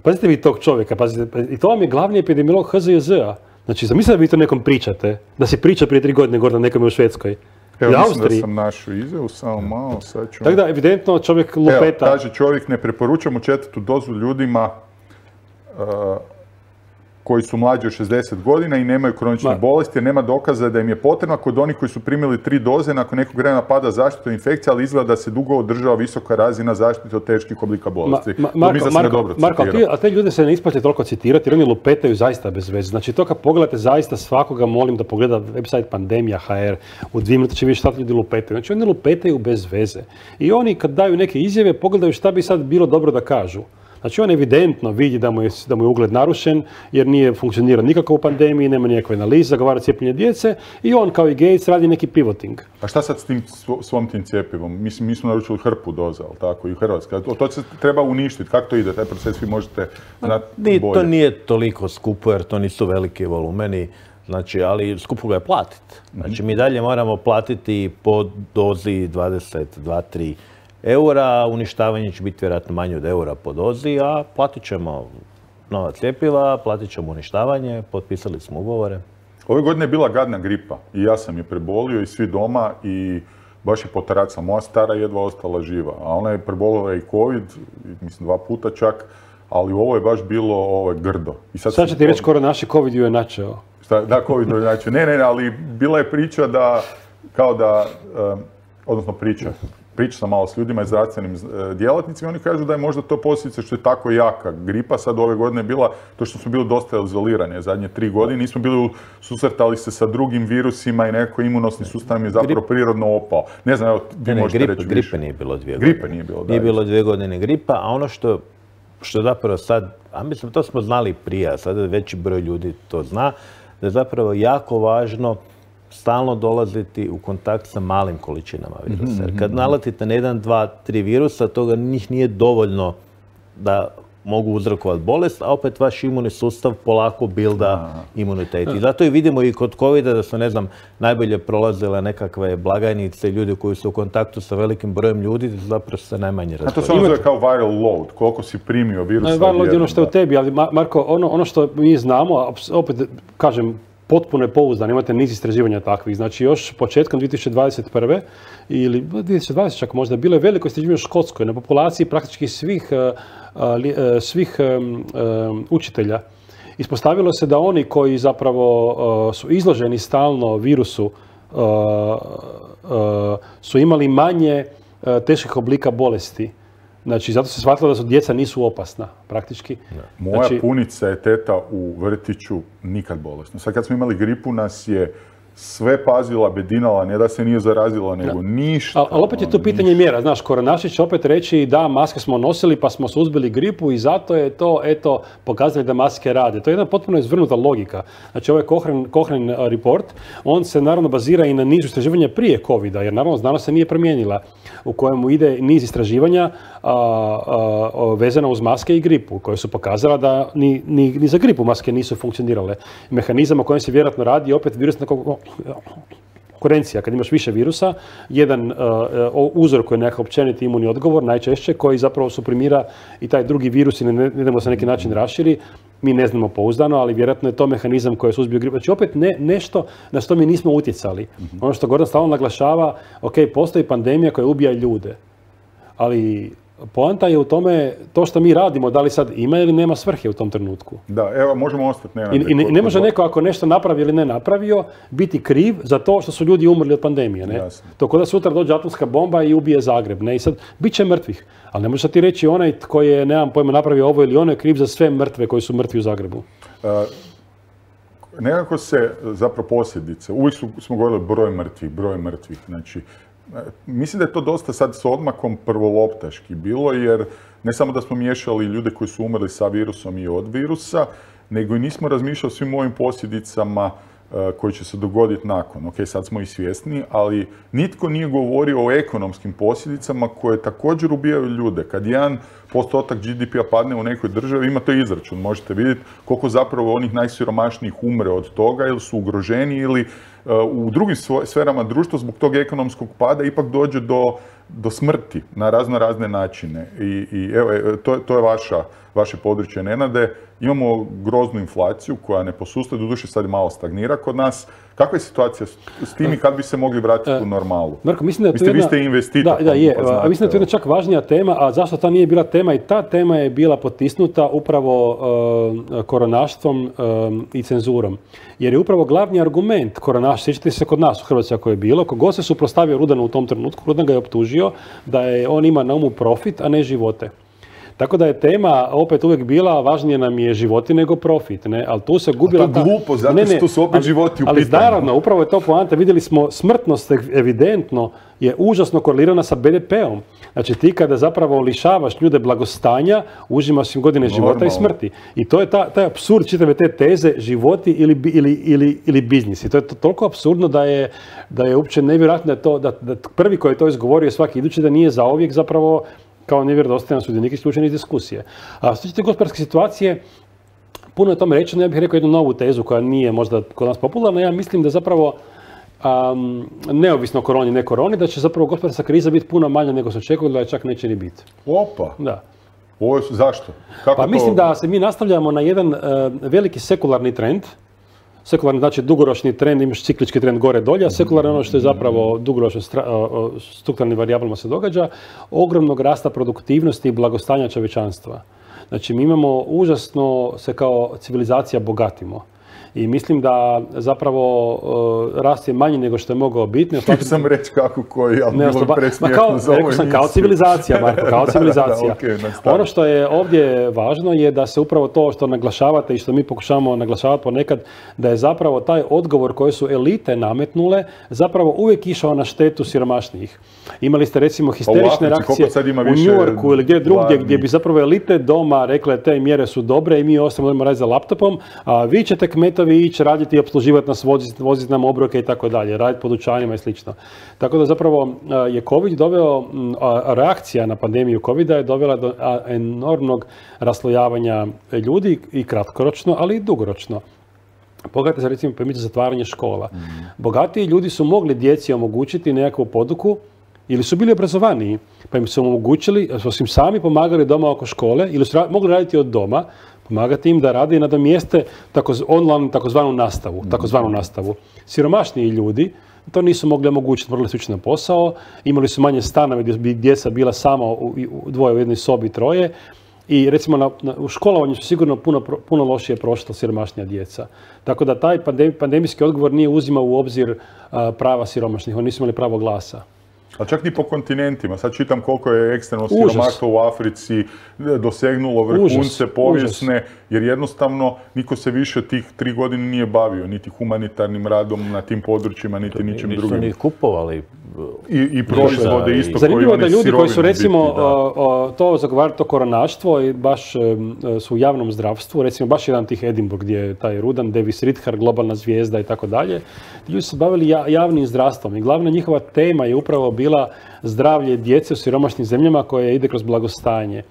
Pazite vi tog čovjeka, pazite, i to vam je glavni epidemiolog HZJZ-a. Znači, zamislite da vi to nekom pričate, da se priča prije 3 godine gore nekome u Švedskoj.
Evo, mislim da sam našao izjavu, samo malo, sad ću...
Tako da, evidentno, čovjek lupeta...
Evo, kaže čovjek, ne preporučamo 4. dozu ljudima koji su mlađi od 60 godina i nemaju kronične bolesti, jer nema dokaza da im je potrebno kod onih koji su primili 3 doze, nakon nekog vremena pada zaštita od infekcija, ali izgleda da se dugo održava visoka razina zaštite od teških oblika bolesti.
Marko, a te ljude se ne isplati toliko citirati, jer oni lupetaju zaista bez veze. Znači, to kad pogledate zaista svakoga, molim da pogleda website Pandemija.hr, u 2 minute će vidjeti šta ljudi lupetaju. Znači, oni lupetaju bez veze. I oni kad daju neke izjave, pogledaju šta bi sad bilo dobro da kažu. Znači, on evidentno vidi da mu je ugled narušen jer nije funkcionira nikako u pandemiji, nema nikakve analize, zagovara cijepljenje djece i on kao i Gates radi neki pivoting.
A šta sad s tim svom tim cjepivom? Mislim, mi smo naručili hrpu doza, ali tako, i Hrvatska. To se treba uništiti. Kako to ide? Taj proces vi možete znati bolje.
To nije toliko skupo jer to nisu veliki volumeni. Znači, ali skupo ga je platiti. Znači, mi dalje moramo platiti po dozi 22-3 eura, uništavanje će biti vjerojatno manje od eura po dozi, a platit ćemo nova cjepiva, platit ćemo uništavanje, potpisali smo ugovore.
Ove godine je bila gadna gripa i ja sam je prebolio i svi doma i baš je potaraca. Moja stara jedva ostala živa, a ona je prebolila i COVID, mislim 2 puta čak, ali ovo je baš bilo grdo.
Sad će ti reći skoro naši COVID ju je načeo.
Da, COVID ju je načeo. Ne, ali bila je priča da, odnosno priča sam malo s ljudima i zdravstvenim djelatnicima, oni kažu da je možda to posljedica što je tako jaka gripa. Sad ove godine je bila to što smo bili dosta izolirani. Zadnje 3 godine nismo bili susretali se sa drugim virusima i neko imunosni sustav je zapravo prirodno opao. Ne znam, evo, vi možete reći više.
Gripe nije bilo 2 godine.
Gripe nije bilo, da.
Nije bilo 2 godine gripa, a ono što zapravo sad, a mislim, to smo znali prije, a sada veći broj ljudi to zna, da je zapravo jako važno stalno dolaziti u kontakt sa malim količinama virusa. Jer kad naletite na 1, 2, 3 virusa, toga njih nije dovoljno da mogu uzrokovati bolest, a opet vaš imunni sustav polako bilda imunitet. I zato i vidimo i kod COVID-a da su, ne znam, najbolje prolazile nekakve blagajnice, ljudi koji su u kontaktu sa velikim brojem ljudi, zapravo se najmanje razboli.
A to se ono zove kao viral load, koliko si primio virusa.
Viral load je ono što je u tebi, ali Marko, ono što mi znamo, opet kažem, potpuno je pouzdan, imate niz istraživanja takvih. Znači, još početkom 2021. ili 2020 čak možda, bilo je veliko istraživanje u Škotskoj na populaciji praktički svih učitelja. Ispostavilo se da oni koji zapravo su izloženi stalno virusu su imali manje teških oblika bolesti. Znači, zato se shvatilo da su djeca nisu opasna, praktički.
Moja punica je teta u vrtiću nikad bolesna. Sad kad smo imali gripu nas je sve pazila, bedinala, ne da se nije zarazila, nego ništa.
Ali opet je to pitanje mjera. Znaš, Koronašić će opet reći da, maske smo nosili pa smo suzbili gripu i zato je to, eto, pokazali da maske rade. To je jedna potpuno izvrnuta logika. Znači, ovaj Cochrane report, on se naravno bazira i na niz istraživanja prije COVID-a, jer naravno znanost se nije promijenila, u kojemu ide niz istraživanja vezana uz maske i gripu, koje su pokazala da ni za gripu maske nisu funkcionirale. Mehanizam o kojem se vjerojatno radi opet virusna konkurencija. Kad imaš više virusa, jedan uzor koji je nekakav općeniti imunni odgovor, najčešće, koji zapravo suprimira i taj drugi virus i ne da se na neki način raširi, mi ne znamo pouzdano, ali vjerojatno je to mehanizam koji je suzbio gripu. Znači opet nešto na što mi nismo utjecali. Ono što Gordan stalno naglašava, ok, postoji pandemija koja ubija ljude, ali Poanta je u tome to što mi radimo, da li sad ima ili nema svrhe u tom trenutku.
Da, evo, možemo ostati.
I ne može neko ako nešto napravi ili ne napravio biti kriv za to što su ljudi umrli od pandemije. Ne? To kod da sutra dođe atomska bomba i ubije Zagreb. Ne? I sad, bit će mrtvih. Ali ne možeš ti reći onaj tko je, nemam pojma, napravio ovo ili ono je kriv za sve mrtve koji su mrtvi u Zagrebu.
Nekako se zapravo posljedice, uvijek smo govorili broj mrtvih. Znači, mislim da je to dosta sad s odmakom prvoloptaški bilo, jer ne samo da smo miješali ljude koji su umrli sa virusom i od virusa, nego i nismo razmišljali o svim ovim posljedicama koji će se dogoditi nakon. Ok, sad smo i svjesni, ali nitko nije govorio o ekonomskim posljedicama koje također ubijaju ljude. Kad 1% GDP-a padne u nekoj državi, imate izračun, možete vidjeti koliko zapravo onih najsiromašnijih umre od toga ili su ugroženi ili u drugim sferama društva zbog tog ekonomskog pada ipak dođe do smrti na razne načine. I evo, to je vaše područje, Nenade. Imamo groznu inflaciju koja ne posustaje, doduše sad malo stagnira kod nas. Kakva je situacija s tim i kad bi se mogli vratiti u normalu?
Marko, mislim da je to
vi ste investitor.
Da, je. A mislim da je to jedna čak važnija tema, a zašto ta nije bila tema? I ta tema je bila potisnuta upravo koronaštvom i cenzurom. Jer je upravo glavni argument koronaštva, sjećate se kod nas u Hrvatskoj ako je bilo, kogod se suprotstavio Rudanu u tom trenutku, Rudan ga je optužio da je on ima na umu profit, a ne živote. Tako da je tema opet uvijek bila, važnije nam je životi nego profit, ne? Ali tu se gubila
ta... glupo, zato što su opet životi u pitanju.
Ali naravno, upravo je to poanta. Vidjeli smo, smrtnost evidentno je užasno korelirana sa BDP-om. Znači ti kada zapravo lišavaš ljude blagostanja, užimaš im godine života i smrti. I to je taj apsurd čitave te teze, životi ili biznis. I to je toliko apsurdno da je uopće nevjerojatno da prvi koji je to izgovorio svaki idući da nije zauvijek zapravo kao nevjerodostojan sudionik isključen iz diskusije. A što se tiče gospodarske situacije, puno je tome rečeno, ja bih rekao jednu novu tezu koja nije možda kod nas popularna. Ja mislim da zapravo, neovisno o koroni, ne koroni, da će zapravo gospodarska kriza biti puno manja nego se očekuje, da je čak neće ni biti.
Opa!
Da.
Zašto?
Pa mislim da se mi nastavljamo na jedan veliki sekularni trend. Sekularni znači dugoročni trend, imaš ciklički trend gore-dolje, a sekularno ono što je zapravo dugoročno strukturalnim varijablama se događa, ogromnog rasta produktivnosti i blagostanja čovječanstva. Znači mi imamo užasno se kao civilizacija bogatimo. I mislim da zapravo rast je manji nego što je mogao biti.
Htio sam reći kako koji, ali bilo presmiješno za ovoj emisiji.
Kao civilizacija, Marko, kao civilizacija. Ono što je ovdje važno je da se upravo to što naglašavate i što mi pokušavamo naglašavati ponekad, da je zapravo taj odgovor koje su elite nametnule zapravo uvijek išao na štetu siromašnijih. Imali ste recimo histerične reakcije u New Yorku ili gdje drugdje gdje bi zapravo elite doma rekle te mjere su dobre i mi ostavimo raditi za laptopom, a vi ćete kmetovi ići raditi i opsluživati nas, voziti nam obroke i tako dalje, raditi po dućanima i slično. Tako da zapravo je COVID doveo, reakcija na pandemiju COVID-a je dovela do enormnog raslojavanja ljudi i kratkoročno, ali i dugoročno. Pogledajte se recimo primjer zatvaranje škola. Bogatiji ljudi su mogli djeci omogućiti nekakvu poduku ili su bili obrazovaniji, pa im su omogućili, su im sami pomagali doma oko škole ili su mogli raditi od doma, pomagati im da rade i nadomjeste online takozvanu nastavu. Siromašniji ljudi to nisu mogli omogućiti, morali su ići na posao, imali su manje stanove gdje bi djeca bila samo dvoje u jednoj sobi, troje. I recimo u školovanju su sigurno puno lošije prošla siromašnija djeca. Tako da taj pandemijski odgovor nije uzimao u obzir prava siromašnih, oni nisu imali pravo glasa.
A čak ni po kontinentima. Sad čitam koliko je ekstremno siromaštvo u Africi dosegnulo vrhunce povijesne, jer jednostavno niko se više tih 3 godine nije bavio, niti humanitarnim radom na tim područjima, niti ničim drugim.
Nisu ni kupovali
i proizvode isto.
Zanimljivo je da ljudi koji su recimo to zagovarali, to koronaštvo i baš su u javnom zdravstvu, recimo baš jedan tih Edinburgh gdje je taj Rudan, Davis Ridhar, globalna zvijezda i tako dalje, ti ljudi su se bavili javnim zdravstvom i glavna njihova tema je upravo bila zdravlje djece u siromašnim zemljama koje ide kroz blagostanje.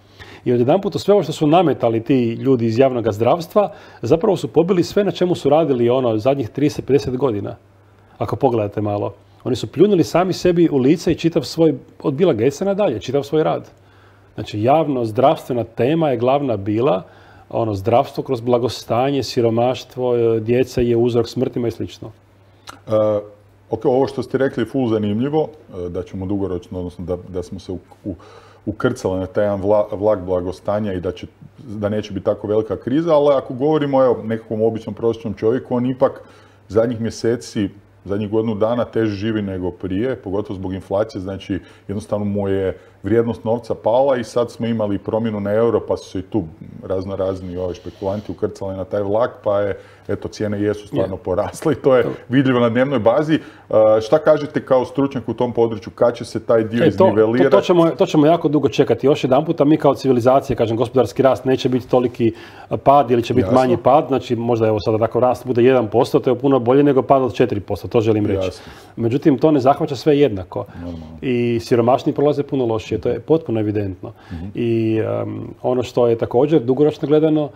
I odjedanput sve ovo što su nametali ti ljudi iz javnog zdravstva, zapravo su pobili sve na čemu su radili zadnjih 30-50 godina. Ako pogledate malo. Oni su pljunuli sami sebi u lice i čitav svoj, od Billa Gatesa nadalje, čitav svoj rad. Znači, javno zdravstvena tema je glavna bila, zdravstvo kroz blagostanje, siromaštvo, djeca je uzrok smrtima i slično.
ovo što ste rekli je full zanimljivo, da ćemo dugoročno, odnosno da smo se ukrcali na taj jedan vlak blagostanja i da neće biti tako velika kriza, ali ako govorimo o nekakvom običnom prosječnom čovjeku, on ipak zadnjih mjeseci, zadnjih godinu dana teže živi nego prije, pogotovo zbog inflacije, znači jednostavno mu je vrijednost novca pala i sad smo imali promjenu na euro, pa su se i tu razni špekulanti ukrcali na taj vlak, pa je, eto, cijene jesu stvarno porasle i to je vidljivo na dnevnoj bazi. Šta kažete kao stručnjak u tom području, kad će se taj dio iznivelirati?
To ćemo jako dugo čekati. Još jedan puta, mi kao civilizacija, kažem, gospodarski rast neće biti toliki pad ili će biti manji pad, znači možda evo sada tako rast bude 1%, to je puno bolje nego pad od 4%, to želim reći. Međutim, to ne zahvaća sve jednako. I siromašni prolaze puno lošije, to je potpuno evidentno. I ono što je također dugoročno gledano,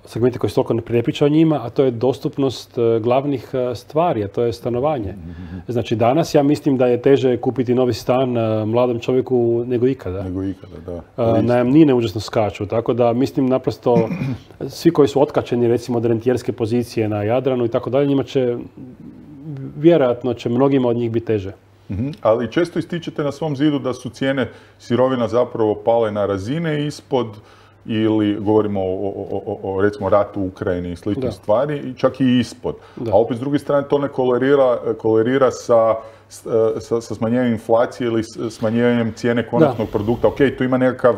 segmenti koji se toliko ne priča o njima, a to je dostupnost glavnih stvari, a to je stanovanje. Znači danas ja mislim da je teže kupiti novi stan mladom čovjeku nego ikada.
Da.
Najamnine užasno skaču, tako da mislim naprosto svi koji su otkačeni recimo od rentijerske pozicije na Jadranu i tako dalje, njima će, vjerojatno će mnogima od njih biti teže.
Ali često ističete na svom zidu da su cijene sirovina zapravo pale na razine ispod, ili govorimo o recimo ratu u Ukrajini i sličnih stvari, i čak i ispod. A opet s druge strane to ne kolerira sa smanjenjem inflacije ili smanjenjem cijene konačnog produkta. Ok, tu ima nekakav,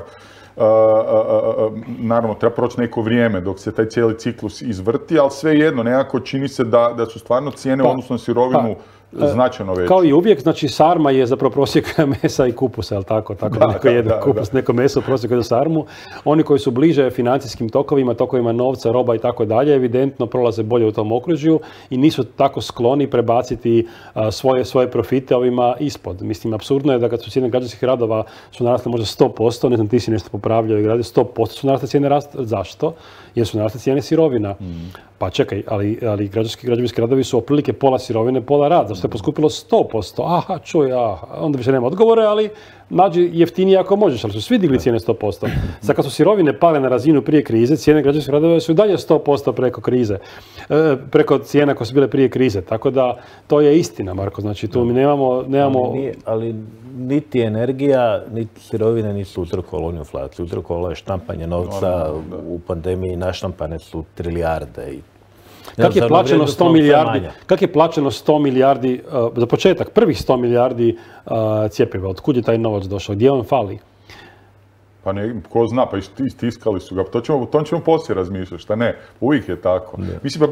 naravno treba proći neko vrijeme dok se taj cijeli ciklus izvrti, ali svejedno nekako čini se da su stvarno cijene odnosno sirovinu značajno veće.
Kao i uvijek, znači sarma je zapravo prosjek mesa i kupusa, jel tako? Neko jede kupus, neko meso, prosjek jede sarmu. Oni koji su bliže financijskim tokovima novca, roba i tako dalje, evidentno prolaze bolje u tom okružju i nisu tako skloni prebaciti svoje profite ovima ispod. Mislim, apsurdno je da kad su cijene građevinskih radova su narasle možda 100%, ne znam, ti si nešto popravljao i gradio, 100% su narasle cijene rasta. Zašto? Jer su narasle cijene sirovina. Pa čekaj, ali građevinski radovi su otprilike pola sirovine, pola rad. Zašto je poskupilo 100%? Aha, čuj, onda više nema odgovore, ali nađi jeftinije ako možeš, ali su svi digli cijene 100%. Sad kad su sirovine pale na razinu prije krize, cijene građevinskih radova su i dalje 100% preko krize. Preko cijena koje su bile prije krize. Tako da, to je istina, Marko. Znači, tu mi nemamo...
Ali niti energija, niti sirovine nisu uzrokovale onu inflaciju. Uzrokovalo je štampanje novca, u pandemiji naštampane su trilijarde.
Kako je plaćeno 100 milijardi, za početak, prvih 100 milijardi cjepiva? Otkud je taj novac došao? Gdje on fali?
Pa ne, ko zna, pa istiskali su ga. To ćemo poslije razmišljati, šta ne? Uvijek je tako. Mislim,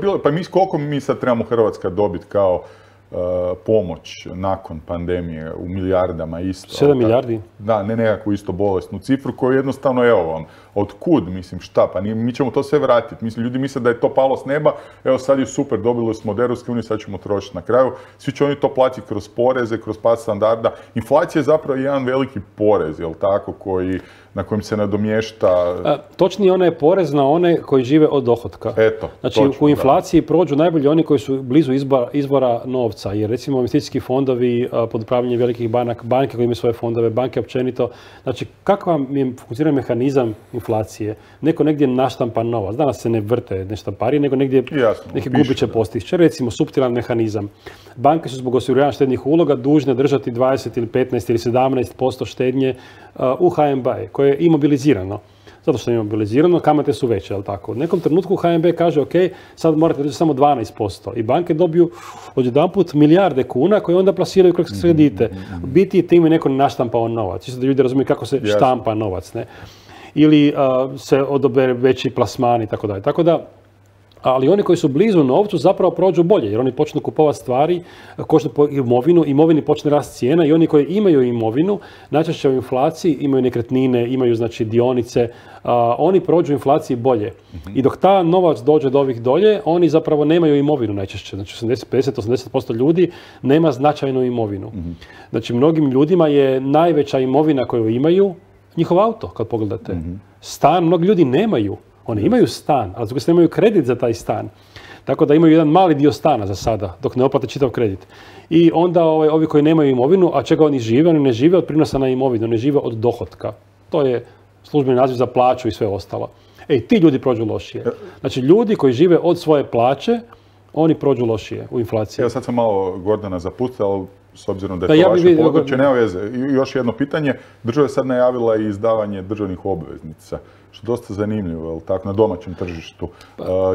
koliko mi sad trebamo Hrvatska dobiti kao pomoć nakon pandemije u milijardama isto.
7 milijardi?
Da, ne nekakvu isto bolesnu cifru koju jednostavno, evo vam, otkud, mislim, šta, pa mi ćemo to sve vratiti. Mislim, ljudi misle da je to palo s neba, evo sad je super, dobili smo od Europske unije, sad ćemo trošiti na kraju. Svi će oni to platiti kroz poreze, kroz pad standarda. Inflacija je zapravo jedan veliki porez, jel tako, na kojem se nadomješta...
Točnije, ona je porez na one koji žive od dohotka.
Eto,
znači, u inflaciji prođu najbolji oni koji su blizu izvora novca, jer recimo investicijski fondovi pod upravljanjem velikih banke koji imaju svoje fondove, banke općenito. Znači, kakav je funkcionira mehanizam inflacije? Neko negdje naštampa novac. Danas se ne vrte neštampari, nego negdje neke gubiće postiže. Recimo, suptilan mehanizam. Banke su zbog osiguranja štednih uloga dužne držati 20 ili 15 ili 17% štednje u HNB, koje je imobilizirano. Zato što je imobilizirano, kamate su veće, jel tako? U nekom trenutku HNB kaže, ok, sad morate držati samo 12%. I banke dobiju odjedanput milijarde kuna koje onda plasiraju kroz kredite. Biti time neko naštampao novac. Čisto da ljudi razumiju kako se štampa novac, ne? Ili se odobere veći plasmani i tako dalje. Tako da, ali oni koji su blizu novcu zapravo prođu bolje, jer oni počnu kupovati stvari, koštaju po imovini počne rast cijena i oni koji imaju imovinu, najčešće u inflaciji, imaju nekretnine, imaju znači dionice, oni prođu inflaciji bolje. I dok ta novac dođe do ovih dolje, oni zapravo nemaju imovinu najčešće. Znači 50-80% ljudi nema značajnu imovinu. Znači mnogim ljudima je najveća imovina koju imaju njihov auto, kad pogledate. Stan mnogi ljudi nemaju. Oni imaju stan, ali zbog se nemaju kredit za taj stan. Tako da imaju jedan mali dio stana za sada, dok ne oplate čitav kredit. I onda ovi koji nemaju imovinu, a čega oni žive? Oni ne žive od prinosa na imovinu, ne žive od dohotka. To je službeni naziv za plaću i sve ostalo. Ti ljudi prođu lošije. Znači, ljudi koji žive od svoje plaće, oni prođu lošije u inflaciji.
Evo sad sam malo Gordana zapustio, ali s obzirom da je to vaše područje, nema veze. I još jedno pitanje, država je sad najavila i izdavanje državnih obveznica, što je dosta zanimljivo, jel tako, na domaćem tržištu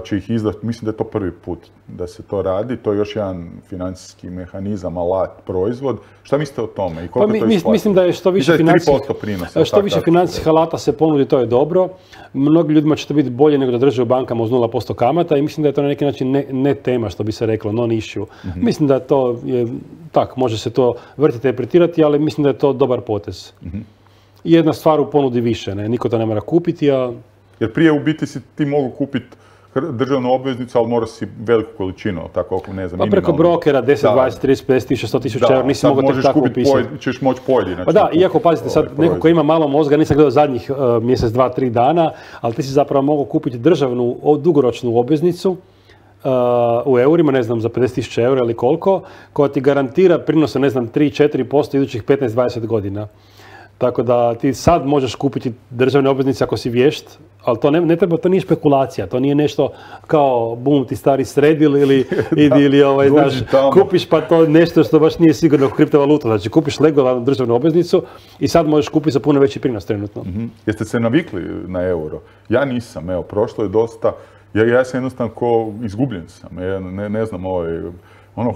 će ih izdati, mislim da je to prvi put da se to radi, to je još jedan financijski mehanizam, alat, proizvod. Šta mislite o tome i koliko to isplati?
Mislim da je što više financijskih alata se ponudi, to je dobro. Mnogim ljudima će to biti bolje nego da drže u bankama uz 0% kamata i mislim da je to na neki način ne tema, što bi se reklo, non issue. Mislim da to je tak, može se to vrtiti, interpretirati, ali mislim da je to dobar potez. Jedna stvar u ponudi više, niko to ne mora kupiti, a...
Jer prije u biti si ti mogu kupiti državnu obveznicu, ali mora si veliku količinu, tako ako ne znam,
minimalno. Pa preko brokera 10, 20, 30, 50 tisuća, 100 tisuća eura, nisi mogao tek tako upisati.
Ćeš moći pojedinačno.
Pa da, iako pazite sad, neko ko ima malo mozga, nisam gledao zadnjih mjesec, 2, 3 dana, ali ti si zapravo mogao kupiti državnu dugoročnu obveznicu u eurima, ne znam, za 50.000 eura ili koliko, koja ti garantira prinose, ne znam, 3-4% idućih 15-20 godina. Tako da ti sad možeš kupiti državne obveznice ako si vješt, ali to ne treba, to nije špekulacija, to nije nešto kao bum ti stari sredil ili znaš, kupiš pa to nešto što baš nije sigurno kriptovaluta. Znači kupiš legalnu državnu obveznicu i sad možeš kupiti za puno veći prinos trenutno.
Jeste se navikli na euro? Ja nisam, evo, prošlo je dosta, ja sam jednostavno ko izgubljen sam, ne znam,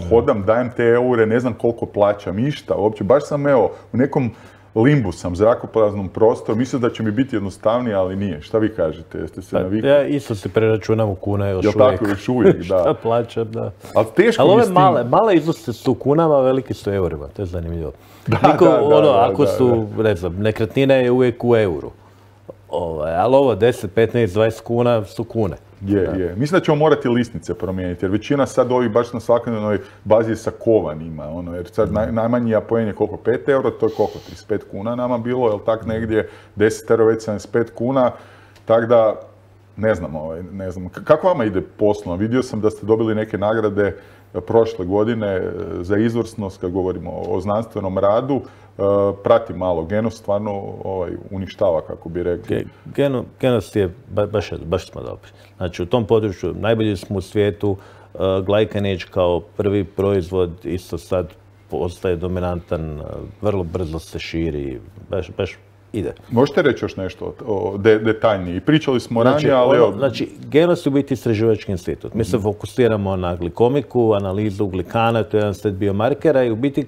hodam, dajem te eure, ne znam koliko plaćam, išta, uopće, baš sam, evo, u nekom limbu sam, zrakopraznom prostoru, mislim da će mi biti jednostavnije, ali nije. Šta vi kažete? Jeste se navikli?
Ja isto se preračunam u kune još uvijek.
Jel tako, još uvijek, da.
Šta plaćam, da.
Ali teško
ali ove male iznose su kunama, veliki su eurima, to je zanimljivo. Ako su, ne znam, nekretnina je uvijek u euru. Ali ovo 10, 15, 20 kuna su kune.
Je. Mislim da ćemo morati listnice promijeniti, jer većina sad ovih baš na svakodnevnoj bazi je sa kovanima, jer sad najmanji apoen je koliko, 5 euro, to je koliko, 35 kuna nama bilo, jel tak negdje, 10 euro već 75 kuna, tak da, ne znam, kako vama ide poslovno? Vidio sam da ste dobili neke nagrade prošle godine za izvrsnost, kad govorimo o znanstvenom radu, prati malo, Genos stvarno uništava, kako bi rekli.
Genos je, baš smo dobri. Znači u tom području najbolji smo u svijetu, Glycanage kao prvi proizvod isto sad postaje dominantan, vrlo brzo se širi, baš ide.
Možete reći još nešto detaljnije? Pričali smo ranije, ali...
Znači, Genos je u biti istraživački institut. Mi se fokusiramo na glikomiku, analizu glikana, to je jedan set biomarkera i u biti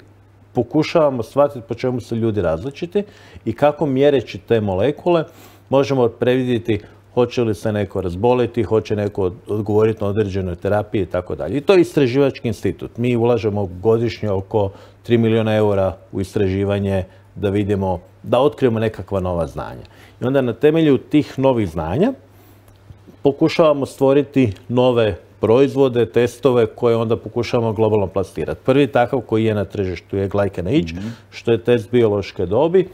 pokušavamo shvatiti po čemu su ljudi različiti i kako mjereći te molekule možemo predvidjeti hoće li se neko razboliti, hoće neko odgovoriti na određenoj terapiji i tako dalje. I to je istraživački institut. Mi ulažemo godišnje oko 3 milijuna eura u istraživanje da vidimo, da otkrijemo nekakva nova znanja. I onda na temelju tih novih znanja pokušavamo stvoriti nove proizvode, testove koje onda pokušavamo globalno plasirati. Prvi takav koji je na tržištu je Glycanage, što je test biološke dobi,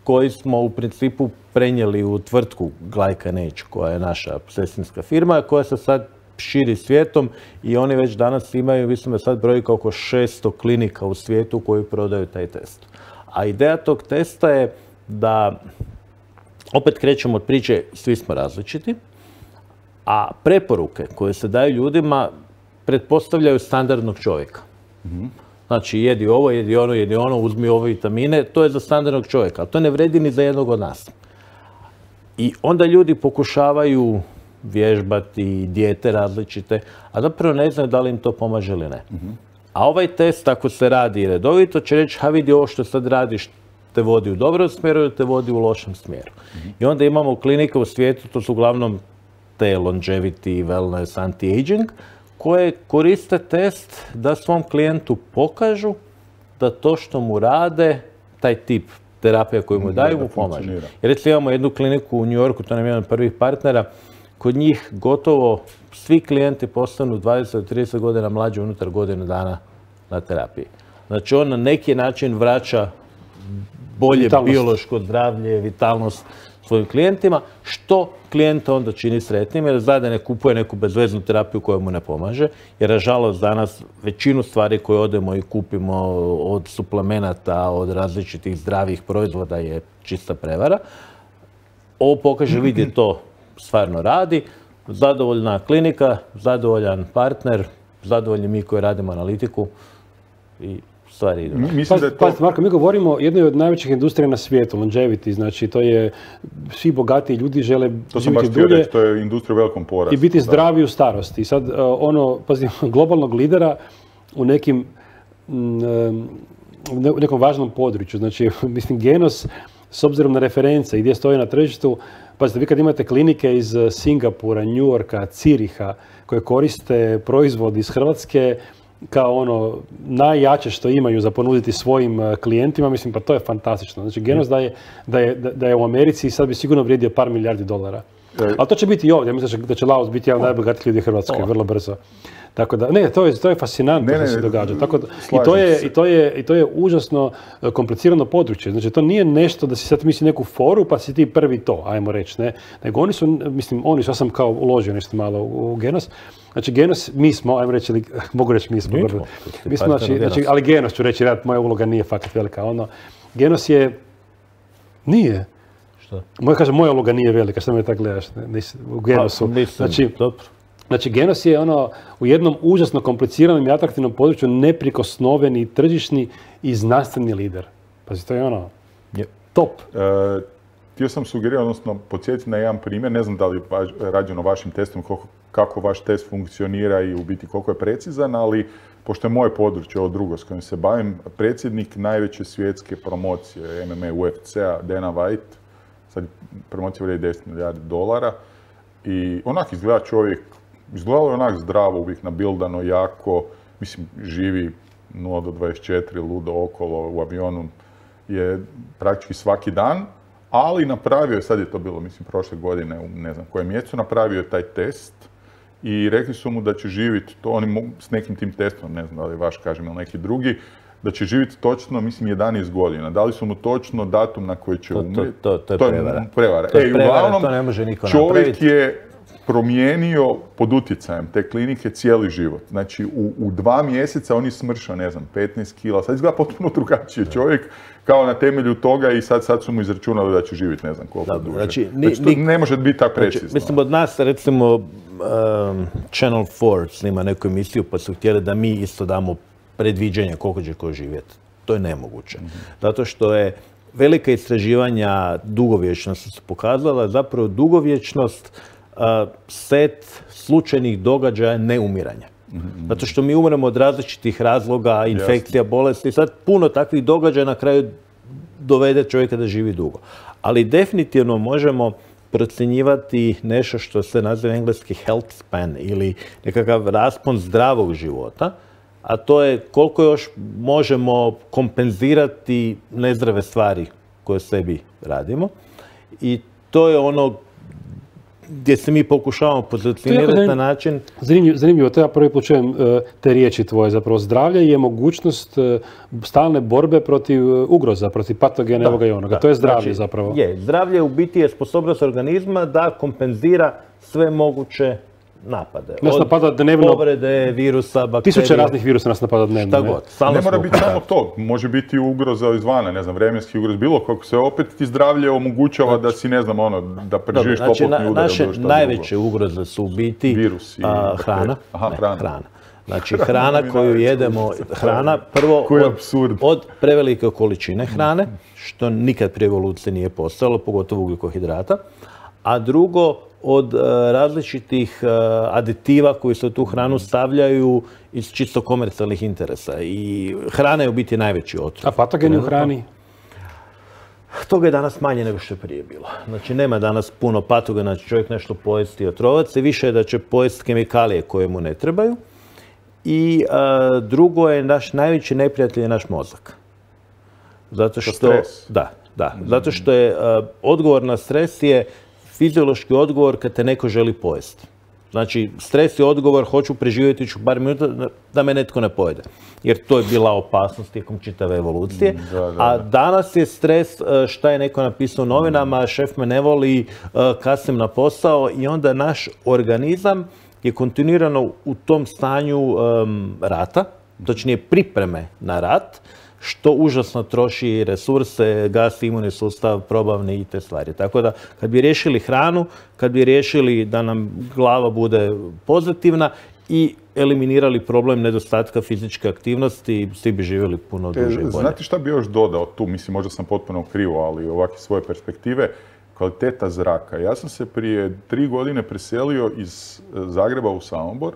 koji smo u principu prenijeli u tvrtku Glycanage, koja je naša sestrinska firma, koja se sad širi svijetom i oni već danas imaju, mislim da sad brojka oko 600 klinika u svijetu koji prodaju taj test. A ideja tog testa je da, opet krećemo od priče, svi smo različiti, a preporuke koje se daju ljudima pretpostavljaju standardnog čovjeka. Znači, jedi ovo, jedi ono, uzmi ove vitamine, to je za standardnog čovjeka, ali to ne vredi ni za jednog od nas. I onda ljudi pokušavaju vježbati, dijete različite, a zapravo ne znaju da li im to pomaže ili ne. A ovaj test, ako se radi redovito, će reći, vidi ovo što sad radiš, te vodi u dobrom smjeru ili te vodi u lošem smjeru. I onda imamo klinike u svijetu, to su uglavnom te longevity, wellness, anti-aging, koje koriste test da svom klijentu pokažu da to što mu rade, taj tip terapija koju mu daju, mu pomaže. Jer recimo imamo jednu kliniku u New Yorku, to nam je jedan od prvih partnera, kod njih gotovo svi klijenti postanu 20-30 godina mlađi unutar godinu dana na terapiji. Znači on na neki način vraća bolje biološko zdravlje, vitalnost svojim klijentima, što klijenta onda čini sretnim, jer zna da ne kupuje neku bezveznu terapiju koja mu ne pomaže, jer nažalost danas većinu stvari koje odemo i kupimo od suplemenata, od različitih zdravih proizvoda je čista prevara. Ovo pokaže, vidi to stvarno radi, zadovoljna klinika, zadovoljan partner, zadovoljni mi koji radimo analitiku i stvari idu.
Pazite, Marko, mi govorimo o jednoj od najvećih industrija na svijetu, longevity, znači to je, svi bogatiji ljudi žele živjeti dulje.
To je industrija u velikom porastu.
I biti zdravi u starosti. Sad, globalnog lidera u nekom važnom području. Znači, mislim, Genos, s obzirom na reference i gdje stoji na tržištu, pazite, vi kad imate klinike iz Singapura, New Yorka, Ciriha, koje koriste proizvodi iz Hrvatske kao najjače što imaju za ponuditi svojim klijentima, mislim, pa to je fantastično. Znači, Genos da je u Americi i sad bi sigurno vrijedio par milijardi dolara. Ali to će biti i ovdje. Mislim da će Laos biti jedan od najbogatijih ljudi u Hrvatskoj, vrlo brzo. Tako da, ne, to je fascinantno što se događa. Tako da, i to je užasno komplicirano područje. Znači, to nije nešto da si sad misli neku foru pa si ti prvi to, ajmo reći, ne. Nego ja sam kao uložio nešto malo u Genos. Znači, Genos, mi smo, ajmo reći, mogu reći mi smo. Ali Genos ću reći, moja uloga nije fakat velika. Genos je, nije.
Što?
Moja uloga nije velika, što me tako gledaš u Genosu. Znači, Genos je u jednom užasno kompliciranom i atraktivnom području neprikosnoveni, tržišni i znanstveni lider. Pazi, to je top.
Htio sam sugerirati, odnosno podsjetiti na jedan primjer, ne znam da li je rađeno vašim testom, kako vaš test funkcionira i u biti koliko je precizan, ali pošto je moje područje, ovo drugo s kojim se bavim, predsjednik najveće svjetske promocije MMA UFC-a, Dana White, sad promocija vrijedi $10 milijardi i onak izgleda čovjek, izgledalo je onak zdravo, uvijek nabildano, jako, mislim, živi 0 do 24, ludo okolo, u avionu je praktički svaki dan, ali napravio je, sad je to bilo, mislim, prošle godine, u ne znam kojem mjesecu, napravio je taj test i rekli su mu da će živjeti, to oni s nekim tim testom, ne znam da li vaš kažem ili neki drugi, da će živjeti točno, mislim, 11 godina. Dali su mu točno datum na koji će umrijeti.
To je prevara.
Prevara. Uglavnom,
to ne može niko
čovjek
napraviti.
je promijenio pod utjecajem te klinike cijeli život. Znači, u 2 mjeseca on je smršao, ne znam, 15 kila. Sad izgleda potpuno drugačije čovjek, kao na temelju toga i sad su mu izračunali da će živjeti ne znam koliko duže. Znači, to ne može biti tako precizno.
Mislim, od nas, recimo, Channel 4 snima neku emisiju pa su htjeli da mi isto damo predviđenja koliko će ko živjeti. To je nemoguće. Zato što je velika istraživanja dugovječnosti su pokazala, zapravo dugovječnost set slučajnih događaja neumiranja. Zato što mi umremo od različitih razloga, infekcija, bolesti. Sad puno takvih događaja na kraju dovede čovjeka da živi dugo. Ali definitivno možemo procjenjivati nešto što se naziva engleski health span ili nekakav raspon zdravog života, a to je koliko još možemo kompenzirati nezdrave stvari koje sebi radimo. I to je ono gdje se mi pokušavamo pozicionirati na način...
Zanimljivo, to ja prvi put čujem te riječi tvoje. Zapravo zdravlje je mogućnost stalne borbe protiv ugroza, protiv patogena ovoga i onoga. To je zdravlje zapravo.
Zdravlje u biti je sposobnost organizma da kompenzira sve moguće napade.
Nas napada dnevno...
Povrede, virusa, bakterije...
1000 raznih virusa nas napada dnevno.
Šta god.
Ne mora biti samo to. Može biti ugroza izvana, ne znam, vremenski ugroz, bilo kako se opet ti zdravlje omogućava da si, ne znam, da preživiš toplotni udar.
Naše najveće ugroze su u biti
virus i
hrana. Hrana. Znači, hrana koju jedemo, hrana prvo od prevelike količine hrane, što nikad prije evolucije nije postojalo, pogotovo ugljikohidrata, a drugo, od različitih aditiva koji se u tu hranu stavljaju iz čisto komercijalnih interesa. I hrana je u biti najveći otrov.
A patogeni u hrani?
Toga je danas manje nego što je prije bilo. Znači, nema danas puno patogena, će čovjek nešto pojesti i otrovac se, više je da će pojesti kemikalije koje mu ne trebaju. I drugo je, naš najveći neprijatelj je naš mozak. Zato što...
Stres.
Da. Zato što je odgovor na stres je fiziološki odgovor kad te neko želi pojesti. Znači, stres je odgovor, hoću preživjeti ću par minuta da me netko ne pojede. Jer to je bila opasnost tijekom čitave evolucije. A danas je stres šta je neko napisao u novinama, šef me ne voli, kasnim na posao i onda naš organizam je kontinuirano u tom stanju rata, točnije pripreme na rat, što užasno troši resurse, gasi imunni sustav, probavni i te stvari. Tako da, kad bi riješili hranu, kad bi riješili da nam glava bude pozitivna i eliminirali problem nedostatka fizičke aktivnosti i svi bi živjeli puno duže i bolje.
Znate šta bi još dodao tu? Mislim, možda sam potpuno krivo, ali ovakve svoje perspektive. Kvaliteta zraka. Ja sam se prije 3 godine preselio iz Zagreba u Samobor.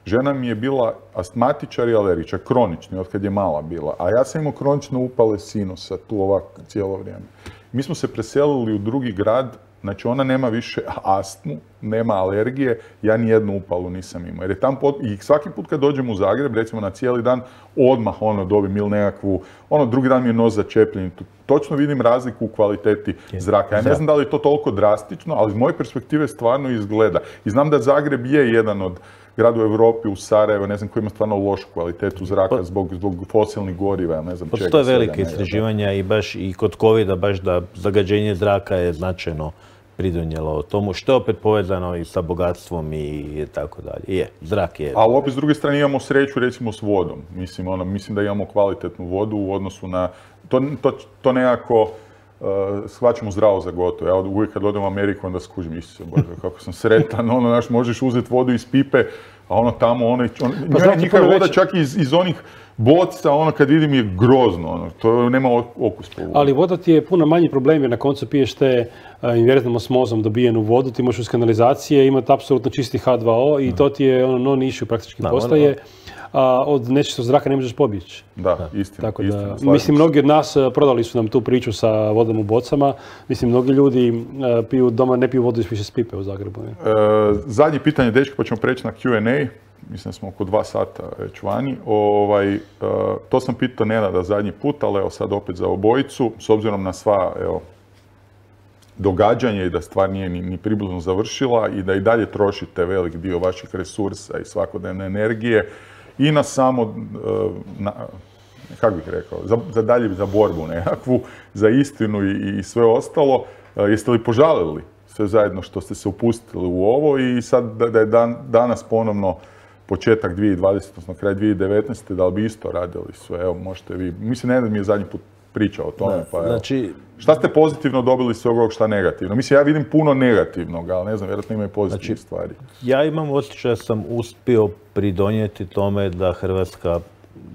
Žena mi je bila astmatičar i alergičar, kronični, od kad je mala bila. A ja sam imao kronične upale sinusa tu ovako cijelo vrijeme. Mi smo se preselili u drugi grad, znači ona nema više astmu, nema alergije, ja ni jednu upalu nisam imao. Jer je tam i svaki put kad dođem u Zagreb, recimo na cijeli dan, odmah dobijem ili nekakvu, drugi dan mi je nos začepljen. Točno vidim razliku u kvaliteti zraka. Ja ne znam da li je to toliko drastično, ali iz moje perspektive stvarno izgleda. I znam da Zagreb je jedan od grad u Europi, u Sarajevo, ne znam, koji ima stvarno lošu kvalitetu zraka zbog fosilnih goriva, ne znam čega.
Postoje velike istraživanja i baš i kod covida, baš da zagađenje zraka je značajno pridonijelo tomu, što je opet povezano i sa bogatstvom i tako dalje. Zrak je.
Ali opet s druge strane imamo sreću recimo s vodom. Mislim da imamo kvalitetnu vodu u odnosu na... To nekako shvaćamo zdravo za gotovo. Ja uvijek kad odem u Ameriku onda skužim, Isuse Bože, kako sam sretan, možeš uzeti vodu iz pipe, a tamo, njihova voda čak iz onih boca, kad vidim je grozno, to nema okus po vodu.
Ali voda ti je puno manji problem jer na koncu piješ te inverznom osmozom dobijenu vodu, ti možeš uz kanalizacije imati apsolutno čisti H2O i to ti je non-issue praktički postaje. Od nečistog zraka ne možeš pobjeći.
Da, istina.
Tako da, mislim, mnogi od nas prodali su nam tu priču sa vodom u bocama. Mislim, mnogi ljudi piju doma, ne piju vodu više s pipe u Zagrebu.
Zadnje pitanje, dečki, pa ćemo preći na Q&A. Mislim da smo oko 2 sata već vani. To sam pitao Nenada zadnji put, ali evo sad opet za obojicu. S obzirom na sva događanja i da stvar nije ni približno završila i da i dalje trošite velik dio vaših resursa i svakodnevne energije i na samo, kako bih rekao, za borbu nekakvu, za istinu i sve ostalo. Jeste li požalili sve zajedno što ste se upustili u ovo i sad da je danas ponovno početak 2020, odnosno kraj 2019. da li bi isto radili sve? Evo, možete vi. Mislim, Nenad mi je zadnji put pričao o tome, pa evo.
Znači,
šta ste pozitivno dobili iz svega ovog, šta negativno? Mislim, ja vidim puno negativnog, ali ne znam, vjerojatno ima i pozitivnih stvari.
Ja imam osjećaj da sam uspio pridonijeti tome da Hrvatska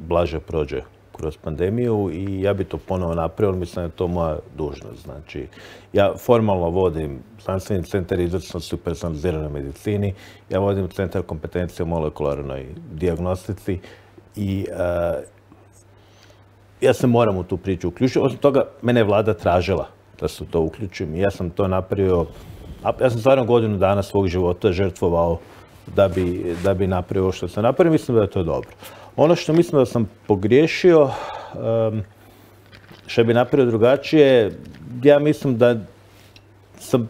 blaže prođe kroz pandemiju i ja bi to ponovo napravio, mislim da je to moja dužnost. Znači, ja formalno vodim znanstveni centar izvrsnosti u personaliziranoj medicini, ja vodim centar kompetencije u molekularnoj dijagnostici i ja se moram u tu priču uključiti. Osim toga, mene je vlada tražila da se to uključim i ja sam to napravio. Ja sam stvarno godinu dana svog života žrtvovao da bi napravio ovo što sam napravio. Mislim da je to dobro. Ono što mislim da sam pogriješio, što bi napravio drugačije, ja mislim da sam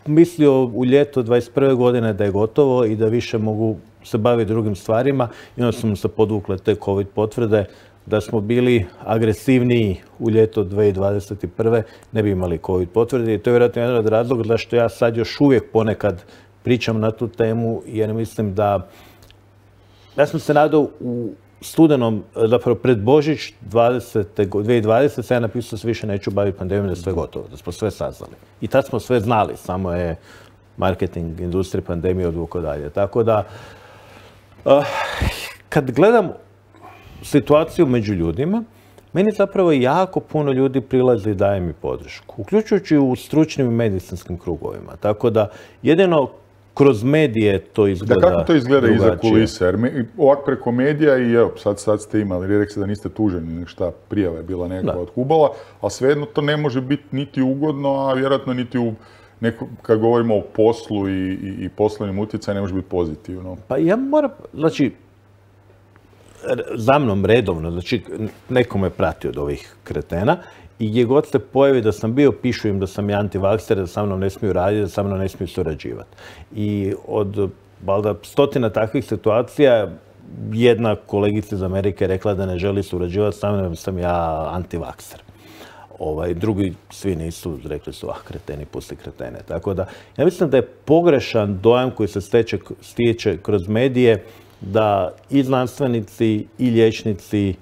mislio u ljeto 21. godine da je gotovo i da više mogu se baviti drugim stvarima i onda su se podvukle te COVID potvrde. Da smo bili agresivniji u ljeto 2021. ne bi imali COVID potvrde i to je vjerojatno jedan od razloga zašto ja sad još uvijek ponekad pričam na tu temu jer mislim da ja sam se nadao u studenom, zapravo pred Božić 2020, se ja napisao da se više neću baviti pandemijom, da je sve gotovo, da smo sve saznali. I tad smo sve znali, samo je marketing, industrija, pandemija odvuko dalje. Tako da, kad gledam situaciju među ljudima, meni zapravo jako puno ljudi prilazi i daje mi podršku, uključujući u stručnim i medicinskim krugovima. Tako da, jedino kroz medije to izgleda
drugačije. Kako to izgleda iza kulise? Jer ovak preko medija i evo, sad ste imali, rekli ste da niste tuženi, šta prijava je bila neka od Kubala, ali svejedno to ne može biti niti ugodno, a vjerojatno niti kad govorimo o poslu i poslovnim utjecaju, ne može biti pozitivno.
Pa ja moram, znači, za mnom redovno, znači neko me prati od ovih kretena i gdje god se pojavi da sam bio, pišu im da sam ja antivakser, da sa mnom ne smiju raditi, da sa mnom ne smiju surađivati. I od valjda stotina takvih situacija jedna kolegica iz Amerike je rekla da ne želi surađivati sa mnom, sam ja antivakser. Drugi svi nisu, rekli su, kreteni, pusti kretene. Tako da, ja mislim da je pogrešan dojam koji se stječe kroz medije da i znanstvenici i liječnici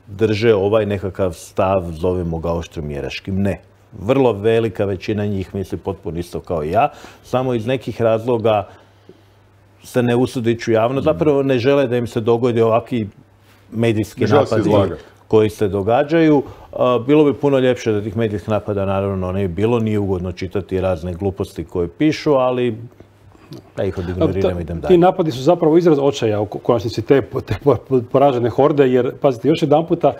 drže ovaj nekakav stav, zovemo ga oštromjeraškim. Ne. Vrlo velika većina njih misli potpuno isto kao i ja, samo iz nekih razloga se ne usudiću javno. Zapravo ne žele da im se dogodi ovakvi medijski napadi koji se događaju. Bilo bi puno ljepše da tih medijskih napada naravno ne bi bilo, nije ugodno čitati razne gluposti koje pišu, ali da ih odignoriram, idem dalje.
Ti napadi su zapravo izraz očaja u konačnici te poražene horde, jer, pazite, još jedan puta,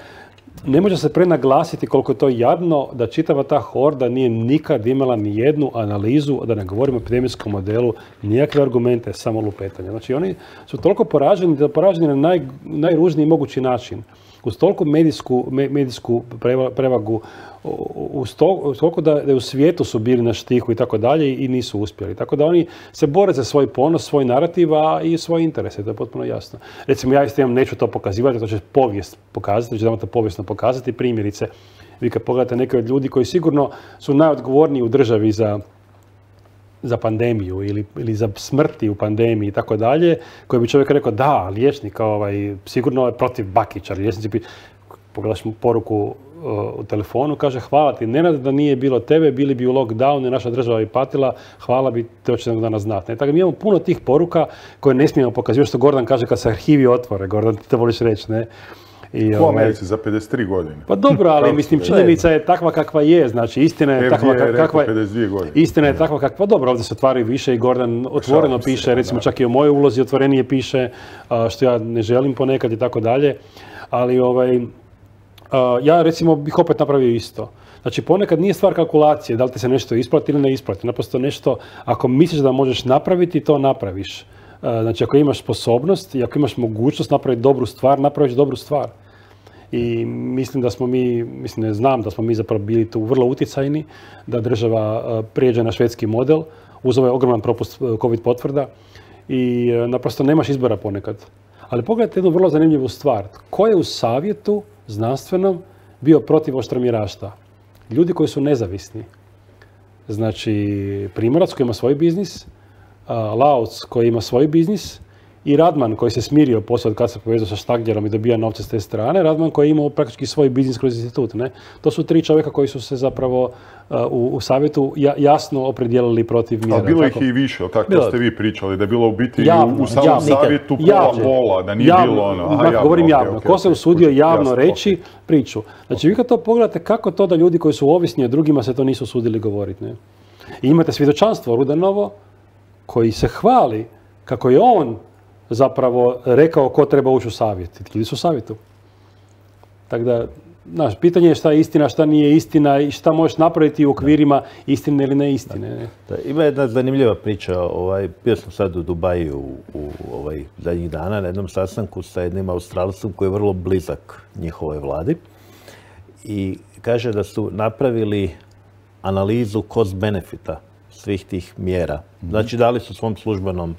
ne može se prenaglasiti koliko je to jadno da čitava ta horda nije nikad imala ni jednu analizu, da ne govorimo o epidemijskom modelu, nijakve argumente, samo lupetanje. Znači oni su toliko poraženi na najružniji mogući način, uz toliko medijsku prevagu, uz toliko da u svijetu su bili na štihu i tako dalje i nisu uspjeli. Tako da oni se bore za svoj ponos, svoj narativ, a i svoje interese, to je potpuno jasno. Recimo, ja isto neću to pokazivati, to će povijest pokazati, ću to povijesno pokazati. Primjerice, vi kad pogledate neke od ljudi koji sigurno su najodgovorniji u državi za pandemiju ili za smrti u pandemiji i tako dalje, koji bi čovjek rekao da, liječnik sigurno je protiv Bakića, liječnici bi, pogledaš mu poruku u telefonu, kaže hvala ti, Nenad, da nije bilo tebe, bili bi u lockdownu i naša država bi patila, hvala bi, to će jednog dana znati. Tako da mi imamo puno tih poruka koje ne smijemo pokazati, što Gordan kaže kad se arhivi otvore, Gordan, ti to voliš reći, ne?
U Americi za 53 godine.
Pa dobro, ali mislim, činjenica je takva kakva je, znači istina je takva kakva je.
52 godine.
Istina je takva kakva, dobro, ovdje se otvaraju više i Gordan otvoreno piše, recimo čak i o mojoj ulozi otvorenije piše, što ja ne želim ponekad i tako dalje, ali ja recimo bih opet napravio isto. Znači ponekad nije stvar kalkulacije, da li ti se nešto isplati ili ne isplati, naprosto nešto, ako misliš da možeš napraviti, to napraviš. Znači, ako imaš sposobnost i ako imaš mogućnost napraviti dobru stvar, napraviš dobru stvar. I mislim da smo mi, znam da smo mi zapravo bili tu vrlo utjecajni, da država prijeđe na švedski model, uz ovaj ogroman propust COVID potvrda i naprosto nemaš izbora ponekad. Ali pogledajte jednu vrlo zanimljivu stvar. Ko je u savjetu znanstvenom bio protiv oštromjeraštva? Ljudi koji su nezavisni. Znači, Primorac koji ima svoj biznis, Lauc koji ima svoj biznis i Radman koji se smirio poslije kad se povezao sa Štagljerom i dobija novce s te strane. Radman koji je imao praktički svoj biznis kroz institut. Ne? To su tri čovjeka koji su se zapravo u savjetu jasno opredijelili protiv mjera.
Ali bilo ih i više, tako to ste vi pričali, da je bilo u biti u samom savjetu pola, da nije bilo ono.
Govorim javno. Ko se usudio javno reći priču. Znači vi kad to pogledate, kako to da ljudi koji su ovisni o drugima se to nisu usudili govoriti. Ne? I imate svjedočanstvo Rudanovo koji se hvali kako je on zapravo rekao ko treba ući u savjet. Ljudi su u savjetu. Tako da, znaš, pitanje je šta je istina, šta nije istina i šta možeš napraviti u okvirima istine ili neistine.
Da, ima jedna zanimljiva priča. Bio sam sad u Dubaju zadnjih dana na jednom sastanku sa jednim Australcem koji je vrlo blizak njihovoj vladi i kaže da su napravili analizu cost-benefita svih tih mjera. Znači, dali su svom službenom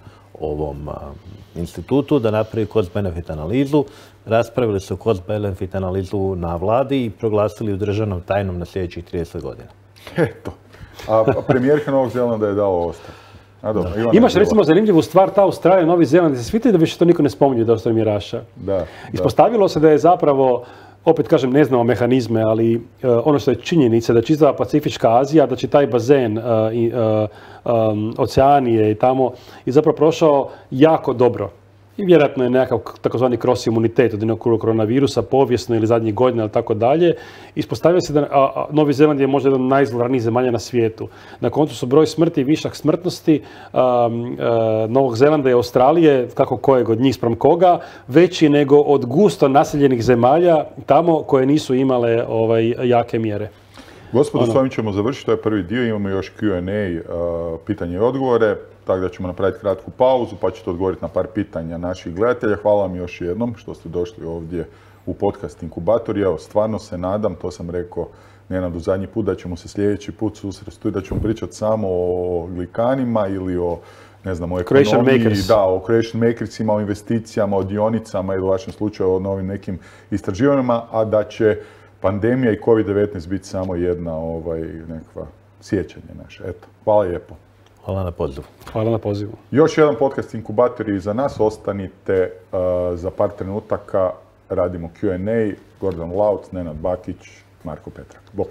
institutu da napravi cost-benefit analizu, raspravili su cost-benefit analizu na vladi i proglasili ju državnom tajnom na sljedećih 30 godina.
Eto. A premijerka Novog Zelanda je dao ostavku.
Imaš recimo zanimljivu stvar, ta Australija, Novi Zeland, se sviti da više to niko ne spominje da ostaje mjeraša. Ispostavilo se da je zapravo, opet kažem, ne znamo mehanizme, ali ono što je činjenica da čitava Pacifička Azija, da će taj bazen Oceanije i tamo je zapravo prošao jako dobro. I vjerojatno je nekakav takozvani cross imunitet od jednog koronavirusa, povijesno ili zadnjih godina ili tako dalje. Ispostavio se da Novi Zeland je možda jedan od najizolirnijih zemalja na svijetu. Na koncu su broj smrti i višak smrtnosti Novog Zelanda i Australije, kako kojeg od njih spram koga, veći nego od gusto naseljenih zemalja tamo koje nisu imale jake mjere.
Gospodo, s ovim ćemo završiti, to je prvi dio, imamo još Q&A, pitanje i odgovore, tako da ćemo napraviti kratku pauzu pa ćete odgovoriti na par pitanja naših gledatelja. Hvala vam još jednom što ste došli ovdje u podcast Inkubator. Evo, stvarno se nadam, to sam rekao Nenadu zadnji put, da ćemo se sljedeći put susresti i da ćemo pričati samo o glikanima ili o o ekonomiji, o creation makersima, o investicijama, o dionicama ili u vašem slučaju o novim nekim istraživanjima, a da će pandemija i COVID-19 biti samo jedna nekakva sjećanje naše. Eto, hvala lijepo.
Hvala na pozivu.
Hvala na pozivu.
Još jedan podcast Inkubator i za nas. Ostanite za par trenutaka. Radimo Q&A. Gordan Lauc, Nenad Bakić, Marko Petrak. Bok.